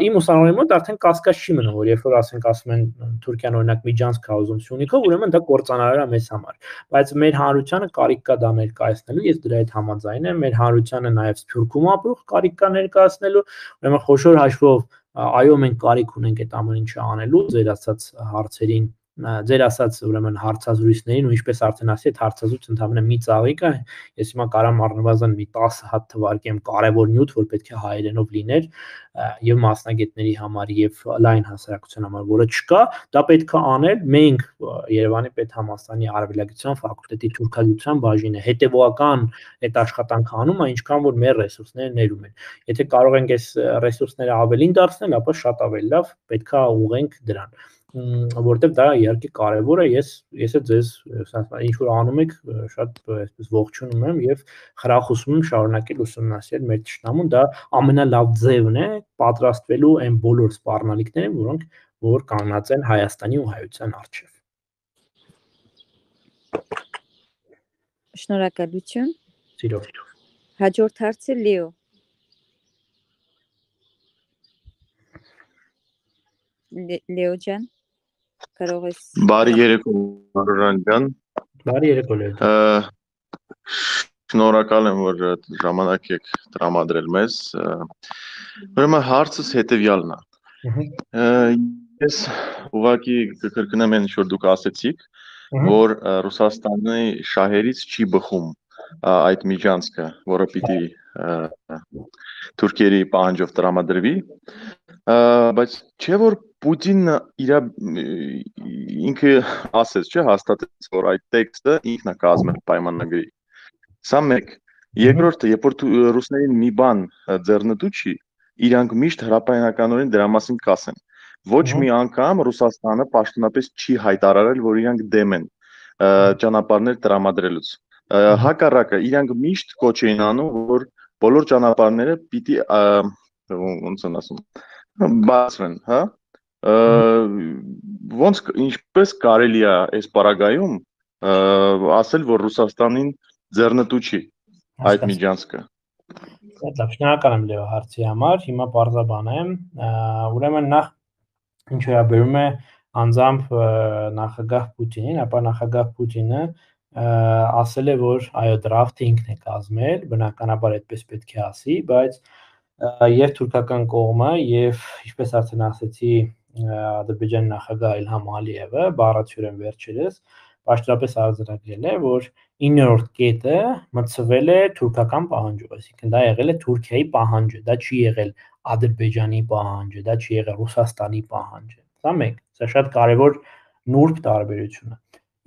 Speaker 3: իմ ուսանողների մոտ արդեն կասկած չի մնում, որ երբ որ ասում են Թուրքիան օրինակ միջանցք է ուզում Սյունիքով, ուրեմն դա կործանարար է մեզ համար, բայց մեր հանրությանը կարիք կա դա ներկայացնելու, ես դրա հետ համաձայն եմ, մեր հանրությանը նաև Սփյուռքում ապրող կարիք կա ներկայացնելու, ուրեմն խոշոր հաշվով այո մենք կարիք ունենք այդ ամեն ինչը անելու, ձեր ասած հարցերին ձեր ասած ուրեմն հարցազրույցներին ու ինչպես արդեն ասի, այդ հարցազրույցը ընդհանրապես մի ծաղիկ է, ես հիմա կարամ առնվազն մի 10 հատ թվարկեմ կարևոր նյութ, որ պետք է հայերենով լիներ եւ մասնագետների համար եւ լայն հասարակության համար, որը չկա, դա պետք է անել մենք Երևանի պետհամալսարանի արևելագիտության ֆակուլտետի թուրքագիտության բաժինը հետեւողական այդ աշխատանքը անում է, ինչքան որ մեր ռեսուրսները ներում են։ Եթե կարող ենք այս ռեսուրսները ավելին դարձնել, ապա շատ ավելի լավ, պետք է ուղենք դրան, որտեղ դա իհարկե կարևոր է, ես ձեզ ինչ որ անում եք շատ այսպես ողջունում եմ եւ խրախուսում եմ շարունակել ուսումնասիրել մեր ճշտամուն, դա ամենալավ ձևն է պատրաստվելու այն բոլոր սպառնալիքներին, որ կանգնած են Հայաստանի ու հայության առջև։
Speaker 5: Շնորհակալություն։
Speaker 3: Սիրով։
Speaker 5: Հաջորդ հարցը Լիո։ Լեո ջան, կարող ես։
Speaker 8: Բարի երեկո Մարոյան ջան։
Speaker 3: Բարի երեկո Լեո։
Speaker 8: Շնորհակալ եմ, որ ժամանակ եք տրամադրել մեզ։ Ուրեմն հարցս հետևյալն է։ Ես ուղղակի կկրկնեմ այն, ինչ որ դուք ասեցիք, որ Ռուսաստանի շահերից չի բխում այդ միջանցքը, որը պիտի թուրքերի պահանջով տրամադրվի, բայց չէ որ Պուտինը ինքը ասեց, չէ, հաստատեց, որ այդ տեքստը ինքն է կազմել պայմանագրի։ Սա մեկ։ Երկրորդը, երբ որ ռուսներին մի բան ձեռնտու չի, իրանք միշտ հրապարակականորեն դրա մասին կասեն։ Ոչ մի անգամ Ռուսաստանը պաշտոնապես չի հայտարարել, որ իրանք դեմ են ճանապարհներ տրամադրելուց։ Հակառակը, իրանք միշտ կոչ էին անում, որ բոլոր ճանապարհները պիտի ոնց են ասում, բացվեն, հա։ Ոնց ինչպես կարելի է այս պարագայում ասել, որ Ռուսաստանին ձեռնտու չի այդ միջանցքը։
Speaker 3: Լավ, շնորհակալ եմ Լեո հարցի համար, հիմա բարձրաբանեմ, ուրեմն նախ ինչ վերաբերում է անձամբ նախագահ Պուտինին, ապա նախագահ Պուտինը ասել է, որ այո, դրաֆտը ինքն է կազմել, բնականաբար այդպես պետք է ասի, բայց եւ թուրքական կողմը եւ ինչպես արդեն ասեցի Ադրբեջանի նախագահ Իլհամ Ալիևը բառացիորեն վերջերս պաշտոնապես արձանագրել է, որ 9-րդ կետը մտցվել է թուրքական պահանջով, այսինքն դա եղել է Թուրքիայի պահանջը, դա չի եղել Ադրբեջանի պահանջը, դա չի եղել Ռուսաստանի պահանջը։ Սա մեկ, սա շատ կարևոր նուրբ տարբերություն է։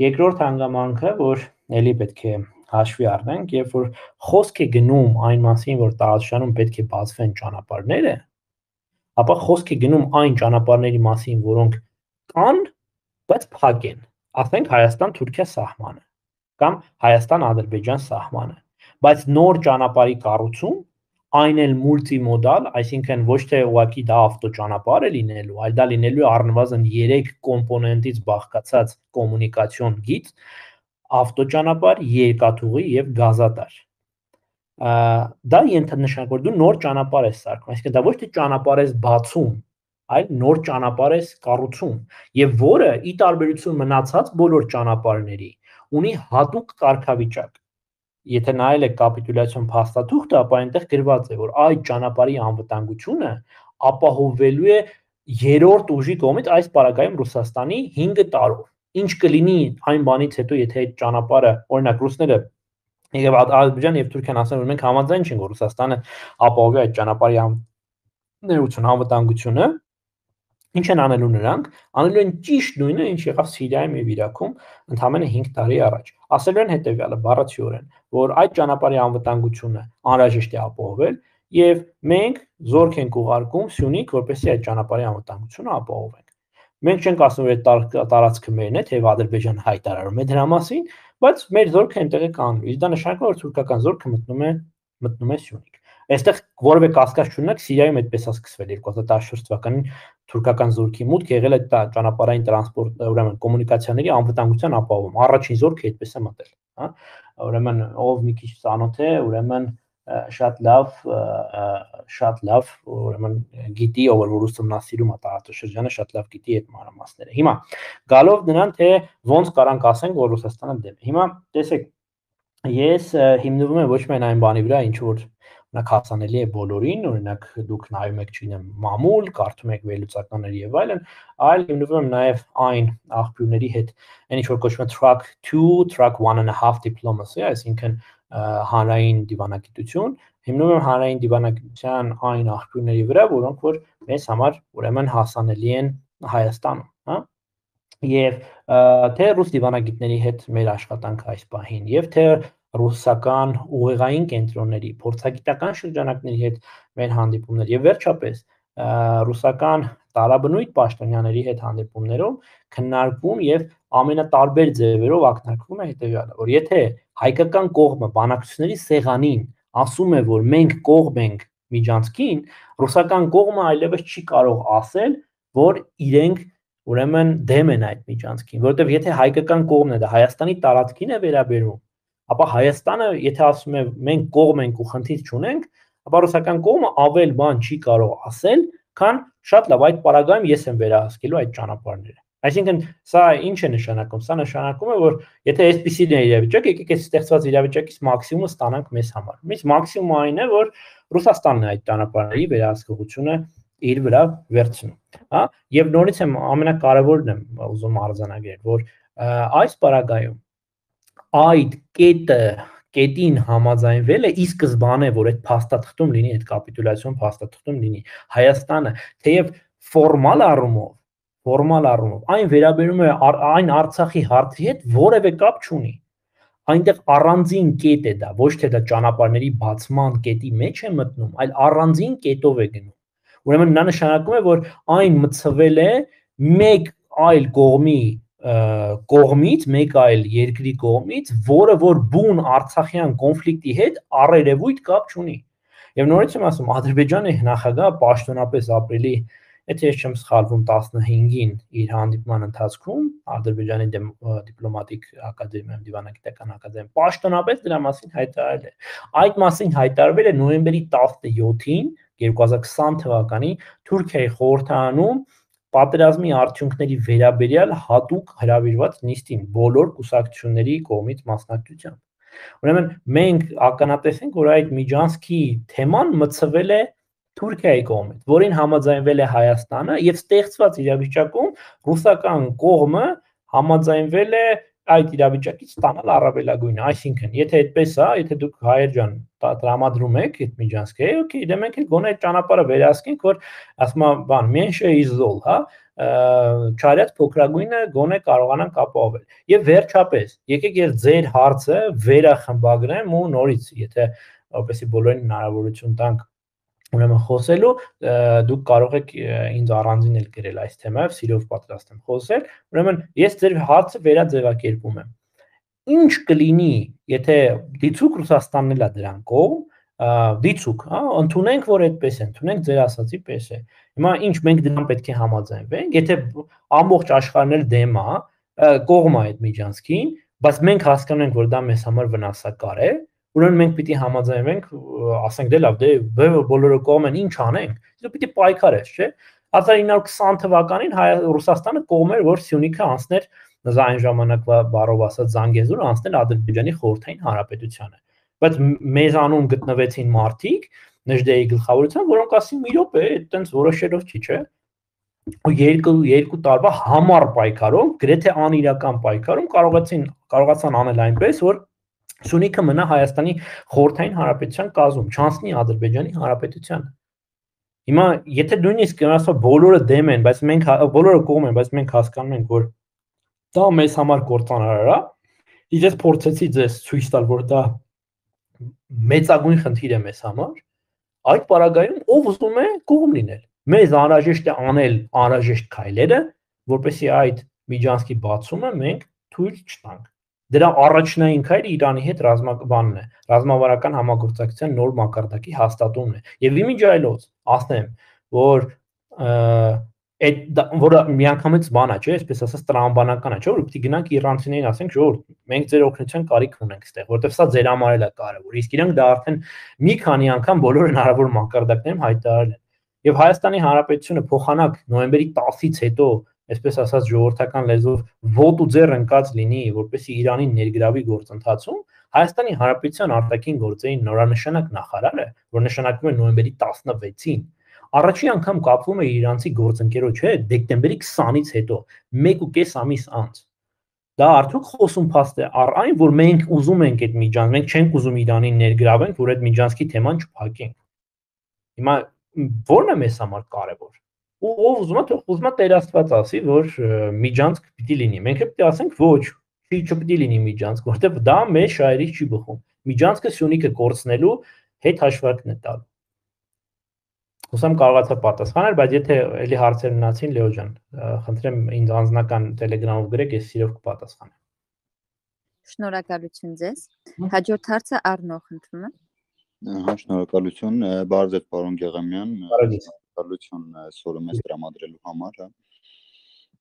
Speaker 3: Երկրորդ հանգամանքը, որ ելի պետք է հաշվի առնենք, երբ որ խոսք է գնում այն մասին, որ տարածաշրջանում պետք է բացվեն ճանապարհները, ապա խոսք է գնում այն ճանապարհների մասին, որոնք կան, բայց փակ են, ասենք Հայաստան-Թուրքիա սահմանը կամ Հայաստան-Ադրբեջան սահմանը, բայց նոր ճանապարհի կառուցում, այն էլ մուլտիմոդալ, այսինքն ոչ թե ուղղակի դա ավտոճանապարհ է լինելու, այլ դա լինելու է առնվազն 3 կոմպոնենտից բաղկացած կոմունիկացիոն գիծ, ավտոճանապարհ, երկաթուղի եւ գազատար։ Դա ենթանշանք, որ դու նոր ճանապարհ ես սարքում, այսինքն դա ոչ թե ճանապարհ ես բացում, այլ նոր ճանապարհ ես կառուցում, եւ որը ի տարբերություն մնացած բոլոր ճանապարհների ունի հատուկ կարգավիճակ։ Եթե նայել եք կապիտուլյացիոն փաստաթուղթը, ապա այնտեղ գրված է, որ այդ ճանապարհի անվտանգությունը ապահովվելու է երրորդ ուժի կողմից, այս պարագայում Ռուսաստանի 5 տարով։ Ինչ կլինի այն բանից հետո, եթե այդ ճանապարհը, օրինակ ռուսները եւ Ադրբեջանը եւ Թուրքիան ասեն, որ մենք համաձայն չենք, որ Ռուսաստանը ապահովի այդ ճանապարհի ներություն անվտանգությունը, ինչ են անելու նրանք, անելու են ճիշտ նույնը, ինչ եղավ Սիրիայում եւ Իրաքում ընդամենը 5 տարի առաջ։ Ասելու են հետեւյալը, բառացիորեն, որ այդ ճանապարհի անվտանգությունը անհրաժեշտ է ապահովել եւ մենք զորք ենք ուղարկում Սյունիք, որպեսզի այդ ճանապարհի անվտանգությունը ապահովենք։ Մենք չենք ասում, որ այդ տարածքը մերն է, թեև Ադրբեջանը հայտարարում է դրա մասին, բայց մեր զորքը այնտեղ է կանգնում։ Իսկ դա նշանակում է, որ թուրքական զորքը մտնում է Սյունիք։ Այստեղ որևէ կասկած չունեք, Սիրիայում այդպես է սկսվել 2014 թվականին թուրքական զորքի մուտք եղել է ճանապարհային տրանսպորտ, ուրեմն կոմունիկացիաների անվտանգության ապահովում։ Առաջին զորքը այդպես է մտել, հա։ Ուրեմն ով մի քիչ ծանոթ է, ուրեմն շատ լավ, ուրեմն գիտի, ով որ ուսումնասիրում է տարածաշրջանը, շատ լավ գիտի այդ մանրամասները։ Հիմա գալով նրան, թե ոնց կարանք ասենք, որ Ռուսաստանը դեմ է։ Հիմա տեսեք, ես հիմնվում եմ ոչ միայն այն բանի վրա, ինչ որ Օրինակ հասանելի է բոլորին, օրինակ դուք նայում եք, չգիտեմ, մամուլ, կարդում եք վերլուծականներ եւ այլն, այլ հիմնվում նաեւ այն աղբյուրների հետ, այն ինչ որ կոչվում է track 2, track 1.5 diplomacy, այսինքն հանրային դիվանագիտություն, հիմնվում է հանրային դիվանագիտության այն աղբյուրների վրա, որոնք որ մեզ համար ուրեմն հասանելի են Հայաստանում, հա? Եվ թե ռուս դիվանագիտների հետ մեր աշխատանքը այս պահին, եւ թե ռուսական ուղեղային կենտրոնների, փորձագիտական շրջանակների հետ մեր հանդիպումներ եւ վերջապես ռուսական տարաբնույթ պաշտոնյաների հետ հանդիպումներում քննարկվում եւ ամենատարբեր ձևերով ակնարկվում է հետեւյալը, որ եթե հայկական կողմը բանակցությունների սեղանին ասում է, որ մենք կողմ ենք միջանցքին, ռուսական կողմը այլևս չի կարող ասել, որ իրենք ուրեմն դեմ են այդ միջանցքին, որովհետեւ եթե հայկական կողմն է դա Հայաստանի տարածքին է վերաբերում, ապա Հայաստանը, եթե ասում է մենք կողմ ենք ու խնդիր չունենք, ապա ռուսական կողմը ավել բան չի կարող ասել, քան շատ լավ այդ պարագայում ես եմ վերահսկելու այդ ճանապարհները։ Այսինքն սա ինչ է նշանակում, սա նշանակում է, որ եթե այսպիսին է իրավիճակը, եկեք այս ստեղծված իրավիճակից մաքսիմումը ստանանք մեզ համար։ Մեզ մաքսիմումը այն է, որ Ռուսաստանն է այդ ճանապարհների վերահսկողությունը իր վրա վերցնում, հա, եւ նորից եմ ամենակարևորն եմ ուզում արձանագրել, որ այս պարագայում այդ կետին համաձայնվելը ի սկզբանե, որ այդ փաստաթղթում լինի, այդ կապիտուլյացիոն փաստաթղթում լինի, Հայաստանը, թեև ֆորմալ առումով այն վերաբերում է այն Արցախի հարցի հետ որևէ կապ չունի։ Այնտեղ առանձին կետ է դա, ոչ թե դա ճանապարհների բացման կետի մեջ է մտնում, այլ առանձին կետով է գնում։ Ուրեմն նա նշանակում է, որ այն մցվել է մեկ այլ կողմից, մեկ այլ երկրի կողմից, որը որ բուն արցախյան կոնֆլիկտի հետ առերևույթ կապ չունի։ Եվ նորից եմ ասում, Ադրբեջանի նախագահը պաշտոնապես ապրիլի, եթե ես չեմ սխալվում, 15-ին իր հանդիպման ընթացքում Ադրբեջանի դիպլոմատիկ ակադեմիայում, դիվանագիտական ակադեմիայում պաշտոնապես դրա մասին հայտարարել է։ Այդ մասին հայտարարվել է նոյեմբերի 17-ին 2020 թվականի Թուրքիայի խորհրդարանում պատերազմի արդյունքների վերաբերյալ հատուկ հրավիրված նիստին բոլոր կուսակցությունների կողմից մասնակցությամբ։ Ուրեմն մենք ականատես ենք, որ այդ միջանցքի թեման մցվել է Թուրքիայի կողմից, որին համաձայնվել է Հայաստանը եւ ստեղծված իրավիճակում ռուսական կողմը համաձայնվել է այդ իրավիճակից ստանալ առավելագույնը, այսինքն, եթե այդպես է, եթե դուք հայեր ջան տրամադրում եք այդ միջանցքը, օքեյ, դե մենք էլ գոնե այդ ճանապարհը վերահսկենք, որ ասում է, բան, mention is all, հա, չարյաց փոքրագույնը գոնե կարողանանք ապահովել։ Եվ վերջապես, եկեք ես ձեր հարցը վերախմբագրեմ ու նորից, եթե որպեսզի բոլորին հնարավորություն տանք ուրեմն խոսելու, դուք կարող եք ինձ առանձին էլ գրել այս թեմայով, սիրով պատրաստ եմ խոսել, ուրեմն ես ձեր հարցը վերաձևակերպում եմ։ Ինչ կլինի, եթե դիցուք Ռուսաստանն էլ է դրան կողմ, դիցուք, հա, ընդունենք, որ այդպես է, ընդունենք ձեր ասացի պես է։ Հիմա ինչ մենք դրան պետք է համաձայնվենք, եթե ամբողջ աշխարհն էլ դեմ է, կողմ է այդ միջանցքին, բայց մենք հասկանում ենք, որ դա մեզ համար վնասակար է, ուրեմն մենք պիտի համաձայնվենք, ասենք դե լավ, դե բոլորը կողմ են, ինչ անենք, դու պիտի պայքարես, չէ՞։ 1920 թվականին Ռուսաստանը կողմ էր, որ Սյունիքը անցներ այն ժամանակվա բառով ասած Զանգեզուրը անցնել Ադրբեջանի խորհրդային հանրապետությանը։ Բայց մեզանում գտնվեցին մարդիկ Նժդեի գլխավորությամբ, որոնք ասին՝ մի րոպե, այտենց որոշելով չի, չէ՞։ Ու երկու տարվա համառ պայքարով, գրեթե անիրական պայքարում կարողացան անել այնպես, որ Սյունիքը մնա Հայաստանի խորհրդային հանրապետության կազմում, չանցնի Ադրբեջանի հանրապետությանը։ Հիմա եթե նույնիսկ ասա բոլորը դեմ են, բայց մենք բոլորը կողմ են, բայց մենք հասկանում ենք, որ դա մեզ համար կործանարար է, ես փորձեցի ձեզ ցույց տալ, որ դա մեծագույն խնդիր է մեզ համար, այդ պարագայում ով ուզում է կողմ լինել։ Մեզ անհրաժեշտ է անել անհրաժեշտ քայլերը, որպեսզի այդ միջանցքի բացումը մենք թույլ չտանք։ Դրա առաջնային քայլը Իրանի հետ ռազմաբանն է, ռազմավարական համագործակցության նոր մակարդակի հաստատումն է։ Եվ իմիջիայլոց ասեմ, որ որը միանգամից բան է, չէ, այսպես ասած տրամաբանական է, չէ, որ պիտի գնանք իրանցիներին ասենք, ժողովուրդ, մենք ձեր օգնության կարիք ունենք այստեղ, որովհետև սա ձեր համար էլ է կարևոր։ Իսկ իրանք դա արդեն մի քանի անգամ բոլոր հնարավոր մակարդակներում հայտարարել են։ Եվ Հայաստանի Հանրապետությունը փոխանակ նոյեմբերի 10-ից հետո, այսպես ասած ժողովրդական լեզվով ոտու ձեռ ընկած լինի, որպեսզի Իրանին ներգրավի գործընթացում, Հայաստանի Հանրապետության արտաքին գործերի նորանշանակ նախարարը, որ նշանակվում է նոյեմբերի 16-ին, առաջին անգամ կապվում է իրանցի գործընկերոջ հետ դեկտեմբերի 20-ից հետո, 1.5 ամիս անց։ Դա արդյոք խոսում փաստ է առ այն, որ մենք ուզում ենք այդ միջանցք, մենք չենք ուզում Իրանին ներգրավենք, որ այդ միջանցքի թեման չփակենք։ Հիմա ո՞րն է մեզ համար կարևոր։ Ու ով ուզում է տերաստված ասի, որ միջանցք պիտի լինի։ Մենք էլ պիտի ասենք ոչ, չպիտի լինի միջանցք, որտեղ դա մեր շահերից չի բխում։ Միջանցքը Սյունիքը կորցնելու հետ հաշվարկն է տալու։ Հուսամ կարողացա պատասխանել, բայց եթե էլի հարցեր մնացին, Լեո ջան, խնդրեմ ինձ անձնական Telegram-ով գրեք, ես սիրով կպատասխանեմ։
Speaker 5: Շնորհակալություն ձեզ։ Հաջորդ հարցը Առնո խնդրում եմ։
Speaker 9: Հա, շնորհակալություն, բարև ձեզ, պարոն Գեղամյան, շնորհակալություն սորը մեզ տրամադրելու համար, հա։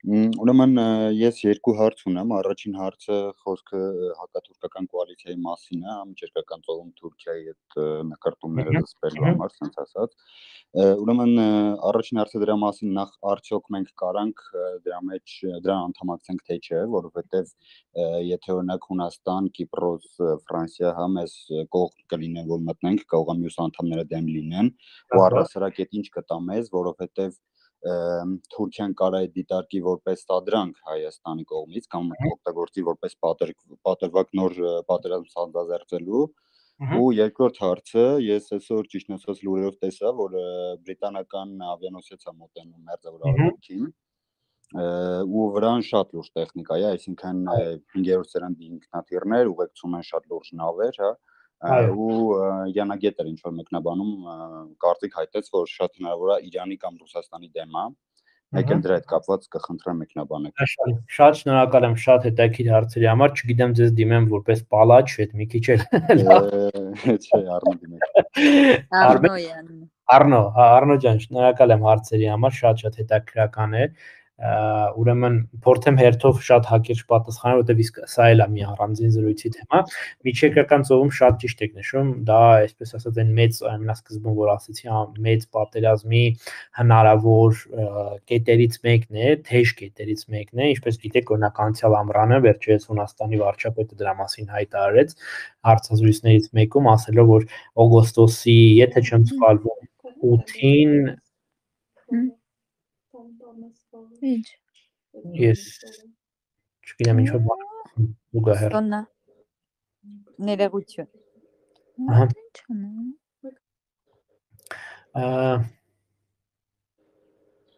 Speaker 9: Ուրեմն ես երկու հարց ունեմ, առաջին հարցը խոսքը հակաթուրքական կոալիցիայի մասին է, միջերկրական ծովում Թուրքիայի հետ նկարտումները զսպելու համար, ասենց ասած։ Ուրեմն առաջին հարցը դրա մասին նախ արդյոք մենք կարանք դրա մեջ դրան անդամակցենք թե չէ, որովհետև եթե օրինակ Հունաստան, Կիպրոս, Ֆրանսիա հա մեզ կողմ կլինեն, որ մտնենք, կարող է մյուս անդամները դեմ լինեն, ու առհասարակ այդ ինչ կտա մեզ, որովհետև Թուրքիան կարա է դիտարկի որպես տադրանք Հայաստանի կողմից կամ օգտագործի որպես պատրվակ նոր պատերազմ սանձազերծելու ու երկրորդ հարցը ես այսօր ճիշտ ասած լուրերով տեսա որ բրիտանական ավիանոսец է մոտենում Մերձավոր Արևելքին ու վրան շատ լուրջ տեխնիկա է, այսինքն 5-րդ սերնդի ինքնաթիռներ ուղեկցում են շատ լուրջ նավեր, հա ու Յանագետ էր ինչ-որ մեկնաբանում կարծիք հայտեց, որ շատ հնարավոր է Իրանի կամ Ռուսաստանի դեմ է, մեկ էլ դրա հետ կապված կխնդրեմ մեկնաբանեք։
Speaker 3: Շատ շնորհակալ եմ շատ հետաքրքիր հարցերի համար, չգիտեմ ձեզ դիմեմ որպես պալաչ, այդ մի քիչ էլ
Speaker 9: չէ, Առնո դիմեք։
Speaker 3: Առնո ջան, շնորհակալ եմ հարցերի համար, շատ հետաքրքրական է։ Ուրեմն փորձեմ հերթով շատ հակիրճ պատասխանել, որտեղ իսկ սա էլ է մի առանձին զրույցի թեմա։ Միջերկրական ծովում շատ ճիշտ եք նշում, դա այսպես ասած այն մեծ ամենասկզբում որ ասեցի, մեծ պատերազմի հնարավոր կետերից մեկն է, թեժ կետերից մեկն է, ինչպես գիտեք, օրինակ անցյալ ամռանը վերջերս Հունաստանի վարչապետը դրա մասին հայտարարեց հարցազրույցներից մեկում, ասելով որ օգոստոսի, եթե չեմ սխալվում, 8-ին
Speaker 5: Ինչ։
Speaker 3: Ես չգիտեմ ինչ որ բան ուղղահեռ։
Speaker 5: Սոնա։ Ներողություն։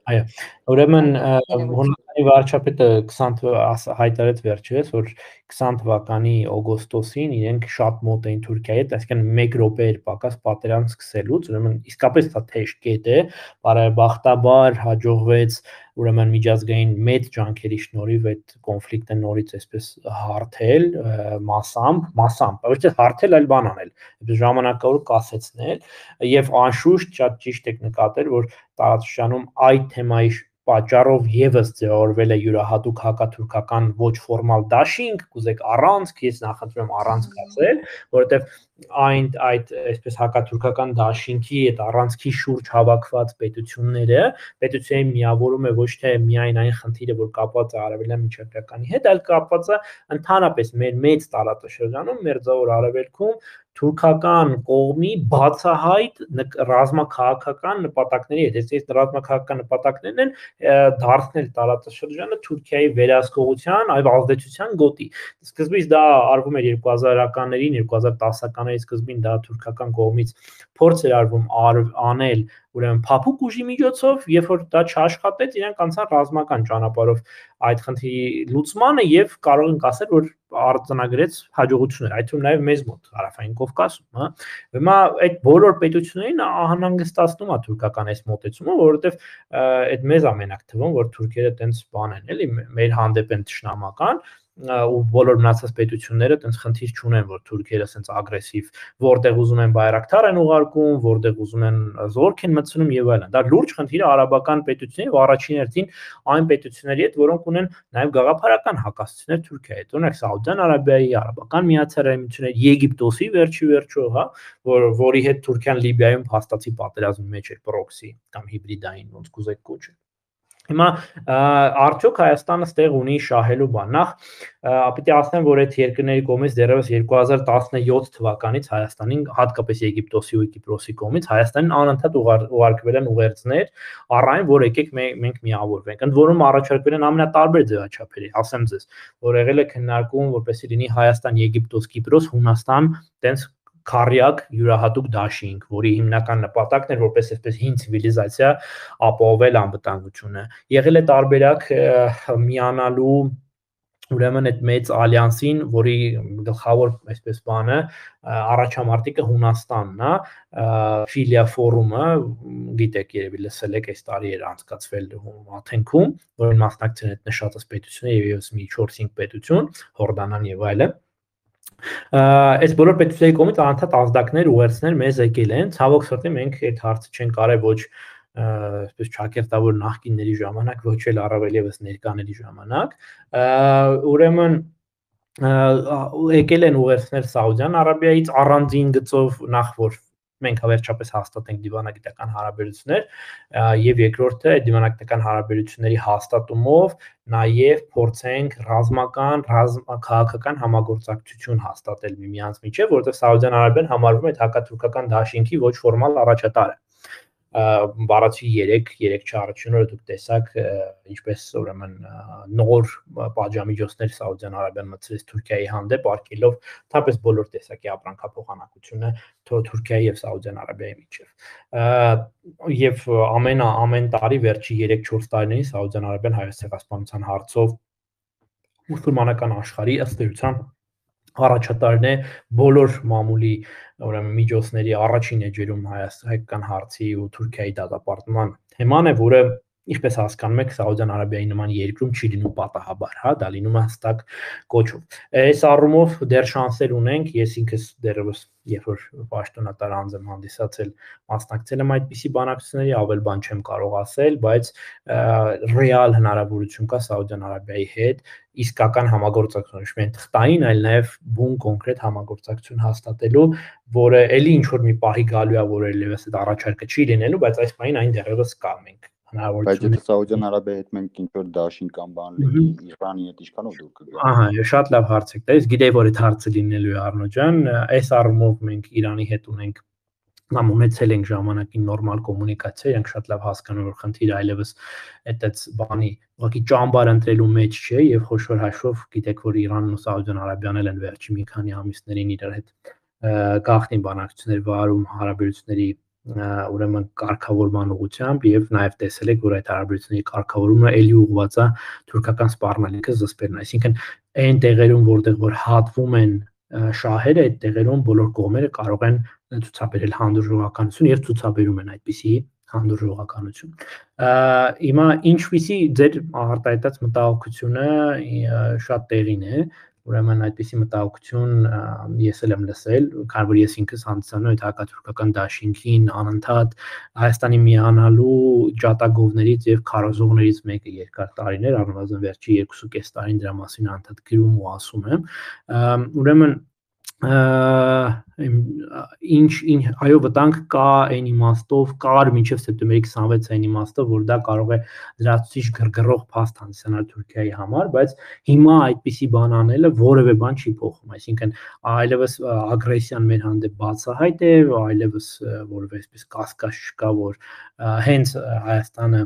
Speaker 3: Այո, ուրեմն Հունաստանի վարչապետը 20 հայտարարեց վերջերս, որ 20 թվականի օգոստոսին իրենք շատ մոտ էին Թուրքիայի հետ, այսինքն 1 րոպե էր պակաս պատերազմ սկսելուց, ուրեմն իսկապես դա թեժ կետ է, բարեբախտաբար հաջողվեց ուրեմն միջազգային մեծ ջանքերի շնորհիվ այդ կոնֆլիկտը նորից այսպես հարթել մասամբ, ոչ թե հարթել, այլ բան անել, այսպես ժամանակավոր կասեցնել եւ անշուշտ շատ ճիշտ եք նկատել, որ տարածաշրջանում այդ թեմայի պատճառով եւս ձևավորվել է յուրահատուկ հակաթուրքական ոչ ֆորմալ դաշինք, կուզեք առանցք, ես նախընտրում եմ առանցք ասել, որովհետեւ այդ այսպես հակաթուրքական դաշինքի այդ առանցքի շուրջ հավաքված պետությունների միավորում է ոչ թե միայն այն խնդիրը, որ կապված է արևելյան միջերկրականի հետ, այլ կապված է ընդհանրապես մեր մեծ տարածաշրջանում, Մերձավոր Արևելքում թուրքական կողմի բացահայտ ռազմաքաղաքական նպատակների հետ, այս ռազմաքաղաքական նպատակներն են դարձնել տարածաշրջանը Թուրքիայի վերահսկողության, այլ ազդեցության գոտի։ Սկզբից դա արվում էր 2000-ականներին, 2010-ականների սկզբին դա թուրքական կողմից փորձ էր արվում անել ուրեմն փափուկ ուժի միջոցով, երբ որ դա չաշխատեց, իրանք անցան ռազմական ճանապարհով այդ խնդրի լուծմանը եւ կարող ենք ասել, որ արձանագրեց հաջողություններ, այդ թվում նաեւ մեզ մոտ Հարավային Կովկասում, հա։ Հիմա այդ բոլոր պետություններին անհանգստացնում է թուրքական այս մոտեցումը, որովհետեւ այդ մեզ ամենակ թվում, որ թուրքերը տենց բան են, էլի, մեր հանդեպ են ճշնամական ու բոլոր մնացած պետությունները տենց խնդիր չունեն, որ թուրքերը ասենց ագրեսիվ, որտեղ ուզում են բայրակթար են ուղարկում, որտեղ ուզում են զորք են մտցնում եւ այլն։ Դա լուրջ խնդիր է արաբական պետությունների եւ առաջին հերթին այն պետությունների հետ, որոնք ունեն նաեւ գաղափարական հակասություններ Թուրքիայի հետ։ Օրինակ Սաուդյան Արաբիայի, Արաբական Միացյալ Էմիրությունների, Եգիպտոսի վերջի, հա, որի հետ Թուրքիան Լիբիայում հաստատի պատերազմի մեջ էր պրոքսի կամ հիբրիդային, ոնց կուզեք կոչել։ Հիմա արդյոք Հայաստանը ստեղ ունի շահելու բան։ Նախ պիտի ասեմ, որ այդ երկրների կողմից դեռևս 2017 թվականից Հայաստանին, հատկապես Եգիպտոսի ու Կիպրոսի կողմից Հայաստանին անընդհատ ուղարկվել են ուղերձներ, առայն որ եկեք մենք միավորվենք։ Ընդ որում առաջարկվել են ամենատարբեր ձևաչափերի, ասեմ ձեզ, որ եղել է քննարկում, որպեսզի լինի Հայաստան, Եգիպտոս, Կիպրոս, Հունաստան, տենց քարյակ յուրահատուկ դաշինք, որի հիմնական նպատակն էր որպես այսպես հին ցիվիլիզացիա ապահովել անվտանգությունը։ Եղել է տարբերակ միանալու ուրեմն այդ մեծ ալյանսին, որի գլխավոր այսպես բանը առաջամարտիկը Հունաստանն է, Ֆիլիա ֆորումը, գիտեք, երևի լսել եք, այս տարի էր անցկացվել Աթենքում, որին մասնակցել են նշածս պետությունը եւ եւս մի 4-5 պետություն, Հորդանան եւ այլն։ Այս բոլոր պետությունների կողմից անընդհատ ազդակներ ուղերձներ մեզ եկել են, ցավոք սրտի մենք այդ հարցը չենք կարել ոչ այսպես ճակերտավոր նախկինների ժամանակ, ոչ էլ առավել եւս ներկաների ժամանակ, ուրեմն եկել են ուղերձներ Սաուդյան Արաբիայից առանձին գծով նախ որ մենք վերջապես հաստատենք դիվանագիտական հարաբերություններ եւ երկրորդը այդ դիվանագիտական հարաբերությունների հաստատումով նաեւ փորձենք ռազմական, քաղաքական համագործակցություն հաստատել միմյանց միջեւ, որովհետեւ Սաուդյան Արաբիան համարվում է հակաթուրքական դաշինքի ոչ ֆորմալ առաջատարը։ Բառացի 3 չառաջինը դուք տեսաք ինչպես ուրեմն նոր պատժամիջոցներ Սաուդյան Արաբիան մտցրեց Թուրքիայի հանդեպ արկելով թափես բոլոր տեսակի ապրանքափոխանակությունը Թուրքիայի եւ Սաուդյան Արաբիայի միջեւ եւ ամեն տարի վերջի 3-4 տարիներին Սաուդյան Արաբիան հայոց ցեղասպանության հարցով մուսուլմանական աշխարհի ըստ էության առաջատարն է բոլոր մամուլի ուրեմն միջոցների առաջին էջերում հայկական հարցի ու Թուրքիայի դատապարտման թեման է, որը ինչպես հասկանում եք Սաուդյան Արաբիայի նման երկրում չի լինում պատահաբար, հա, դա լինում է հստակ կոչով։ Այս առումով դեռ շանսեր ունենք, ես ինքս դեռևս երբ որ պաշտոնատար անձ եմ հանդիսացել, մասնակցել եմ այդպիսի բանակցությունների, ավել բան չեմ կարող ասել, բայց ռեալ հնարավորություն կա Սաուդյան Արաբիայի հետ իսկական համագործակցություն, ոչ միայն թղթային, այլ նաև բուն կոնկրետ համագործակցություն հաստատելու, որը էլի ինչ որ մի պահի գալու է, որ ելևս այդ առաջարկը չի լինելու, բայց այս պահին այն դեռևս կա մենք
Speaker 9: Բայց եթե Սաուդյան Արաբիայի հետ մենք ինչ որ դաշին կամ բան լինի, Իրանի հետ ինչքանով դուք կգաք։
Speaker 3: Ահա, շատ լավ հարց եք տալիս, գիտեի որ այդ հարցը լինելու է Արնո ջան, այս առումով մենք Իրանի հետ ունենք կամ ունեցել ենք ժամանակին նորմալ կոմունիկացիա, իրենք շատ լավ հասկանում են որ խնդիրը այլևս այդ բանի ուղղակի ճամբար ընտրելու մեջ չէ եւ խոշոր հաշվով գիտեք որ Իրանն ու Սաուդյան Արաբիան են վերջի մի քանի ամիսներին իրար հետ գաղտնի բանակցություններ վարում հարաբերությունների ուրեմն կարգավորման ուղղությամբ եւ նաեւ տեսել եք որ այդ հարաբերությունների կարգավորումը ելի ուղղված է թուրքական սպառնալիքը զսպերն, այսինքն այն տեղերում որտեղ որ հատվում են շահերը, այդ տեղերում բոլոր կողմերը կարող են ցուցաբերել հանդուրժողականություն եւ ցուցաբերում են այդպիսի հանդուրժողականություն։ Հիմա ինչպիսի ձեր արտահայտած մտահոգությունը շատ տեղին է, ուրեմն այդպիսի մտահոգություն ես էլ եմ լսել, քանի որ ես ինքս հանդիսանում եմ այդ հակաթուրքական դաշինքին անընդհատ Հայաստանի միանալու ջատագովներից եւ քարոզողներից մեկը երկար տարիներ, առնվազն վերջի 2.5 տարին դրա մասին անընդհատ գրում ու ասում եմ, ուրեմն այո վտանգ կա այն իմաստով կար մինչև սեպտեմբերի 26 այն իմաստով որ դա կարող է լրացուցիչ գրգռող փաստ հանդիսանալ Թուրքիայի համար, բայց հիմա այդպիսի բան անելը որևէ բան չի փոխում, այսինքն այլևս ագրեսիան մեր հանդեպ բացահայտ է, այլևս որևէ այսպես կասկած չկա, որ հենց Հայաստանը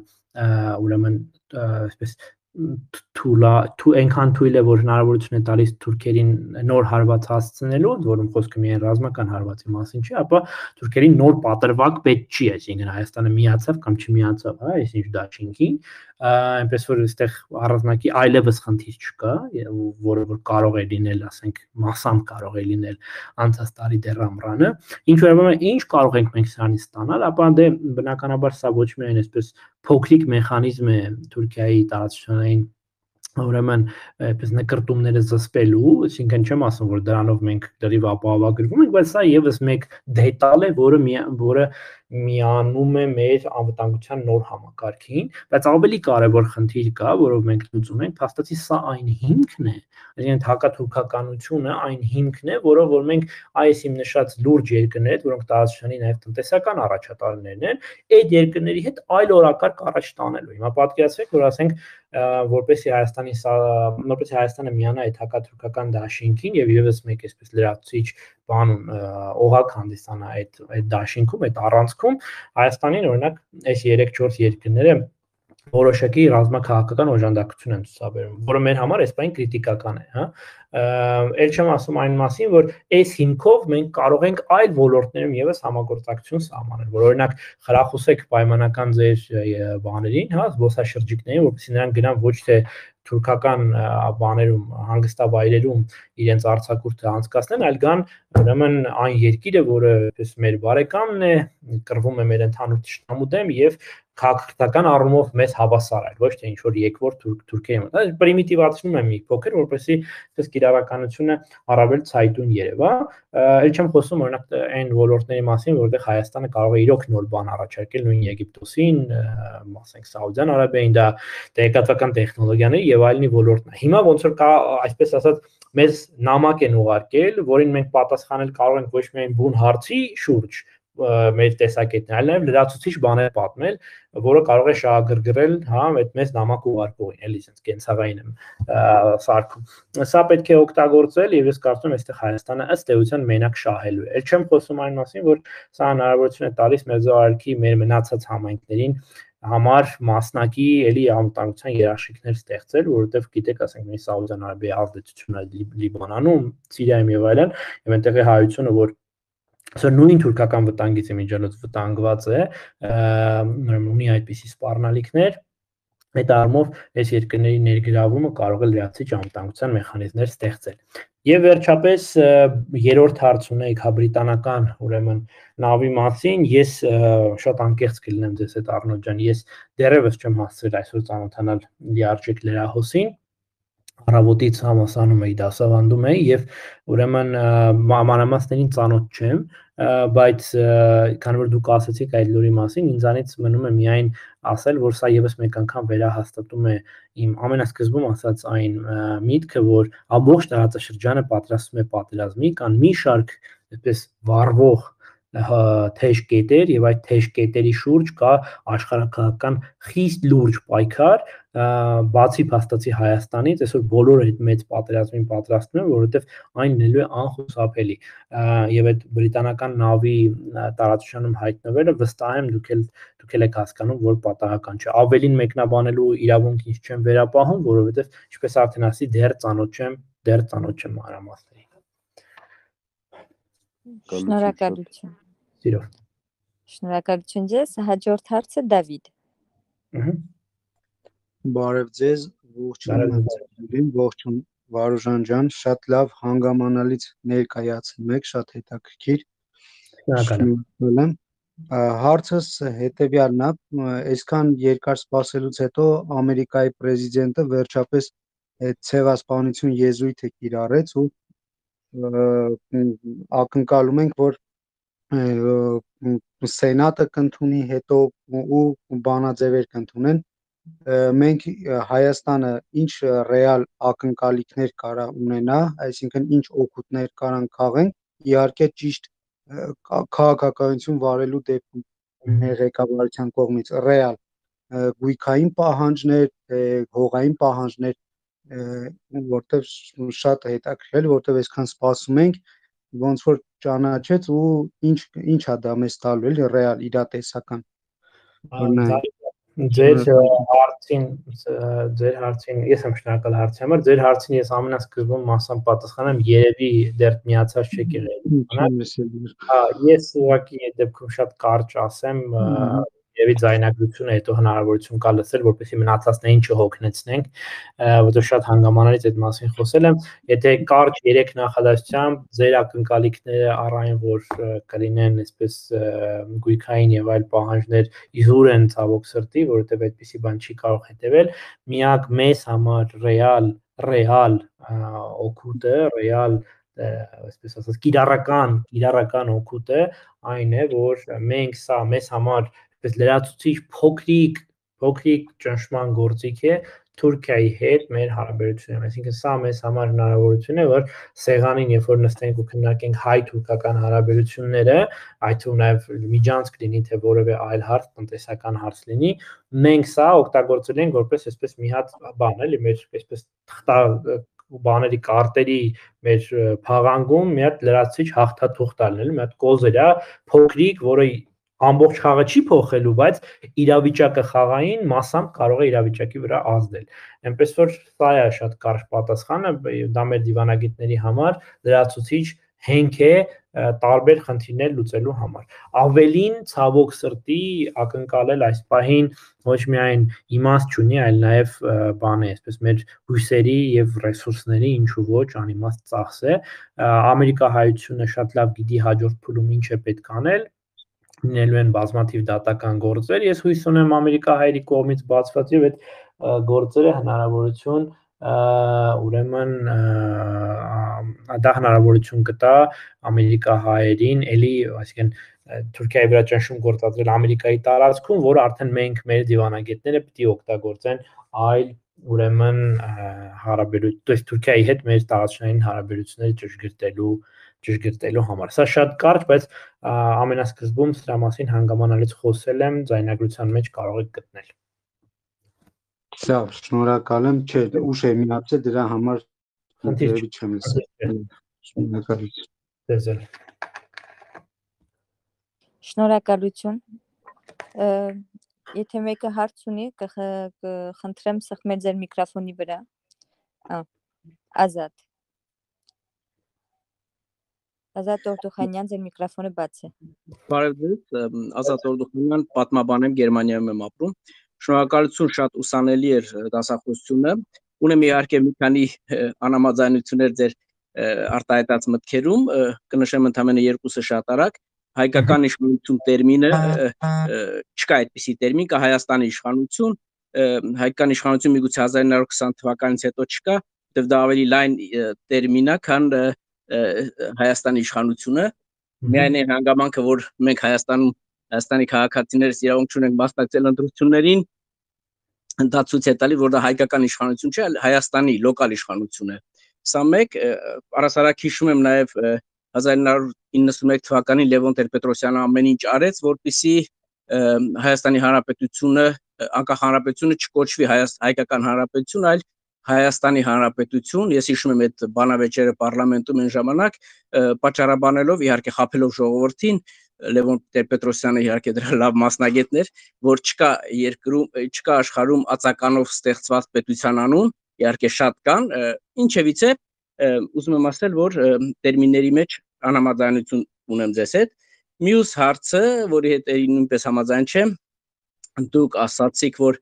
Speaker 3: ուրեմն այսպես այնքան թույլ է, որ հնարավորություն է տալիս թուրքերին նոր հարված հասցնելու, որում խոսքը միայն ռազմական հարվածի մասին չի, ապա թուրքերին նոր պատրվակ պետք չի, այսինքն Հայաստանը միացավ կամ չմիացավ, հա, այսինչ դաշինքին, այնպես որ այստեղ առանձնակի այլևս խնդիր չկա, որը որ կարող է լինել, ասենք, մասամբ կարող է լինել անցած տարի դեռ ամռանը, ինչ վերաբերում է ինչ կարող ենք մենք սրանից ստանալ, ապա դե բնականաբար սա ոչ միայն այսպես փոքրիկ մեխանիզմ է Թուրքիայի տարածաշրջանային ուրեմն այդպես նկրտումները զսպելու, այսինքն չեմ ասում, որ դրանով մենք դրիվ ապահովագրվում ենք, բայց սա եւս մեկ դետալ է, որը միանում է մեր անվտանգության նոր համակարգին, բայց ավելի կարևոր խնդիր կա, որով մենք լուծում ենք, փաստացի սա այն հիմքն է, այսինքն հակաթուրքականությունը այն հիմքն է, որով որ մենք այս իմ նշած լուրջ երկրներ, որոնք տարածաշրջանի նաև տնտեսական առաջատարներն են, այդ երկրների հետ այլ օրակարգ առաջ տանելու։ Հիմա պատկերացրեք, որ ասենք որպեսզի Հայաստանը միանա այդ հակաթուրքական դաշինքին եւ եւս մեկ այսպես լրացուցիչ բան օղակ հանդիսանա այդ դաշինքում, այդ առանցքում, Հայաստանին օրինակ այս 3-4 երկրները որոշակի ռազմաքաղաքական օժանդակություն են ցուցաբերում, որը մեր համար այսպես կրիտիկական է, հա։ Էլ չեմ ասում այն մասին, որ այս հիմքով մենք կարող ենք այլ ոլորտներում եւս համագործակցություն սահմանել, որ օրինակ խրախուսեք պայմանական ձեր բաներին, հա, զբոսաշրջիկներին, որպեսզի նրանք գնան ոչ թե թուրքական բաներում, հանգստավայրերում իրենց արձակուրդը անցկացնեն, այլ գան ուրեմն այն երկիրը, որը այսպես մեր բարեկամն է, կռվում է մեր ընդհանուր ճշտամու դեմ եւ քաղաքական առումով մեզ հավասար է, ոչ թե ինչ որ եկվոր թուրքերի մոտ։ Դա պրիմիտիվացնում է մի փոքր, որպեսզի այս կիրառականությունը առավել ցայտուն երևա։ Էլ չեմ խոսում օրինակ այն ոլորտների մասին, որտեղ Հայաստանը կարող է իրոք նոր բան առաջարկել նույն Եգիպտոսին, ասենք Սաուդյան Արաբիային, դա տեղեկատվական տեխնոլոգիաների եւ այլնի ոլորտն է։ Հիմա ոնց որ կա, այսպես ասած, մեզ նամակ են ուղարկել, որին մենք պատասխանել կարող ենք ոչ միայն բուն հարցի շուրջ մեր տեսակետն, այլ նաև լրացուցիչ բաներ պատմել, որը կարող է շահագրգռել, հա, այդ մեզ նամակ ուղարկողին, էլի sense կենցաղային եմ սարքում։ Սա պետք է օգտագործել եւ ես կարծում եմ, այստեղ Հայաստանը ըստ էության մենակ շահելու է։ Էլ չեմ խոսում այն մասին, որ սա հնարավորություն է տալիս Մերձարարքի մեր մնացած համայնքներին համար մասնակի էլի անվտանգության երաշխիքներ ստեղծել, որովհետև գիտեք, ասենք մի Սաուդյան Արաբիայի ազդեցությունը Լիբանանում, Սիրիայում եւ այլն, եւ այնտեղի հայությունը, որ նույն թուրքական վտանգից իմիջիալոց վտանգված է, ունի այդպիսի սպառնալիքներ, այդ առումով այս երկրների ներգրավումը կարող է լրացուցիչ անվտանգության մեխանիզմներ ստեղծել։ Եվ վերջապես երրորդ հարց ունեիք հաբրիտանական, ուրեմն նավի մասին, ես շատ անկեղծ կլինեմ ձեզ հետ Արնոտ ջան, ես դեռևս չեմ հասցրել այսօր ծանոթանալ լիարժեք լրահոսին, առավոտից համասանում էի, դասավանդում էի եւ ուրեմն մանրամասներին ծանոթ չեմ, բայց քանի որ դուք ասացիք այդ լուրի մասին, ինձանից մնում է միայն ասել, որ սա եւս մեկ անգամ վերահաստատում է իմ ամենասկզբում ասած այն միտքը, որ ամբողջ տարածաշրջանը պատրաստվում է պատերազմի, կան մի շարք այսպես վառվող թեժ կետեր եւ այդ թեժ կետերի շուրջ կա աշխարհակահաղական խիստ լուրջ պայքար, բացի փաստացի Հայաստանից, այսօր բոլորը այդ մեծ պատերազմին պատրաստվում են, որովհետեւ այն լինելու է անխուսափելի եւ այդ բրիտանական նավի տարածաշրջանում հայտնվելը վստահ եմ դուք էլ եք հասկանում, որ պատահական չէ։ Ավելին մեկնաբանելու իրավունք ինձ չեմ վերապահում, որովհետեւ ինչպես արդեն ասի, դեռ ծանոթ չեմ մանրամասներին։
Speaker 5: Շնորհակալություն։
Speaker 3: Սիրով։
Speaker 5: Շնորհակալություն ձեզ, հաջորդ հարցը Դավիթ։
Speaker 10: Բարև ձեզ, ողջույն Վարուժան ջան, շատ լավ հանգամանալից ներկայացնում եք, շատ հետաքրքիր։ Շնորհակալ եմ։ Հարցս հետևյալն է, այսքան երկար սպասելուց հետո Ամերիկայի պրեզիդենտը վերջապես այդ ցեղասպանություն եզրույթը կիրառեց ու ակնկալում ենք, որ Սենատը կընդունի հետո ու բանաձևեր կընդունեն։ Մենք Հայաստանը ինչ ռեալ ակնկալիքներ կարա ունենա, այսինքն ինչ օգուտներ կարան քաղեն, իհարկե ճիշտ քաղաքականություն վարելու դեպքում մեր ղեկավարության կողմից ռեալ գույքային պահանջներ, հողային պահանջներ, որտեղ շատ հետաքրքիր, որտեղ այսքան սպասում ենք, ոնց որ ճանաչեց ու ինչ է դա մեզ տալու էլի ռեալ իրատեսական։
Speaker 3: Ձեր հարցին ես եմ շնորհակալ հարցի համար, ձեր հարցին ես ամենասկզբում մասամբ պատասխանեմ, երևի դեռ միացած չեք եղել։ Ես ուղղակի այդ դեպքում շատ կարճ ասեմ, Եվի ձայնագրությունը հետո հնարավորություն կա լսել, որպեսզի մնացածներին չհոգնեցնենք, որովհետև շատ հանգամանալից այդ մասին խոսել եմ։ Եթե կարճ 3 նախադասությամբ ձեր ակնկալիքները առ այն, որ կլինեն այսպես գույքային եւ այլ պահանջներ իզուր են ցավոք սրտի, որովհետև այդպիսի բան չի կարող հետևել, միակ մեզ համար ռեալ օգուտը, ռեալ այսպես ասած կիրառական օգուտը այն է, որ մենք սա մեզ համար այսպես լրացուցիչ փոքրիկ ճնշման գործիք է Թուրքիայի հետ մեր հարաբերություններում, այսինքն սա մեզ համար հնարավորություն է, որ սեղանին, երբ որ նստենք ու քննարկենք հայ-թուրքական հարաբերությունները, այդ թվում նաև միջանցք լինի, թե որևէ այլ հարց, տնտեսական հարց լինի, մենք սա օգտագործել ենք որպես այսպես մի հատ բան, էլի, մեր այսպես բաների կարտերի մեր փաղանգում մի հատ լրացուցիչ հաղթաթուղթ տալն, մի հատ կոզերա փոքրիկ, որը ամբողջ խաղը չի փոխելու, բայց իրավիճակը խաղային մասամբ կարող է իրավիճակի վրա ազդել։ Այնպես որ սա է շատ կարճ պատասխանը, դա մեր դիվանագետների համար լրացուցիչ հենք է տարբեր խնդիրներ լուծելու համար։ Ավելին ցավոք սրտի ակնկալել այս պահին ոչ միայն իմաստ չունի, այլ նաև բան է, այսպես մեր հույսերի եւ ռեսուրսների ինչու ոչ անիմաստ ծախս է։ Ամերիկահայությունը շատ լավ գիտի հաջորդ փուլում ինչ է պետք անել, լինելու են բազմաթիվ դատական գործեր, ես հույս ունեմ ամերիկահայերի կողմից բացված եւ այդ գործերը հնարավորություն ուրեմն դա հնարավորություն կտա ամերիկահայերին էլի, այսինքն Թուրքիայի վրա ճնշում գործադրել Ամերիկայի տարածքում, որը արդեն մենք մեր դիվանագետները պիտի օգտագործեն այլ ուրեմն հարաբերություն, Թուրքիայի հետ մեր տարածքային հարաբերությունները ճշգրտելու համար։ Սա շատ կարճ, բայց ամենասկզբում սրա մասին հանգամանալից խոսել եմ, ձայնագրության մեջ կարող եք գտնել։
Speaker 10: Լավ, շնորհակալ եմ, չէ, ուշ եմ միացել դրա համար
Speaker 3: խնդիր
Speaker 10: չեմ լսել։
Speaker 3: Շնորհակալություն։
Speaker 5: Շնորհակալություն։ Եթե մեկը հարց ունի, կխնդրեմ սեղմել ձեր միկրոֆոնի վրա։ Ազատ Օրդուխանյան, ձեր միկրոֆոնը բաց է։
Speaker 11: Բարև ձեզ, Ազատ Օրդուխանյան, պատմաբան եմ, Գերմանիայում եմ ապրում։ Շնորհակալություն, շատ ուսանելի էր դասախոսությունը։ Ունեմ իհարկե մի քանի անհամաձայնություններ ձեր արտահայտած մտքերում, կնշեմ ընդամենը երկուսը շատ արագ։ Հայկական իշխանություն տերմինը չկա այդպիսի տերմին, կա Հայաստանի իշխանություն, հայկական իշխանություն միգուցե 1920 թվականից հետո չկա, որտեղ դա ավելի լայն տերմին է, քան Հայաստանի իշխանությունը, միայն այն հանգամանքը, որ մենք Հայաստանի քաղաքացիներս իրավունք չունենք մասնակցել ընտրություններին, դա ցույց է տալիս, որ դա հայկական իշխանություն չէ, այլ Հայաստանի լոկալ իշխանություն է։ Սա մեկ, առասարակ հիշում եմ նաև 1991 թվականին Լևոն Տեր-Պետրոսյանը ամեն ինչ արեց, որպեսզի Հայաստանի Հանրապետությունը, անկախ հանրապետությունը չկոչվի հայկական հանրապետություն, այլ Հայաստանի Հանրապետություն, ես հիշում եմ այդ բանավեճերը պարլամենտում այն ժամանակ, պատճառաբանելով, իհարկե խաբելով ժողովրդին, Լևոն Տեր-Պետրոսյանը իհարկե դրա լավ մասնագետն էր, որ չկա աշխարհում ածականով ստեղծված պետության անուն, իհարկե շատ կան, ինչևիցե ուզում եմ ասել, որ տերմինների մեջ անհամաձայնություն ունեմ ձեզ հետ։ Մյուս հարցը, որի հետ նույնպես համաձայն չեմ, դուք ասացիք, որ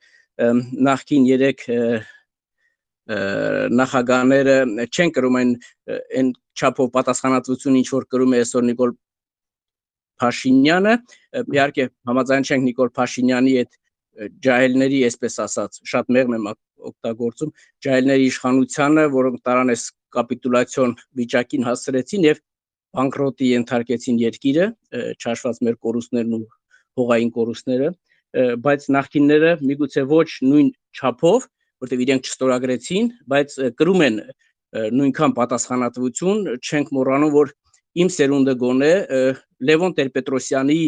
Speaker 11: նախկին 3 նախագահները չեն կրում այն չափով պատասխանատվություն, ինչ որ կրում է այսօր Նիկոլ Փաշինյանը, իհարկե համաձայն չենք Նիկոլ Փաշինյանի այդ ջահելների, այսպես ասած, շատ մեղմ եմ օգտագործում, ջահելների իշխանությանը, որոնք տարան այս կապիտուլյացիոն վիճակին հասցրեցին եւ բանկրոտի ենթարկեցին երկիրը, չհաշված մեր կորուստներն ու հողային կորուստները, բայց նախկինները միգուցե ոչ նույն չափով, որտեղ իրենք չստորագրեցին, բայց կրում են նույնքան պատասխանատվություն, չենք մոռանում, որ իմ սերունդը գոնե Լևոն Տեր-Պետրոսյանի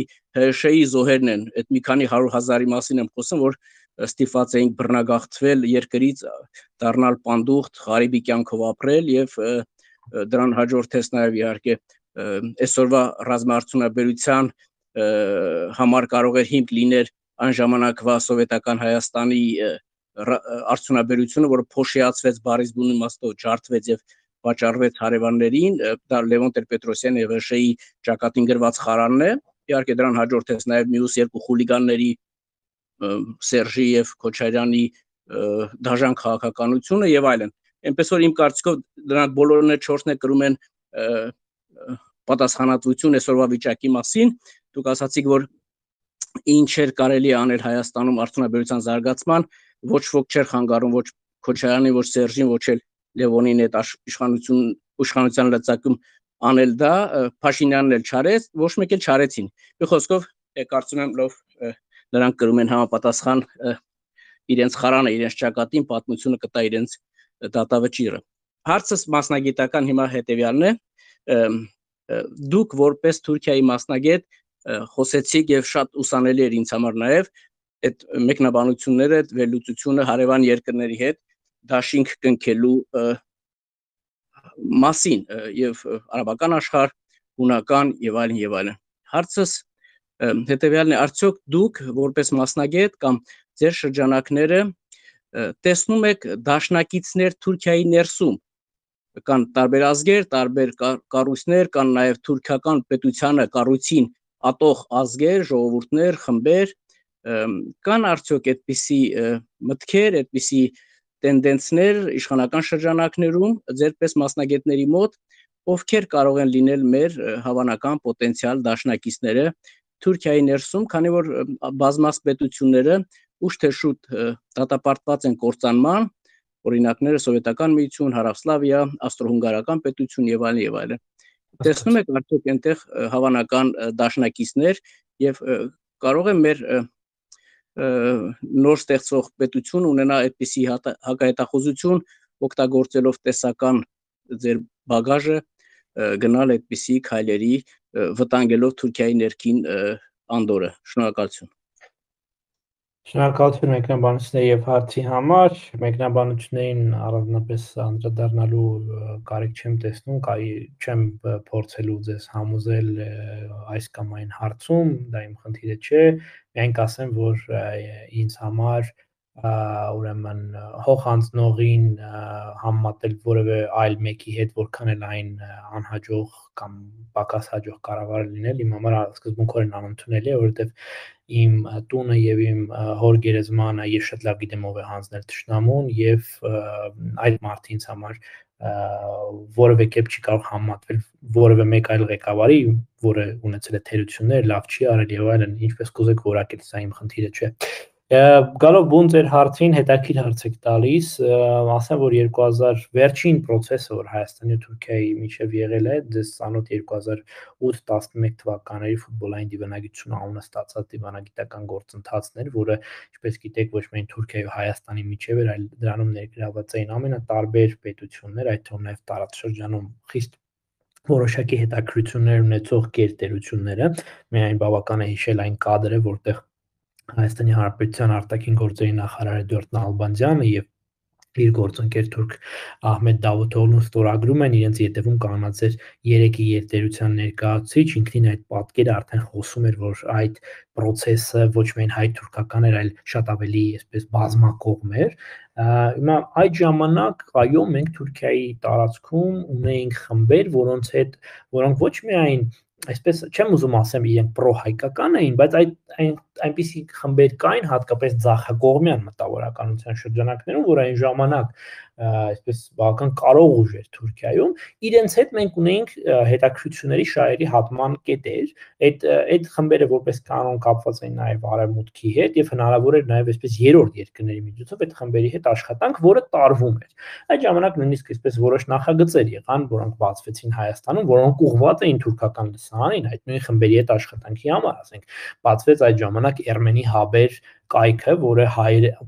Speaker 11: ՀՇ-ի զոհերն են, այդ մի քանի 100,000-ի մասին եմ խոսում, որ ստիպված էինք բռնագաղթվել երկրից, դառնալ պանդուխտ, ղարիբի կյանքով ապրել եւ դրան հաջորդեց նաեւ իհարկե այսօրվա ռազմաարդյունաբերության համար կարող էր հիմք լիներ այն ժամանակվա սովետական Հայաստանի արդյունաբերությունը, որը փոշիացվեց բարիս բուն իմաստով, ջարդվեց եւ վաճառվեց հարևաններին, դա Լևոն Տեր-Պետրոսյանի եւ ՀՇ-ի ճակատին գրված խարանն է, իհարկե դրան հաջորդեց նաեւ մյուս երկու խուլիգանների Սերժի եւ Քոչարյանի դաժան քաղաքականությունը եւ այլն։ Այնպես որ իմ կարծիքով դրանք բոլորն էլ 4-ն կրում են պատասխանատվություն այսօրվա վիճակի մասին։ Դուք ասացիք, որ ինչեր կարելի անել Հայաստանում արդյունաբերության զարգացման, ոչ ոք չէր խանգարում ոչ Քոչարյանին, ոչ Սերժին, ոչ էլ Լևոնին այդ իշխանության լծակում անել դա, Փաշինյանն էլ չարեց, ոչ մեկ էլ չարեցին։ Մի խոսքով, կարծում եմ լավ նրանք կրում են համապատասխան իրենց խարանը, իրենց ճակատին, պատմությունը կտա իրենց դատավճիռը։ Հարցս մասնագիտական հիմա հետևյալն է, դուք որպես Թուրքիայի մասնագետ խոսեցիք եւ շատ ուսանելի էր ինձ համար նաեւ այդ մեկնաբանությունները, այդ վերլուծությունը հարևան երկրների հետ դաշինք կնքելու մասին եւ արաբական աշխարհ, հունական եւ այլն եւ այլն։ Հարցս հետեւյալն է, արդյոք դուք որպես մասնագետ կամ ձեր շրջանակները տեսնում եք դաշնակիցներ Թուրքիայի ներսում, կան տարբեր ազգեր, տարբեր կառույցներ, կան նաեւ թուրքական պետությանը կառույցին ատող ազգեր, ժողովուրդներ, խմբեր, կան արդյոք այդպիսի մտքեր, այդպիսի տենդենսներ իշխանական շրջանակներում ձերպես մասնագետների մոտ, ովքեր կարող են լինել մեր հավանական պոտենցիալ դաշնակիցները Թուրքիայի ներսում, քանի որ բազմաց պետությունները ուշ թե շուտ դատապարտված են կործանման, օրինակները Սովետական միություն, Հարավսլավիա, Ավստրո-հունգարական պետություն եւ այլն եւ այլն։ Տեսնում եք արդյոք այնտեղ հավանական դաշնակիցներ եւ կարող է մեր նոր ստեղծվող պետություն ունենա այդպիսի հակահետախուզություն, օգտագործելով տեսական ձեր բագաժը, գնալ այդպիսի քայլերի, վտանգելով Թուրքիայի ներքին անդորը։ Շնորհակալություն։
Speaker 3: Շնորհակալություն մեկնաբանությունների եւ հարցի համար։ Մեկնաբանություններին առանձնապես անդրադառնալու կարիք չեմ տեսնում, չեմ փորձելու ձեզ համոզել այս կամ այն հարցում, դա իմ խնդիրը չէ, միայն կասեմ, որ ինձ համար ուրեմն հող անցնողին համեմատել որևէ այլ մեկի հետ, որքան էլ այն անհաջող կամ պակաս հաջող կարող է լինել, իմ համար սկզբունքորեն անընդունելի է, որովհետեւ իմ տունը եւ իմ հոր գերեզմանը ես շատ լավ գիտեմ ով է հանձնել թշնամուն եւ այդ մարդը ինձ համար որևէ կերպ չի կարող համատվել որևէ մեկ այլ ղեկավարի, որը ունեցել է թերություններ, լավ չի արել եւ այլն, ինչպես կուզեք որակել, սա իմ խնդիրը չէ։ Գալով բուն ձեր հարցին, հետաքրքիր հարց եք տալիս, ասեմ, որ 2000 վերջին process-ը, որ Հայաստանի ու Թուրքիայի միջև եղել է, ձեզ ծանոթ 2008-11 թվականների ֆուտբոլային դիվանագիտություն անունը ստացած դիվանագիտական գործընթացն էր, որը, ինչպես գիտեք, ոչ միայն Թուրքիայի ու Հայաստանի միջև էր, այլ դրանում ներգրաված էին ամենատարբեր պետություններ, այդ թվում նաև տարածաշրջանում խիստ որոշակի հետաքրքրություններ ունեցող գերտերությունները, միայն բավական է հիշել այն կադրը, որտեղ Հայաստանի Հանրապետության արտաքին գործերի նախարար Էդուարդ Նալբանդյանը եւ իր գործընկեր թուրք Ահմեդ Դավութօղլուն ստորագրում են իրենց ետևում կանգնած էր 3-ի երթերության ներկայացուցիչ, ինքնին այդ պատկերը արդեն խոսում էր, որ այդ process-ը ոչ միայն հայ-թուրքական էր, այլ շատ ավելի այսպես բազմակողմ էր։ Հիմա այդ ժամանակ այո մենք Թուրքիայի տարածքում ունեինք խմբեր, որոնք ոչ միայն այսպես չեմ ուզում ասեմ իրենք պրո-հայկական էին, բայց այնպիսի խմբեր կային հատկապես ձախակողմյան մտավորականության շրջանակներում, որ այն ժամանակ այսպես բավական կարող ուժ էր Թուրքիայում, իրենց հետ մենք ունեինք հետաքրքրությունների շահերի հատման կետեր, այդ խմբերը որպես կանոն կապված էին նաև արևմուտքի հետ եւ հնարավոր էր նաև այսպես երրորդ երկրների միջոցով այդ խմբերի հետ աշխատանք, որը տարվում էր։ Այդ ժամանակ նույնիսկ այսպես որոշ նախագծեր եղան, որոնք բացվեցին Հայաստանում, որոնք ուղղված էին թուրքական լսարանին, այդ նույն խմբերի հետ աշխատանքի համար, ասենք, բացվեց այդ ժամանակ Ermeni Haber կայքը, որը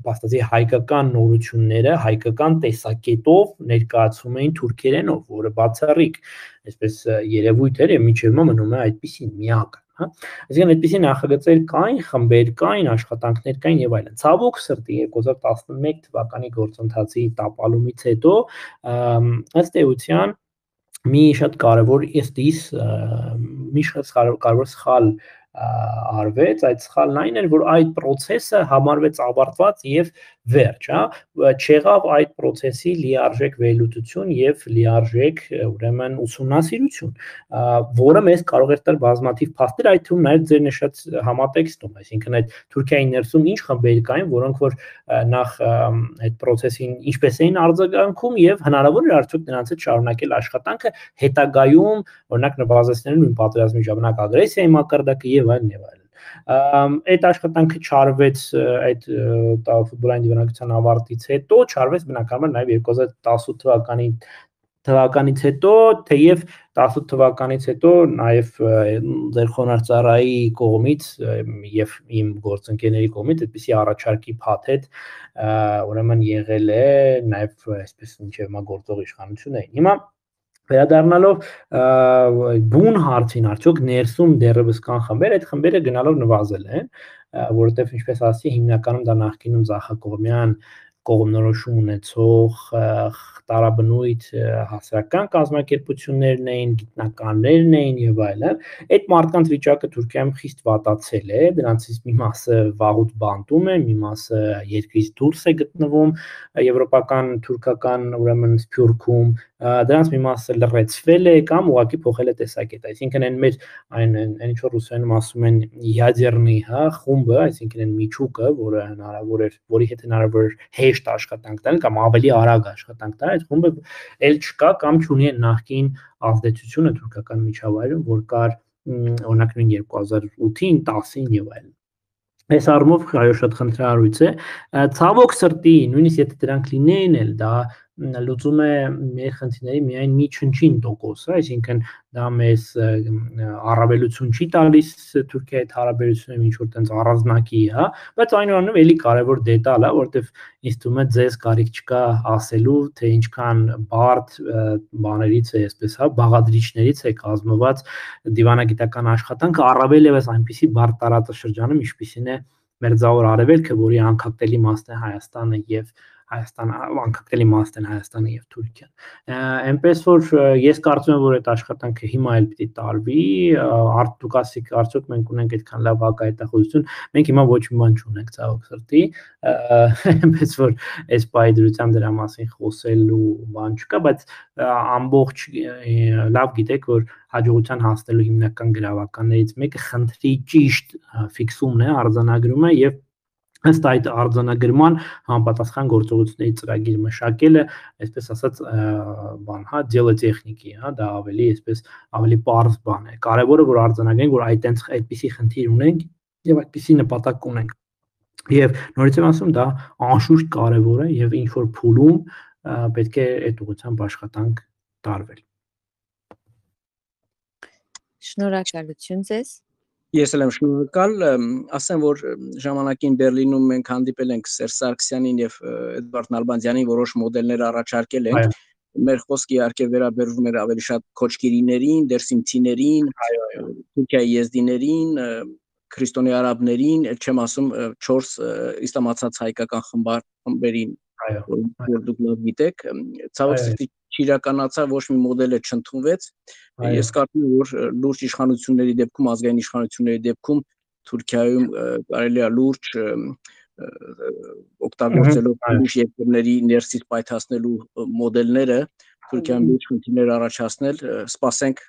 Speaker 3: փաստացի հայկական նորությունները հայկական տեսակետով ներկայացում էին թուրքերենով, որը բացառիկ, այսպես երևույթ էր եւ մինչեւ հիմա մնում է այդպիսի միակ, հա։ Այսինքն այդպիսի նախագծեր կային, խմբեր կային, աշխատանքներ կային եւ այլն։ Ցավոք սրտի 2011 թվականի գործընթացի տապալումից հետո ըստ էության մի շատ կարևոր սխալ արվեց, այդ սխալն այն էր, որ այդ process-ը համարվեց ավարտված եւ վերջ, հա, չեղավ այդ process-ի լիարժեք վերլուծություն եւ լիարժեք ուրեմն ուսումնասիրություն, որը մեզ կարող էր տալ բազմաթիվ փաստեր, այդ թվում նաեւ ձեր նշած համատեքստում, այսինքն այդ Թուրքիայի ներսում ինչ խմբեր կային, որոնք որ նախ այդ process-ին ինչպես էին արձագանքում եւ հնարավոր էր արդյոք նրանց հետ շարունակել աշխատանքը հետագայում, օրինակ նվազեցնելու նույն պատերազմի ժամանակ ագրեսիայի մակարդակը եւ այլն եւ այլն։ Այդ աշխատանքը չարվեց այդ ֆուտբոլային դիվանագիտության ավարտից հետո, չարվեց բնականաբար նաև 2018 թվականից հետո, թեև 18 թվականից հետո նաև ձեր խոնարհծառայի կողմից եւ իմ գործընկերների կողմից այդպիսի առաջարկի փաթեթ ուրեմն եղել է նաև այսպես ինչեւ հիմա գործող իշխանություններին։ Հիմա վերադառնալով բուն հարցին, արդյոք ներսում դեռևս կան խմբեր, այդ խմբերը գնալով նվազել են, որովհետև ինչպես ասացի, հիմնականում դա նախկինում ձախակողմյան կողմնորոշում ունեցող տարաբնույթ հասարակական կազմակերպություններն էին, գիտնականներն էին եւ այլն։ Այդ մարդկանց վիճակը Թուրքիայում խիստ վատացել է, դրանցից մի մասը վաղուց բանտում է, մի մասը երկրից դուրս է գտնվում եվրոպական, թուրքական ուրեմն սփյուռքում, դրանց մի մասը լրացվել է կամ ուղղակի փոխել է տեսակետ, այսինքն այն մեր այն ինչ որ ռուսերենում ասում են յադերնի, հա, խումբը, այսինքն այն միջուկը, որը հնարավոր էր, որի հետ հնարավոր էր հեշտ աշխատանք տալ կամ ավելի արագ աշխատանք տալ, այդ խումբը էլ չկա կամ չունի նախկին ազդեցությունը թուրքական միջավայրում, որ կար օրինակ 2008-ին, 10-ին եւ այլն։ Այս առումով այո շատ խնդրահարույց է, ցավոք սրտի, նույնիսկ եթե դրանք լինեին էլ, դա լուծում է մեր խնդիրների միայն մի չնչին տոկոսը, այսինքն դա մեզ առավելություն չի տալիս Թուրքիայի հետ հարաբերություններում ինչ որ տենց առանձնակի, հա, բայց այնուամենայնիվ էլի կարևոր դետալ է, որովհետև ինձ թվում է ձեզ կարիք չկա ասելու, թե ինչքան բարդ բաներից է, այսպես, հա, բաղադրիչներից է կազմված դիվանագիտական աշխատանքը, առավել եւս այնպիսի բարդ տարածաշրջանում, ինչպիսին է Մերձավոր Արևելքը, որի անկախտելի մասն է Հայաստանը եւ անկախտելի մասն են Հայաստանը եւ Թուրքիան։ Այնպես որ ես կարծում եմ, որ այդ աշխատանքը հիմա էլ պիտի տարվի, դուք ասիք, արդյոք մենք ունենք այդքան լավ հակահետախուզություն, մենք հիմա ոչ մի բան չունենք, ցավոք սրտի, այնպես որ այս պայդրությամբ դրա մասին խոսելու բան չկա, բայց ամբողջ լավ գիտեք, որ հաջողության հասնելու հիմնական գրավականներից մեկը խնդրի ճիշտ ֆիքսումն է, արձանագրումը եւ ըստ այդ արձանագրման համապատասխան գործողությունների ծրագիր մշակելը, այսպես ասած, բան, հա, դելոտեխնիկի, հա, դա ավելի, այսպես, ավելի պարզ բան է։ Կարևորը որ արձանագրենք, որ այդպիսի խնդիր ունենք եւ այդպիսի նպատակ ունենք։ Եվ նորից եմ ասում, դա անշուշտ կարևոր է եւ ինչ որ փուլում պետք է այդ ուղղությամբ աշխատանք տարվել։
Speaker 5: Շնորհակալություն ձեզ։
Speaker 11: Ես էլ եմ շնորհակալ, ասեմ, որ ժամանակին Բերլինում մենք հանդիպել ենք Սերժ Սարգսյանին եւ Էդվարդ Նալբանդյանին, որոշ մոդելներ առաջարկել ենք։ Մեր խոսքը իհարկե վերաբերվում էր ավելի շատ քոչկիրիներին, դերսիմցիներին, Թուրքիայի եզդիներին, քրիստոնյա արաբներին, չեմ ասում 4 իսլամացած հայկական խմբերին, որ դուք լավ գիտեք, ցավոք սրտի չիրականացավ, ոչ մի մոդել չընդունվեց։ Ես կարծում եմ, որ լուրջ իշխանությունների դեպքում, ազգային իշխանությունների դեպքում Թուրքիայում կարելի է լուրջ օգտագործելով ուրիշ երկրների ներսից պայթացնելու մոդելները Թուրքիայում լուրջ խնդիրներ առաջացնել, սպասենք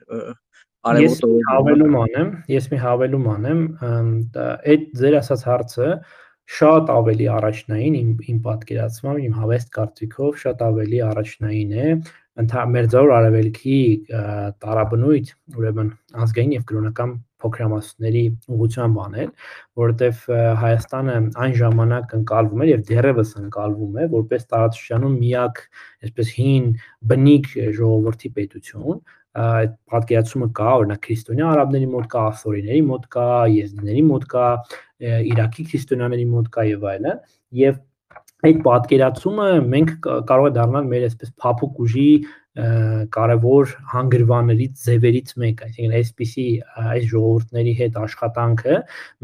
Speaker 11: արևոտ։
Speaker 3: Ես մի հավելում անեմ, այդ ձեր ասած հարցը շատ ավելի առաջնային իմ պատկերացմամբ, իմ հավեստ կարծիքով շատ ավելի առաջնային է Մերձավոր Արևելքի տարաբնույթ, ուրեմն ազգային եւ կրոնական փոքրամասնությունների ուղղությամբ անել, որովհետեւ Հայաստանը այն ժամանակ ընկալվում էր եւ դեռևս ընկալվում է որպես տարածաշրջանում միակ, այսպես հին բնիկ ժողովրդի պետություն, այդ պատկերացումը կա, օրինակ քրիստոնյա արաբների մոտ կա, ասորիների մոտ կա, եզդիների մոտ կա, Իրաքի քրիստոնյաների մոտ կա եւ այլն, եւ այդ պատկերացումը մենք կարող է դառնալ մեր այսպես փափուկ ուժի կարևոր հանգրվաններից ձևերից մեկը, այսինքն այսպիսի այս ժողովուրդների հետ աշխատանքը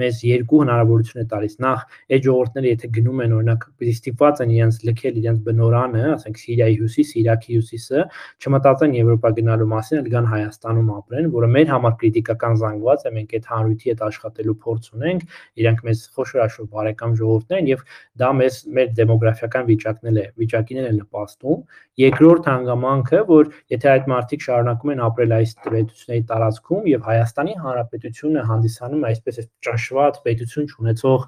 Speaker 3: մեզ երկու հնարավորություն է տալիս։ Նախ այդ ժողովուրդները եթե գնում են օրինակ ստիպված են իրենց լքել իրենց բնորանը, ասենք Սիրիայի հյուսիս, Իրաքի հյուսիսը, չմտածեն Եվրոպա գնալու մասին, այլ գան Հայաստանում ապրեն, որը մեր համար կրիտիկական զանգված է, մենք այդ հանրույթի հետ աշխատելու փորձ ունենք, իրանք մեզ խոշոր բարեկամ ժողովուրդներ են եւ դա մեր դեմոգրաֆիական վիճակին է նպաստում։ Երկրորդ հանգամանքը, որ եթե այդ մարդիկ շարունակում են ապրել այս պետությունների տարածքում եւ Հայաստանի Հանրապետությունը հանդիսանում է այսպես ճնշված պետություն ունեցող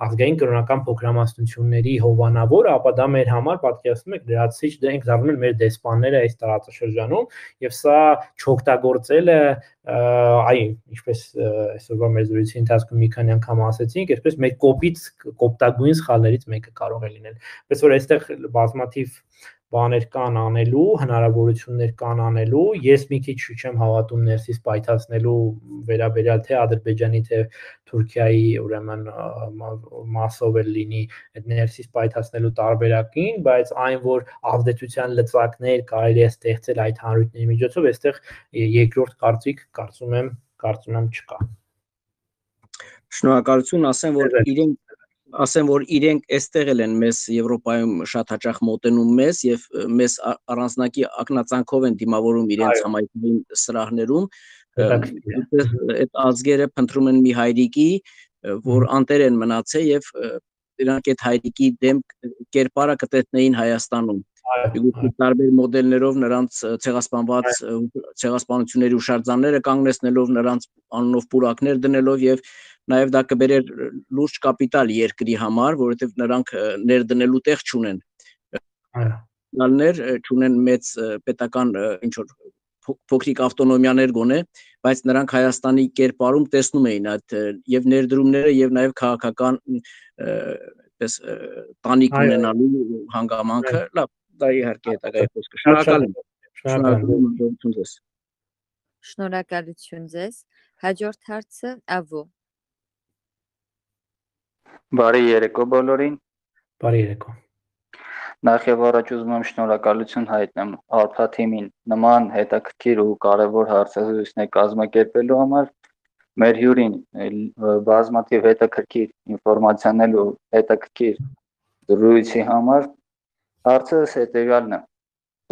Speaker 3: ազգային կրոնական փոքրամասնությունների հովանավոր, ապա դա մեր համար պատկերացնում եք լրացիչ դենք դառնում են մեր դեսպանները այս տարածաշրջանում եւ սա չօգտագործելը ինչպես այսօրվա մեր զրույցի ընթացքում մի քանի անգամ ասեցինք, այսպես մեր կոպտագույն սխալներից մեկը կարող է լինել։ Պես որ այստեղ բազմաթիվ բաներ կան անելու, հնարավորություններ կան անելու, ես մի քիչ չեմ հավատում ներսից պայթացնելու վերաբերյալ թե Ադրբեջանի, թե Թուրքիայի ուրեմն մասով էլ լինի այդ ներսից պայթացնելու տարբերակին, բայց այն որ ազդեցության լծակներ կարելի է ստեղծել այդ հանրույթների միջոցով, այստեղ երկրորդ կարծիք կարծում եմ չկա։
Speaker 11: Շնորհակալություն, ասեմ որ իրենք այստեղ են մեզ Եվրոպայում շատ հաճախ մոտենում մեզ եւ մեզ առանձնակի ակնածանքով են դիմավորում իրենց համայնքային սրահներում, այդ ազգերը փնտրում են մի հայրիկի, որ անտեր են մնացել եւ իրանք այդ հայրիկի դեմ կերպարը կտեսնեին Հայաստանում։ Տարբեր մոդելներով նրանց ցեղասպանությունների հուշարձանները կանգնեցնելով, նրանց անունով պուրակներ դնելով եւ նաեւ դա կբերեր լուրջ կապիտալ երկրի համար, որովհետեւ նրանք ներդնելու տեղ չունեն։ Չունեն մեծ պետական ինչ որ փոքրիկ ավտոնոմիաներ գոնե, բայց նրանք Հայաստանի կերպարում տեսնում էին այդ եւ ներդրումները եւ նաեւ քաղաքական այդպես տանիք ունենալու հանգամանքը։ Լավ, դա իհարկե հետագայի խոսքը։ Շնորհակալություն ձեզ։
Speaker 5: Շնորհակալություն ձեզ։ Հաջորդ հարցը Ավո։
Speaker 12: Բարի երեկո բոլորին։
Speaker 3: Բարի երեկո։
Speaker 12: Նախ եւ առաջ ուզում եմ շնորհակալություն հայտնեմ Alpha Team-ին նման հետաքրքիր ու կարևոր հարցազրույցներ կազմակերպելու համար, մեր հյուրին բազմաթիվ հետաքրքիր ինֆորմացիաներ ու հետաքրքիր զրույցի համար։ Հարցս հետեւյալն է.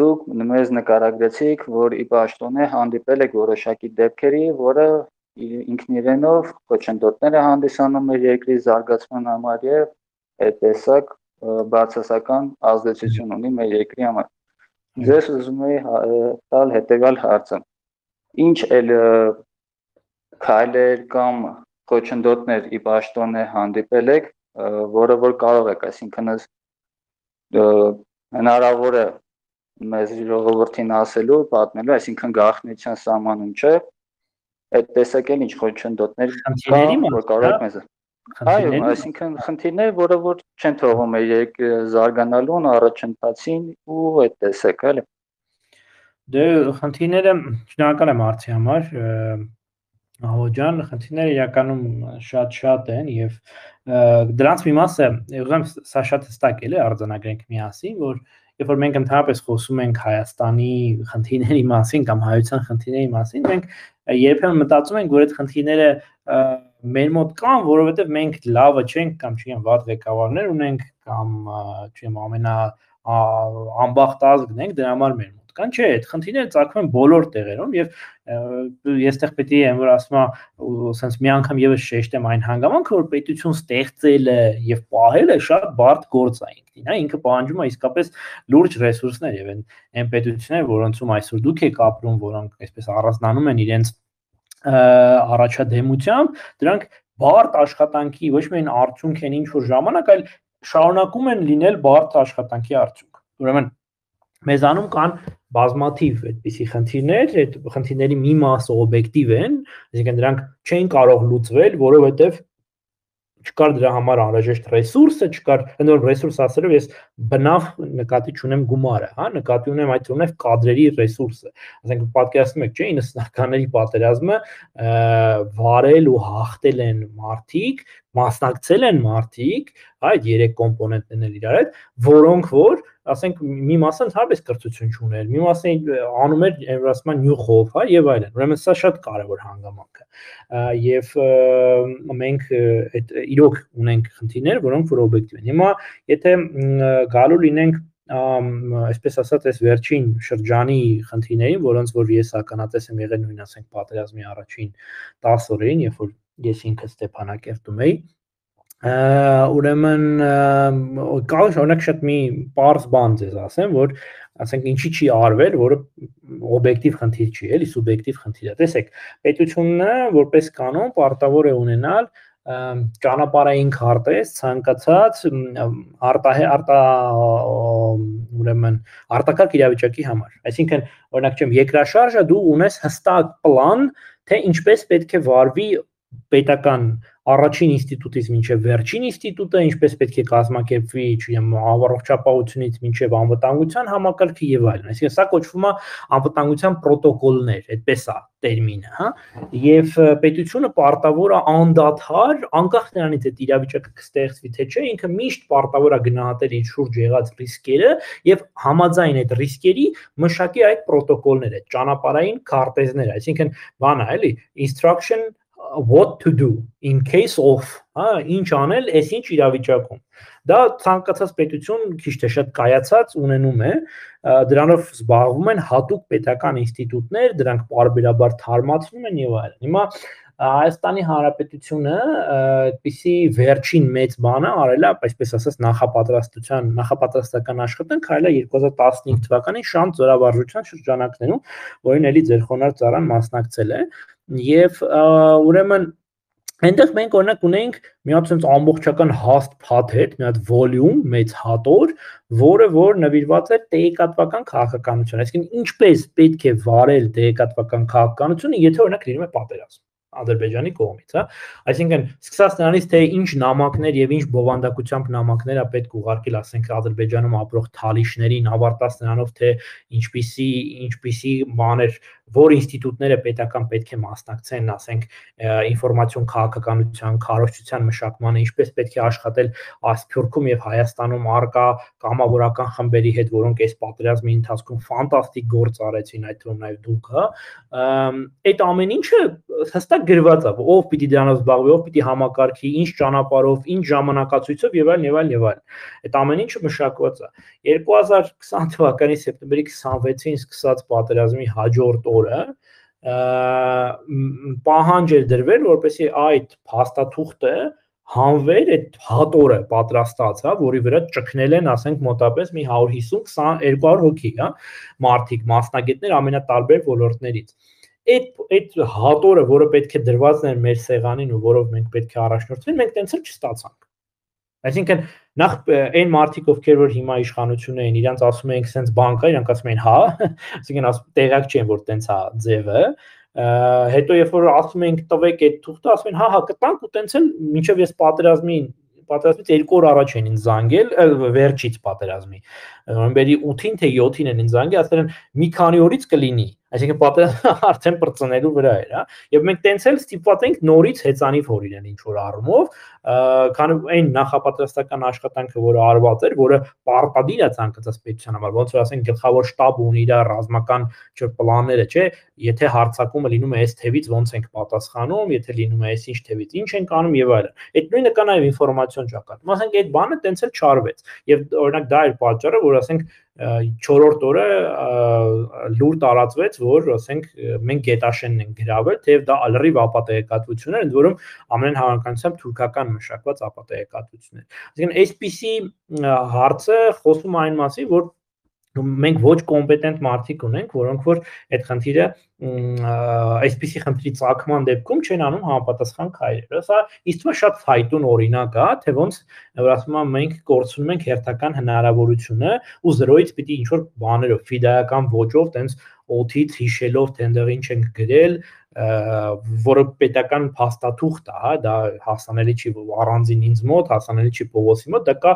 Speaker 12: Դուք մեզ նկարագրեցիք, որ ի պաշտոնե հանդիպել եք որոշակի դեպքերի, որը ինքն իրենով խոչընդոտներ է հանդիսանում մեր երկրի զարգացման համար եւ այդ տեսակ բացասական ազդեցություն ունի մեր երկրի համար։ Ձեզ ուզում եի տալ հետեւյալ հարցը. Ինչ էլ քայլեր կամ խոչընդոտներ ի պաշտոնե հանդիպել եք, որը որ կարող եք, այսինքն հնարավոր է մեզ ժողովրդին ասելու, պատմելու, այսինքն գաղտնիության սահմանում չէ, այդ տեսակել ինչ խոչընդոտներ կան, որ կարող եք մեզ։ Այո, այսինքն խնդիրներ, որը որ չեն թողում երկրի զարգանալուն, առաջընթացին ու այդ տեսակ, էլի։
Speaker 3: Դե խնդիրները շնորհակալ եմ հարցի համար, Ահո ջան, խնդիրները իրականում շատ են եւ դրանց մի մասը ուզում սա շատ հստակ է արձանագրենք միասին, որ երբ որ մենք ընդհանրապես խոսում ենք Հայաստանի խնդիրների մասին կամ հայության խնդիրների մասին, մենք երբեմն մտածում ենք, որ այդ խնդիրները մեր մոտ կան, որովհետեւ մենք լավը չենք կամ չգիտեմ վատ ղեկավարներ ունենք կամ չգիտեմ անբախտ ազգն ենք, դրա համար մեր մոտ կան, չէ, այդ խնդիրները ծագում են բոլոր տեղերում եւ ես տեղ պետք է որ ասում եմ sense մի անգամ եւս շեշտեմ այն հանգամանքը, որ պետություն ստեղծելը եւ պահելը շատ բարդ գործ է ինքնին, հա, ինքը պահանջում է իսկապես լուրջ ռեսուրսներ եւ այն պետությունները, որոնցում այսօր դուք եք ապրում, որոնք այսպես առանձնանում են իրենց առաջադեմությամբ, դրանք բարդ աշխատանքի ոչ միայն արդյունք են ինչ որ ժամանակ, այլ շարունակում են լինել բարդ աշխատանքի արդյունք։ Ուրեմն մեզանում կան բազմաթիվ այդպիսի խնդիրներ, այդ խնդիրների մի մասը օբյեկտիվ են, այսինքն դրանք չեն կարող լուծվել, որովհետև չկար դրա համար անհրաժեշտ ռեսուրսը, չկար, ընդհանուր ռեսուրս ասելով ես բնավ նկատի չունեմ գումարը, հա, նկատի ունեմ այդ ունեմ կադրերի ռեսուրսը։ Ասենք պատկերացնում եք, չէ, 90-ականների պատերազմը վարել ու հաղթել են մարդիկ, մասնակցել են մարդիկ, այդ 3 կոմպոնենտներն էլ իրար հետ, որոնք որ, ասենք, մի մասը ընդհանրապես կրթություն չուներ, մի մասը անում էր Եվրասիան նյուխով, հա, եւ այլն։ Ուրեմն սա շատ կարևոր հանգամանք է։ Եվ մենք այդ իրոք ունենք խնդիրներ, որոնք որ օբյեկտիվ են։ Հիմա եթե գալու լինենք այսպես ասած այս վերջին շրջանի խնդիրներին, որոնց որ ես ականատես եմ եղել նույն ասենք պատերազմի առաջին 10 օրերին, երբ որ ես ինքս Ստեփանակերտում էի, ուրեմն կարող օրինակ շատ մի պարզ բան ձեզ ասեմ, որ ասենք ինչի չի արվել, որը օբյեկտիվ խնդիր չի, էլի սուբյեկտիվ խնդիր է։ Տեսեք, պետությունը որպես կանոն պարտավոր է ունենալ ճանապարհային քարտեզ ցանկացած ուրեմն արտակարգ իրավիճակի համար։ Այսինքն, օրինակ չեմ, երկրաշարժը դու ունես հստակ պլան, թե ինչպես պետք է վարվի պետական առաջին ինստիտուտից մինչև վերջին ինստիտուտը, ինչպես պետք է կազմակերպվի, չգիտեմ, առողջապահությունից մինչև անվտանգության համակարգը եւ այլն։ Այսինքն սա կոչվում է անվտանգության պրոտոկոլներ, այդպես է տերմինը, հա։ Եվ պետությունը պարտավոր է անդադար, անկախ նրանից այդ իրավիճակը կստեղծվի թե չէ, ինքը միշտ պարտավոր է գնահատել իր շուրջ եղած ռիսկերը եւ համաձայն այդ ռիսկերի մշակի այդ պրոտոկոլները, ճանապարհային քարտեզները, այսինքն բանա, էլի, instruction what to do in case of, հա, ինչ անել, այսինչ իրավիճակում։ Դա ցանկացած պետություն քիչ թե շատ կայացած ունենում է, դրանով զբաղվում են հատուկ պետական ինստիտուտներ, դրանք պարբերաբար թարմացնում են եւ այլն։ Հիմա Հայաստանի Հանրապետությունը այդպիսի վերջին մեծ բանը արել է, այսպես ասած, նախապատրաստական աշխատանք արել է 2015 թվականին Շանթ զորավարժության շրջանակներում, որին էլի ձեր խոնարհ ծառան մասնակցել է, եւ ուրեմն այնտեղ մենք օրինակ ունենք մի հատ sense ամբողջական հաստ փաթեթ, մի հատ վոլյում, մեծ հատոր, որը որ նվիրված է տեղեկատվական քաղաքականություն, այսինքն ինչպես պետք է վարել տեղեկատվական քաղաքականությունը, եթե օրինակ լինում է պատերազմ Ադրբեջանի կողմից, հա, այսինքն սկսած նրանից թե ինչ նամակներ եւ ինչ բովանդակությամբ նամակներ է պետք ուղարկել, ասենք Ադրբեջանում ապրող թալիշներին, ավարտած նրանով թե ինչպիսի բաներ, որ ինստիտուտները պետական պետք է մասնակցեն, ասենք ինֆորմացիոն քաղաքականության, քարոզչության մշակմանը, ինչպես պետք է աշխատել Ասփյուռքում եւ Հայաստանում արկա կամավորական խմբերի հետ, որոնք այս պատերազմի ընթացքում ֆանտաստիկ գործ արեցին, այդ թվում նաեւ դուք, հա, այդ ամեն ինչը հստակ գրված է, ով պիտի դրանով զբաղվի, ով պիտի համակարգի, ինչ ճանապարհով, ինչ ժամանակացույցով եւ այլն եւ այլն եւ այլն։ Այդ ամեն ինչը մշակված է։ 2020 թվականի սեպտեմբերի 26-ին սկսած պատերազմի հաջորդ օրը պահանջ էր դրվել, որպեսզի այդ փաստաթուղթը հանվեր այդ հատորը պատրաստած, հա, որի վրա ճկնել են, ասենք մոտապես մի 150-200 հոգի, հա, մարդիկ, մասնագետներ ամենատարբեր ոլորտներից։ Այդ հատորը, որը պետք է դրվածն էր մեր սեղանին ու որով մենք պետք է առաջնորդվենք, մենք տենց էլ չստացանք։ Այսինքն նախ այն մարդիկ, ովքեր որ հիմա իշխանություն էին, իրանց ասում էին sense բանկա, իրանք ասում էին հա, այսինքն տեղակ չեն, որ տենց է ձևը, հետո երբ որ ասում ենք տվեք այդ թուղթը, ասում են հա, կտանք ու տենց էլ մինչև ես պատերազմից 2 օր առաջ են ինձ զանգել, վերջից պատերազմի, նոյեմբերի 8-ին թե 7-ին են ինձ զանգել, ասել են մի քանի օրից կլինի, այսինքն պատերազմը արդեն բրծնելու վրա էր, հա, եւ մենք տենց էլ ստիպված ենք նորից հեծանիվ հորինեն ինչ որ առումով, քանի այն նախապատրաստական աշխատանքը, որը արված էր, որը պարտադիր է ցանկացած պետության համար, ոնց որ ասենք գլխավոր շտաբը ունի իր ռազմական պլանները, չէ, եթե հարձակումը լինում է այս թևից ոնց ենք պատասխանում, եթե լինում է այս ինչ թևից ինչ ենք անում եւ այլն։ Այդ նույնը կա նաեւ ինֆորմացիոն ճակատում, ասենք այդ բանը տենց էլ չարվեց եւ օրինակ դա էր պատճառը, որ ասենք 4-րդ օրը լուր տարածվեց, որ ասենք մենք գետաշենն ենք գրավել, թեև դա ալրիվ ապատեգատվություն էր, ընդ որում ամեն հավանականությամբ թուրքական մշակված ապատեգատվություն էր։ Այսինքն այսպիսի հարցը խոսում այն մասին, որ մենք ոչ կոմպետենտ մարդիկ ունենք, որոնք որ այդ խնդիրը այսպիսի խնդրի ծագման դեպքում չեն անում համապատասխան քայլեր։ Սա ինձ թվում է շատ ֆայտուն օրինակ է, թե ոնց ասում եմ մենք կորցնում ենք հերթական հնարավորությունը ու զրոյից պիտի ինչ որ բաներով ֆիդայական ոճով տենց օթից հիշելով թե այնտեղ ինչ ենք գրել, որը պետական փաստաթուղթ է, հա, դա հասանելի չի առանձին ինձ մոտ, հասանելի չի Պողոսի մոտ, դա կա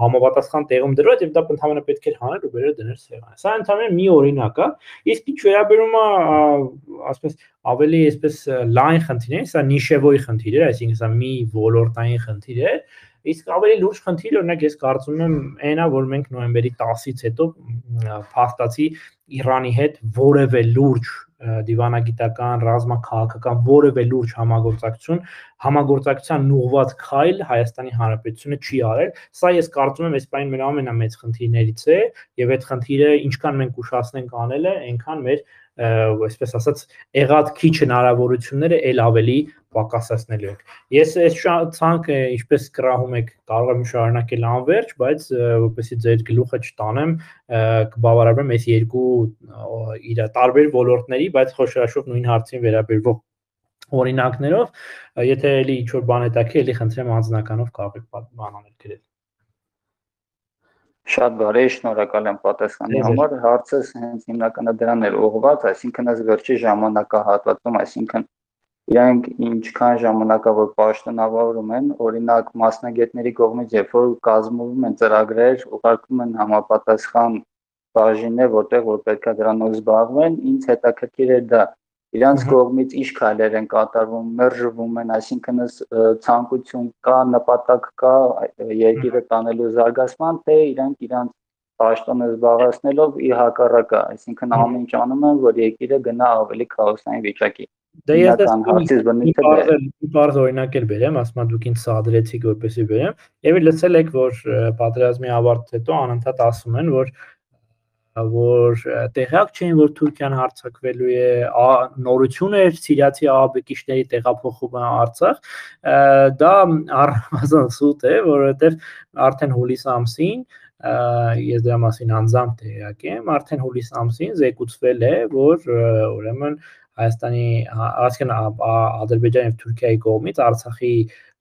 Speaker 3: համապատասխան տեղում դրված եւ դա ընդհանրապես պետք է հանել ու բերել դնել սեղանը։ Սա ընդհանրապես մի օրինակ է, իսկ ինչ վերաբերում է, ասես ավելի այսպես լայն խնդիրներ, սա նիշևոյի խնդիր է, այսինքն սա մի ոլորտային խնդիր է, իսկ ավելի լուրջ խնդիր օրինակ ես կարծում եմ այնա, որ մենք նոյեմբերի 10-ից հետո փաստացի Իրանի հետ որևէ լուրջ դիվանագիտական, ռազմաքաղաքական որևէ լուրջ համագործակցության ուղղված քայլ Հայաստանի Հանրապետությունը չի արել։ Սա ես կարծում եմ այս բանի մեր ամենամեծ խնդիրներից է եւ այդ խնդիրը ինչքան մենք ուշացնենք անելը, այնքան մեր այսպես ասած եղած քիչ հնարավորությունները ել ավելի պակասացնելու են։ Ես այս ցանկը ինչպես կրահում եք կարող եմ շարունակել անվերջ, բայց որպեսզի ձեր գլուխը չտանեմ, կբավարարեմ այս երկու իր տարբեր ոլորտների, բայց խոշորաշուտ նույն հարցին վերաբերող օրինակներով, եթե էլի ինչ-որ բան հետաքրքիր, էլի խնդրեմ անձնականով կարող եք բանանել գրել։
Speaker 12: Շատ բարի, շնորհակալ եմ պատասխանի համար, հարցս հենց հիմնականը դրան էր ուղղված, այսինքն այս վերջի ժամանակահատվածում, այսինքն իրանք ինչքան ժամանակավոր պաշտոնավորում են, օրինակ մասնագետների կողմից, երբ որ կազմվում են ծրագրեր, ուղարկվում են համապատասխան բաժիններ, որտեղ որ պետք է դրանով զբաղվեն, ինձ հետաքրքիր է դա իրանց կողմից ինչ քայլեր են կատարվում, մերժվում են, այսինքն ցանկություն կա, նպատակ կա երկիրը տանելու զարգացման, թե իրանք պաշտոնը զբաղեցնելով ի հակառակը, այսինքն ամեն ինչ անում են, որ երկիրը գնա ավելի քաոսային վիճակի։
Speaker 3: Դե ես բարձ օրինակ էլ բերեմ, ասում եմ դուք ինձ սադրեցիք որպեսզի բերեմ, եւ լսել եք, որ պատերազմի ավարտից հետո անընդհատ ասում են, որ տեղյակ չէին, որ Թուրքիան հարձակվելու է, նորություն էր սիրիացի ահաբեկիչների տեղափոխումը Արցախ, դա առնվազն սուտ է, որովհետև արդեն հուլիս ամսին ես դրա մասին անձամբ տեղյակ եմ, արդեն հուլիս ամսին զեկուցվել է, որ ուրեմն Հայաստանի, այսինքն Ադրբեջանի եւ Թուրքիայի կողմից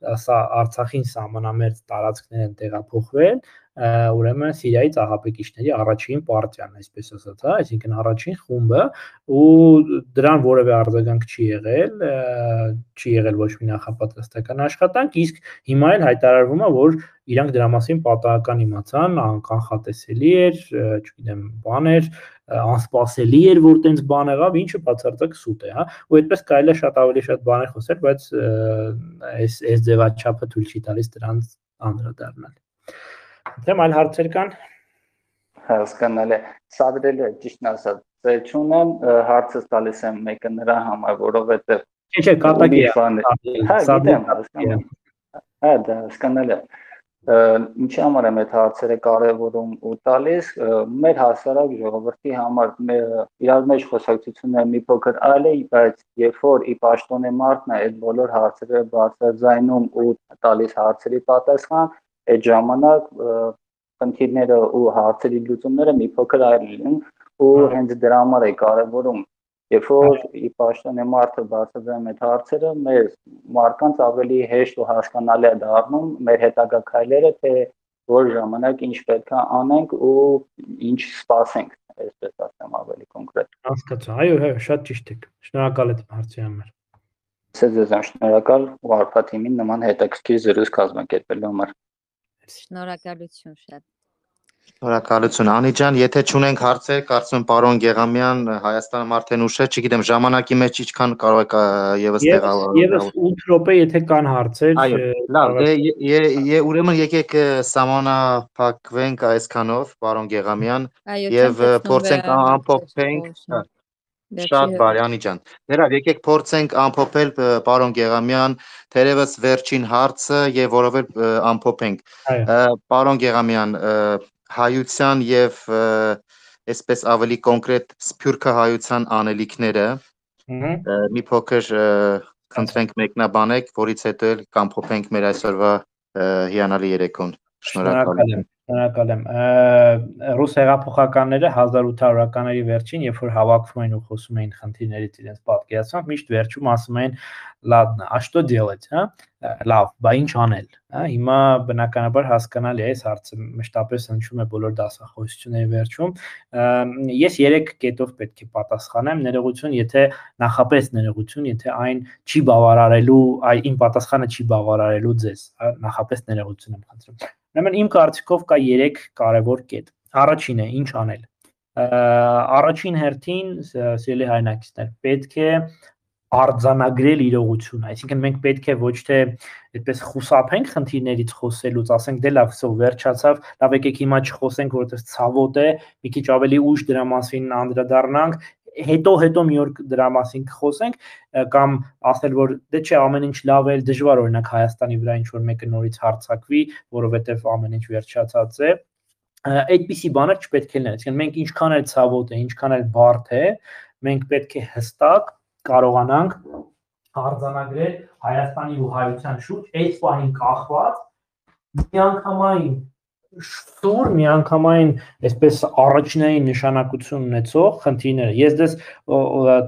Speaker 3: Արցախին սահմանամերձ տարածքներ են տեղափոխվել, ուրեմն Սիրիայից ահաբեկիչների առաջին պարտիան, այսպես ասած, հա, այսինքն առաջին խումբը, ու դրան որևէ արձագանք չի եղել ոչ մի նախապատրաստական աշխատանք, իսկ հիմա էլ հայտարարվում է, որ իրանք դրա մասին պատահական իմացան, կանխատեսելի էր, չգիտեմ, բաներ անսպասելի էր, որ տենց բան եղավ, ինչը բացարձակ սուտ է, հա, ու այդպես կարելի է շատ ավելի շատ բաներ խոսել, բայց այս ձևաչափը թույլ չի տալիս դրանց անդրադառնալ։ Դեմ այլ հարցեր կան։
Speaker 12: Հասկանալի է, սադրել է, ճիշտն ասած, ձեր չունեմ, հարցս տալիս եմ մեկը նրա համար, որովհետև
Speaker 3: Չէ, կատակի է։
Speaker 12: Հա, գիտեմ, հասկանալի։ Հա, դա հասկանալի է։ Ինչի համար եմ այդ հարցերը կարևորում ու տալիս, մեր հասարակ ժողովրդի համար իրար մեջ խոսակցությունը մի փոքր այլ է, բայց երբ որ ի պաշտոնե մարդն է այդ բոլոր հարցերը բարձրաձայնում ու տալիս հարցերի պատասխան, այդ ժամանակ խնդիրները ու հարցերի լուծումները մի փոքր այլ լինում ու հենց դրա համար է կարևորում Երբ որ ի պաշտոնե մարդը բարձրացնում այդ հարցերը, մեր մարդկանց ավելի հեշտ ու հասկանալի է դառնում մեր հետագա քայլերը, թե որ ժամանակ ինչ պետք է անենք ու ինչ սպասենք, այսպես ասեմ ավելի կոնկրետ։
Speaker 3: Հասկացա, այո, շատ ճիշտ եք։ Շնորհակալ եմ հարցի համար։
Speaker 12: Ձեզ եմ շնորհակալ ու Արփա թիմին նման հետաքրքիր զրույց կազմակերպելու համար։
Speaker 5: Շնորհակալություն շատ։
Speaker 1: Շնորհակալություն Անի ջան, եթե չունենք հարցեր, կարծում եմ պարոն Գեղամյան, Հայաստանը արդեն ուշ է, չգիտեմ, ժամանակի մեջ ինչքան կարող եք եւս տեղավորել։
Speaker 3: Եվս 8 րոպե, եթե կան հարցեր։
Speaker 1: Այո, լավ, դե ուրեմն եկեք սահմանափակվենք այսքանով, պարոն Գեղամյան, եւ փորձենք ամփոփենք։ Շատ բարի Անի ջան։ Դերավ եկեք փորձենք ամփոփել պարոն Գեղամյան, թերևս վերջին հարցը եւ որովհետեւ ամփոփենք։ Պարոն Գեղամյան, հայության եւ այսպես ավելի կոնկրետ սփյուռքը հայության անելիքները մի փոքր խնդրենք մեկնաբանեք, որից հետո էլ կամփոփենք մեր այսօրվա հիանալի երեկոն։ Շնորհակալ եմ։
Speaker 3: Շնորհակալ եմ։ Ռուս հեղափոխականները 1800-ականների վերջին, երբ որ հավաքվում են ու խոսում էին խնդիրներից իրենց պատկերացմամբ, միշտ վերջում ասում էին ладно, а что делать, հա? Լավ, բա ինչ անել, հա? Հիմա բնականաբար հասկանալի է, այս հարցը մշտապես հնչում է բոլոր դասախոսությունների վերջում։ Ես 3 կետով պետք է պատասխանեմ, ներողություն, եթե նախապես ներողություն, եթե այն չի բավարարելու, իմ պատասխանը չի բավարարելու ձեզ, նախապես ներողություն եմ խնդրում։ Ուրեմն իմ կարծիքով կա 3 կարևոր կետ։ Առաջինը, ինչ անել։ Առաջին հերթին, սիրելի հայրենակիցներ, պետք է արձանագրել իրողությունը, այսինքն մենք պետք է ոչ թե այդպես խուսափենք խնդիրներից խոսելուց, ասենք դե լավ, սո վերջացավ, լավ եկեք հիմա չխոսենք, որովհետև ցավոտ է, մի քիչ ավելի ուշ դրա մասին անդրադառնանք, հետո մի օր դրա մասին կխոսենք, կամ ասել, որ դե չէ, ամեն ինչ լավ է, դժվար օրինակ Հայաստանի վրա ինչ որ մեկը նորից հարձակվի, որովհետև ամեն ինչ վերջացած է։ Այդպիսի բաներ չպետք է լինեն, այսինքն մենք ինչքան էլ ցավոտ է, ինչքան էլ բարդ է, մենք պետք է հստակ կարողանանք արձանագրել Հայաստանի ու հայության շուրջ այս պահին կախված միանգամայն շուր միանգամայն այսպես առաջնային նշանակություն ունեցող խնդիրները։ Ես դες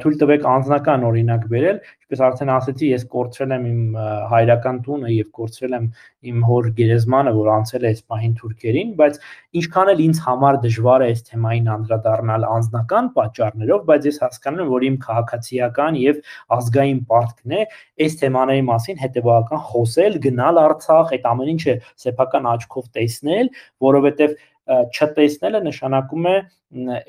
Speaker 3: թույլ տվեք անձնական օրինակ բերել, ինչպես արդեն ասեցի, ես կորցրել եմ իմ հայրական տունը եւ կորցրել եմ իմ հոր գերեզմանը, որ անցել է այս պահին թուրքերին, բայց ինչքան էլ ինձ համար դժվար է այս թեմային անդրադառնալ անձնական պատճառներով, բայց ես հասկանում եմ, որ իմ քաղաքացիական եւ ազգային պարտքն է այս թեմաների մասին հետեւական խոսել, գնալ Արցախ, այդ ամեն ինչը սեփական աչքով տեսնել, որովհետեւ չտեսնելը նշանակում է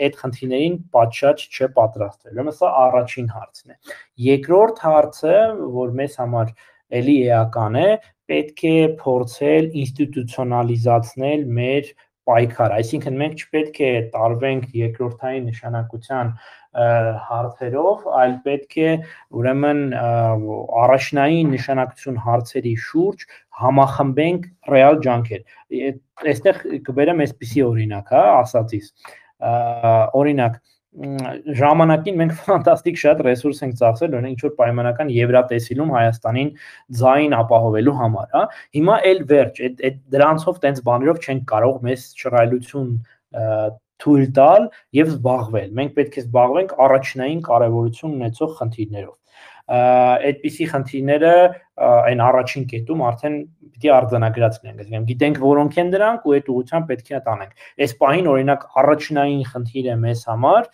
Speaker 3: այդ խնդիրներին պատշաճ չպատրաստվել։ Ուրեմն սա առաջին հարցն է։ Երկրորդ հարցը, որ մեզ համար էլի էական է, պետք է փորձել ինստիտուցիոնալիզացնել մեր պայքարը, այսինքն մենք չպետք է տարվենք երկրորդային նշանակության հարցերով, այլ պետք է ուրեմն առաջնային նշանակություն հարցերի շուրջ համախմբենք ռեալ ջանքեր։ Այստեղ կբերեմ այսպիսի օրինակ, հա, ասածից։ Օրինակ, ժամանակին մենք ֆանտաստիկ շատ ռեսուրս ենք ծախսել, օրինակ ինչ որ պայմանական Եվրատեսիլում Հայաստանին ձայն ապահովելու համար, հա։ Հիմա էլ վերջ, դրանցով տենց բաներով չենք կարող մեզ շռայլություն թույլ տալ եւ զբաղվել։ Մենք պետք է զբաղվենք առաջնային կարեւորություն ունեցող խնդիրներով։ Այդպիսի խնդիրները այն առաջին կետում արդեն պիտի արձանագրած լինենք, այսինքն գիտենք որոնք են դրանք ու այդ ուղղությամբ պետք է տանենք։ Այս պահին օրինակ առաջնային խնդիրը մեզ համար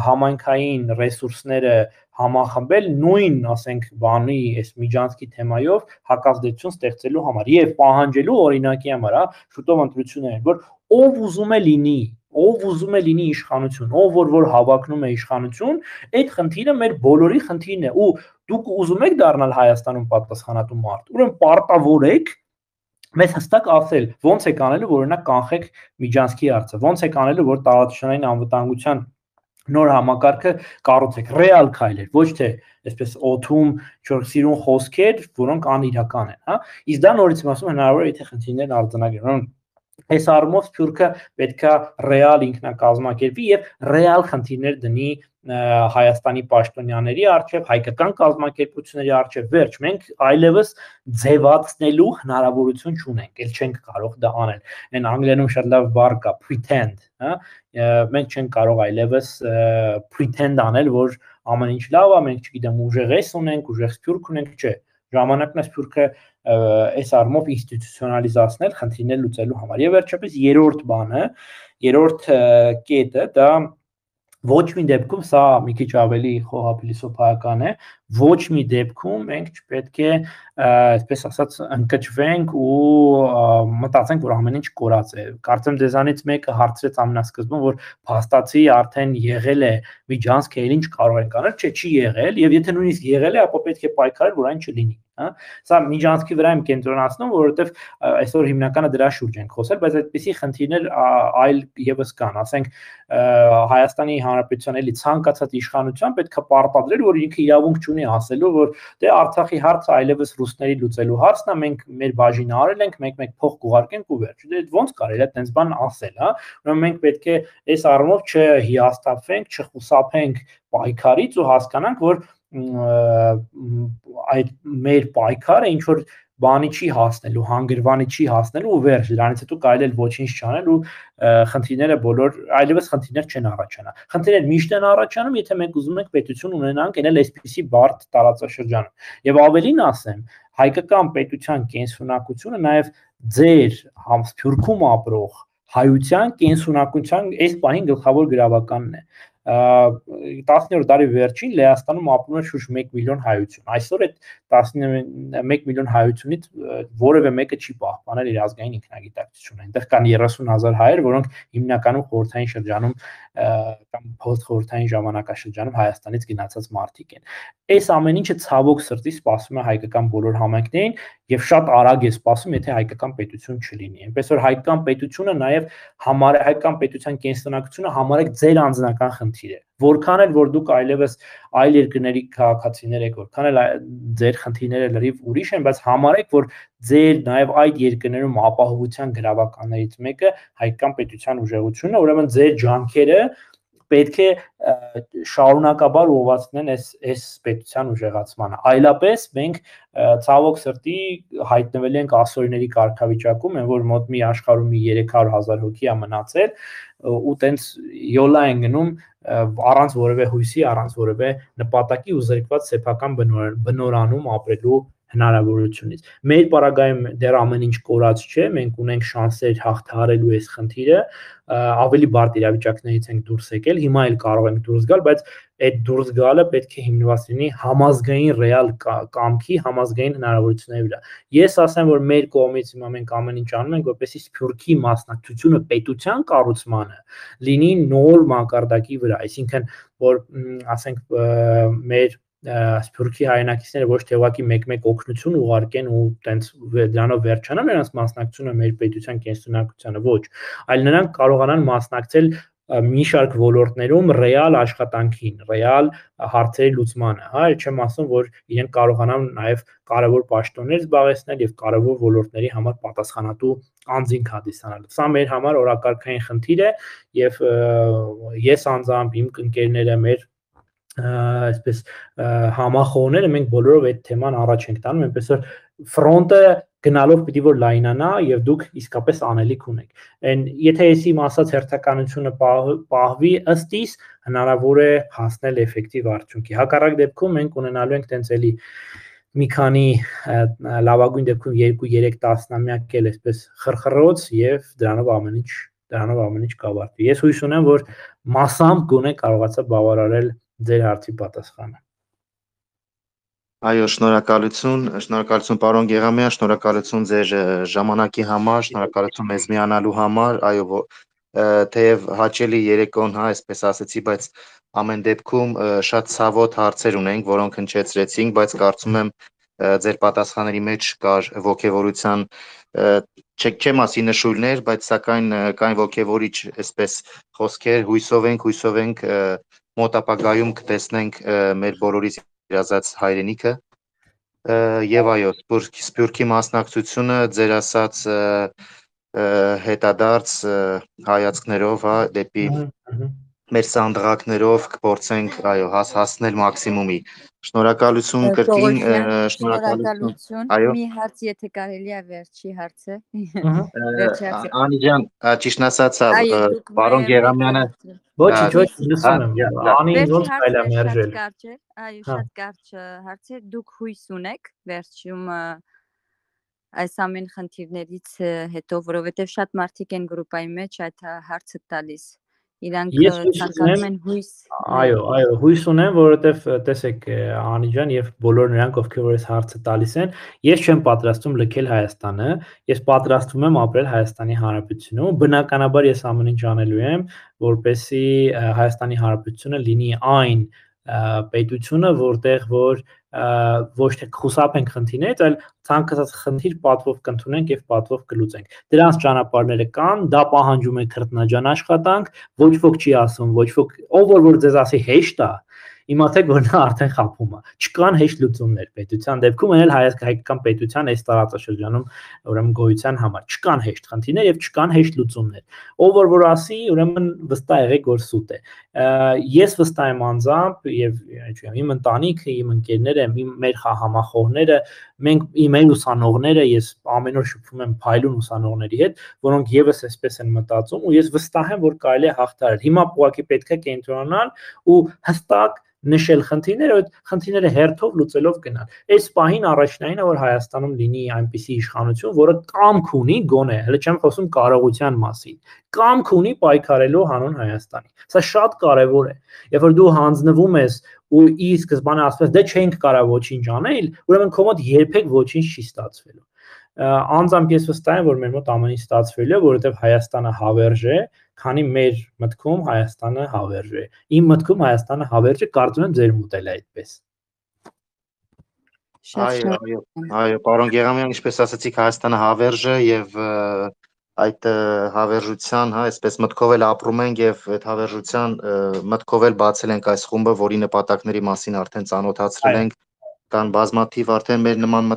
Speaker 3: համայնքային ռեսուրսները համախմբել նույն, ասենք, բանի այս միջանցքի թեմայով հակազդեցություն ստեղծելու համար եւ պահանջելու օրինակի համար, հա, շուտով ընտրություններ, որ ով ուզում է լինի իշխանություն, ով որ հավակնում է իշխանություն, այդ խնդիրը մեր բոլորի խնդիրն է ու դուք ուզում եք դառնալ Հայաստանում պատասխանատու մարդ, ուրեմն պարտավորեք մեզ հստակ ասել, ոնց եք անելու, որ օրինակ կանխեք միջանցքի հարցը, ոնց եք անելու, որ տարածաշրջանային անվտանգության նոր համակարգը կառուցեք, ռեալ քայլեր, ոչ թե այսպես օթում ինչ-որ սիրուն խոսքեր, որոնք անիրական են, հա։ Իսկ դա նորից եմ ասում, հնարավոր է եթե խնդիրներն արձանագրեն։ Այս առումով Սփյուռքը պետքա ռեալ ինքնակազմակերպի եւ ռեալ խնդիրներ դնի Հայաստանի պաշտոնյաների արչեւ, հայկական կազմակերպությունների արչեւ, վերջ, մենք այլևս ձևացնելու հնարավորություն չունենք, ել չենք կարող դա անել։ Այն անգլերենում շատ լավ բառ կա, pretend, հա, մենք չենք կարող այլևս pretend անել, որ ամեն ինչ լավ է, մենք չգիտեմ ուժեղ էս ունենք, ուժեղ Սփյուռք ունենք, չէ։ Ժամանակն է Սփյուռքը այս առումով ինստիտուցիոնալիզացնել խնդիրներ լուծելու համար։ Եվ վերջապես երրորդ կետը դա ոչ մի դեպքում, սա մի քիչ ավելի խոհափիլիսոփայական է, ոչ մի դեպքում մենք չպետք է, այսպես ասած, ընկճվենք ու մտածենք, որ ամեն ինչ կորած է։ Կարծեմ դեզանից մեկը հարցրեց ամենասկզբում, որ փաստացի արդեն եղել է միջանցք, էլ ինչ կարող ենք անել, չէ, չի եղել, եւ եթե նույնիսկ եղել է, ապա պետք է պայքարել, որ այն չլինի, հա։ Սա միջանցքի վրա եմ կենտրոնացնում, որովհետեւ այսօր հիմնականը դրա շուրջ ենք խոսել, բայց այդպիսի խնդիրներ այլ եւս կան, ասենք Հայաստանի Հանրապետության էլի ցանկացած իշխանության պետք է պարտադրել, որ ինքը իրավունք չունի ասելու, որ դե Արցախի հարցը այլևս ռուսների լուծելու հարցն է, մենք մեր բաժինը արել ենք, մեկ փող կուղարկենք ու վերջ։ Դե ոնց կարելի է այդպես բան ասել, հա։ Ուրեմն մենք պետք է այս առումով չհիասթափվենք, չխուսափենք պայքարից ու հասկանանք, որ այդ մեր պայքարը ինչ որ բանի չի հասնելու, հանգրվանի չի հասնելու ու վերջ, դրանից հետո կարելի է ոչինչ չանել ու խնդիրները բոլոր այլևս խնդիրներ չեն առաջանա։ Խնդիրներ միշտ են առաջանում, եթե մենք ուզում ենք պետություն ունենանք այլ այսպիսի բարդ տարածաշրջանում։ Եվ ավելին ասեմ, հայկական պետության կենսունակությունը նաև ձեր Սփյուռքում ապրող հայության կենսունակության այս պահին գլխավոր գրավականն է։ 10-րդ դարի վերջին Լեհաստանում ապրում էր շուրջ 1 միլիոն հայություն։ Այսօր այդ 11 միլիոն հայությունից որևէ մեկը չի պահպանել իր ազգային ինքնագիտակցությունը։ Այնտեղ կան 30,000 հայեր, որոնք հիմնականում խորհրդային շրջանում կամ փոստխորհրդային ժամանակաշրջանում Հայաստանից գնացած մարդիկ են։ Այս ամեն ինչը ցավոք սրտի սպասում է հայկական բոլոր համայնքներին եւ շատ արագ է սպասում, եթե հայկական պետություն չլինի։ Այնպես որ հայկական պետությունը նաեւ հայկական պետության կենսունակությունը համարեք ձեր անձնական խնդիր է։ Որքան էլ որ դուք այլևս այլ երկրների քաղաքացիներ եք, որքան էլ ձեր խնդիրները լրիվ ուրիշ են, բայց համարեք, որ ձեր նաև այդ երկրներում ապահովության գրավականներից մեկը հայկական պետության ուժեղությունն է, ուրեմն ձեր ջանքերը պետք է շարունակաբար ուղղվածնեն այս պետության ուժեղացմանը։ Այլապես մենք ցավոք սրտի հայտնվել ենք ասորիների կարգավիճակում, այն որ մոտ մի աշխարհում 300,000 հոգի է մնացել ու տենց յոլա են գնում առանց որևէ հույսի, առանց որևէ նպատակի ու զրկված սեփական բնորանում ապրելու հնարավորությունից։ Մեր պարագայում դեռ ամեն ինչ կորած չէ, մենք ունենք շանսեր հաղթահարելու այս խնդիրը, ավելի բարդ իրավիճակներից ենք դուրս եկել, հիմա էլ կարող ենք դուրս գալ, բայց այդ դուրս գալը պետք է հիմնված լինի համազգային ռեալ կամքի, համազգային հնարավորությունների վրա։ Ես ասեմ, որ մեր կողմից հիմա մենք ամեն ինչ անում ենք, որպեսզի Սփյուռքի մասնակցությունը պետության կառուցմանը լինի նոր մակարդակի վրա, այսինքն որ ասենք մեր Սփյուռքի հայրենակիցները ոչ թե ուղղակի մեկ-մեկ օգնություն ուղարկեն ու տենց դրանով վերջանան նրանց մասնակցությունը մեր պետության կենսունակությանը, ոչ, այլ նրանք կարողանան մասնակցել մի շարք ոլորտներում ռեալ աշխատանքին, ռեալ հարցերի լուծմանը, հա, չեմ ասում, որ իրենք կարողանան նաև կարևոր պաշտոններ զբաղեցնել եւ կարևոր ոլորտների համար պատասխանատու անձինք հանդիսանալ։ Սա մեր համար օրակարգային խնդիր է եւ ես անձամբ իմ ընկերները մեր այսպես համախոհները մենք բոլորով այդ թեման առաջ ենք տանում, այնպես որ ֆրոնտը գնալով պիտի որ լայնանա եւ դուք իսկապես անելիք ունեք։ Այն եթե ես իմ ասած հերթականությունը պահվի ըստ իս հնարավոր է հասնել էֆեկտիվ արդյունքի։ Հակառակ դեպքում մենք ունենալու ենք տենց էլի մի քանի լավագույն դեպքում 2-3 տասնամյակ էլ այսպես խրխռոց եւ դրանով ամեն ինչ կավարտվի։ Ես հույս ունեմ, որ մասամբ գոնե կարողացա բավարարել ձեր հարցի պատասխանը։
Speaker 1: Այո, շնորհակալություն պարոն Գեղամյան, շնորհակալություն ձեր ժամանակի համար, շնորհակալություն մեզ միանալու համար, այո, թեև հաճելի երեկոն, հա, այսպես ասեցի, բայց ամեն դեպքում շատ ցավոտ հարցեր ունենք, որոնք հնչեցրեցինք, բայց կարծում եմ ձեր պատասխանների մեջ կար ողջևորության չեմ ասի նշույլներ, բայց սակայն կային ողջևորիչ այսպես խոսքեր, հույսով ենք մոտ ապագայում կտեսնենք մեր բոլորիս իրազած հայրենիքը եւ այո, Սփյուռքի մասնակցությունը ձեր ասած հետադարձ հայացքներով, հա, դեպի մեր սանդղակներով կփորձենք այո հասնել մաքսիմումի։ Շնորհակալություն կրկին,
Speaker 5: շնորհակալություն։ Մի հարց եթե կարելի է վերջի հարցը։
Speaker 1: Անի ջան, ճիշտ ասած, պարոն Գեղամյանը
Speaker 3: ոչ, լսում եմ։ Անին ոնց կարելի է մերժել։
Speaker 5: Այո, շատ կարճ հարց է։ Դուք հույս ունեք վերջում այս ամեն խնդիրներից հետո, որովհետև շատ մարդիկ են գրուպայի մեջ այդ հարցը տալիս։ Իրանք ցանկանում են հույս։
Speaker 3: Այո, հույս ունեմ, որովհետև տեսեք Անի ջան եւ բոլոր նրանք, ովքեր որ այս հարցը տալիս են, ես չեմ պատրաստվում լքել Հայաստանը, ես պատրաստվում եմ ապրել Հայաստանի Հանրապետությունում, բնականաբար ես ամեն ինչ անելու եմ, որպեսզի Հայաստանի Հանրապետությունը լինի այն պետությունը, որտեղ որ ոչ թե խուսափենք խնդիրներից, այլ ցանկացած խնդիր պատվով կընդունենք եւ պատվով կլուծենք։ Դրանց ճանապարհները կան, դա պահանջում է քրտնաջան աշխատանք, ոչ ոք չի ասում, ոչ ոք, ով որ ձեզ ասի հեշտ է, իմացեք, որ նա արդեն խափում է։ Չկան հեշտ լուծումներ պետության դեպքում, այն էլ հայկական պետության այս տարածաշրջանում ուրեմն գոյության համար չկան հեշտ խնդիրներ եւ չկան հեշտ լուծումներ։ Ով որ ասի, ուրեմն վստահ եղեք, որ սուտ է։ Ես վստահ եմ անձամբ եւ իմ ընտանիքը, իմ ընկերները, մեր համախոհները, մենք իմ ուսանողները, ես ամեն օր շփվում եմ փայլուն ուսանողների հետ, որոնք եւս այսպես են մտածում ու ես վստահ եմ, որ կարելի է հաղթահարել։ Հիմա ուղղակի պետք է կենտրոնանալ ու հստակ նշել խնդիրները, այդ խնդիրները հերթով լուծելով գնալ։ Այս պահին առաջնայինը որ Հայաստանում լինի այնպիսի իշխանություն, որը կամք ունի գոնե, հələ չեմ խոսում կարողության մասին, կամք ունի պայքարելու հանուն Հայաստանի։ Սա շատ կարևոր է։ Երբ որ դու հանձնվում ես ու ի սկզբանե ասես դե չենք կարող ոչինչ անել, ուրեմն քո մոտ երբեք ոչինչ չի ստացվելու։ Անձամբ ես վստահ եմ, որ մեր մոտ ամեն ինչ ստացվելու է, որովհետև Հայաստանը հավերժ է, քանի մեր մտքում Հայաստանը հավերժ է։ Իմ մտքում Հայաստանը հավերժ է, կարծում եմ ձեր մոտ էլ է այդպես։
Speaker 1: Այո, պարոն Գեղամյան, ինչպես ասացիք, Հայաստանը հավերժ է եւ այդ հավերժության, այսպես մտքով էլ ապրում ենք եւ այդ հավերժության մտքով էլ բացել ենք այս խումբը, որի նպատակների մասին արդեն ծանոթացրել ենք, կան բազմաթիվ արդեն մեր նման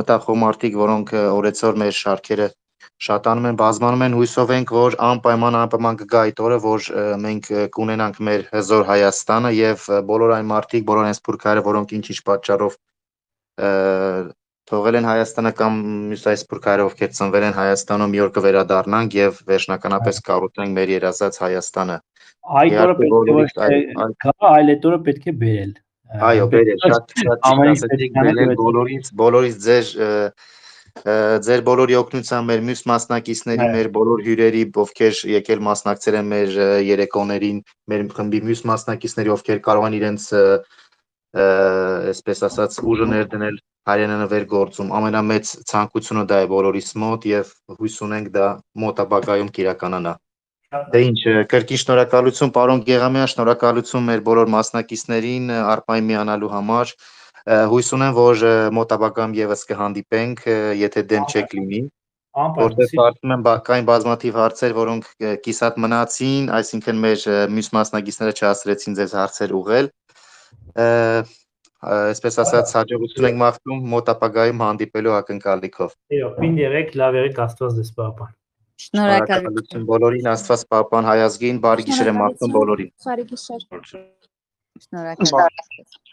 Speaker 1: մտախոհ մարդիկ, որոնք օրեցօր մեր շարքերը շատանում են, բազմանում են, հույսով ենք, որ անպայման կգա այդ օրը, որ մենք կունենանք մեր հզոր Հայաստանը եւ բոլոր այն մարդիկ, բոլոր այն սփյուռքները, որոնք ինչ-ինչ պատճառով թողել են Հայաստանը կամ մյուս այս սփյուռքները, ովքեր ծնվել են Հայաստանում, մի օր կվերադառնանք եւ վերջնականապես կառուցենք մեր երազած Հայաստանը։
Speaker 3: Այդ օրը պետք է գա, այլ այդ օրը պետք է բերել։
Speaker 1: Այո, բերել, շատ ասեցիք, բերել բոլորից ձեր բոլորի օգնությամբ, մեր մյուս մասնակիցների, մեր բոլոր հյուրերի, ովքեր եկել մասնակցել են մեր երեկոներին, մեր խմբի մյուս մասնակիցների, ովքեր կարող են իրենց այսպես ասած ուժը ներդնել հայրենանվեր գործում, ամենամեծ ցանկությունը դա է բոլորիս մոտ եւ հույս ունենք դա մոտ ապագայում կիրականանա։ Դե ինչ, կրկին շնորհակալություն պարոն Գեղամյան, շնորհակալություն մեր բոլոր մասնակիցներին արպային միանալու համար։ Հույս ունեմ, որ մոտ ապագայում եւս կհանդիպենք, եթե դեմ չեք լինի, որտեղ կարծում եմ կային բազմաթիվ հարցեր, որոնք կիսատ մնացին, այսինքն մեր մյուս մասնակիցները չհասցրեցին ձեզ հարցեր ուղղել։ Այսպես ասած, հաջողություն ենք մաղթում մոտ ապագայում հանդիպելու ակնկալիքով։
Speaker 3: Այո, պինդ եղեք, լավ եղեք, Աստված ձեզ պահապան։
Speaker 1: Շնորհակալություն բոլորին, Աստված պահապան հայ ազգին, բարի գիշեր եմ մաղթում բոլորին։
Speaker 2: Բարի գիշեր։
Speaker 5: Շնորհակալություն։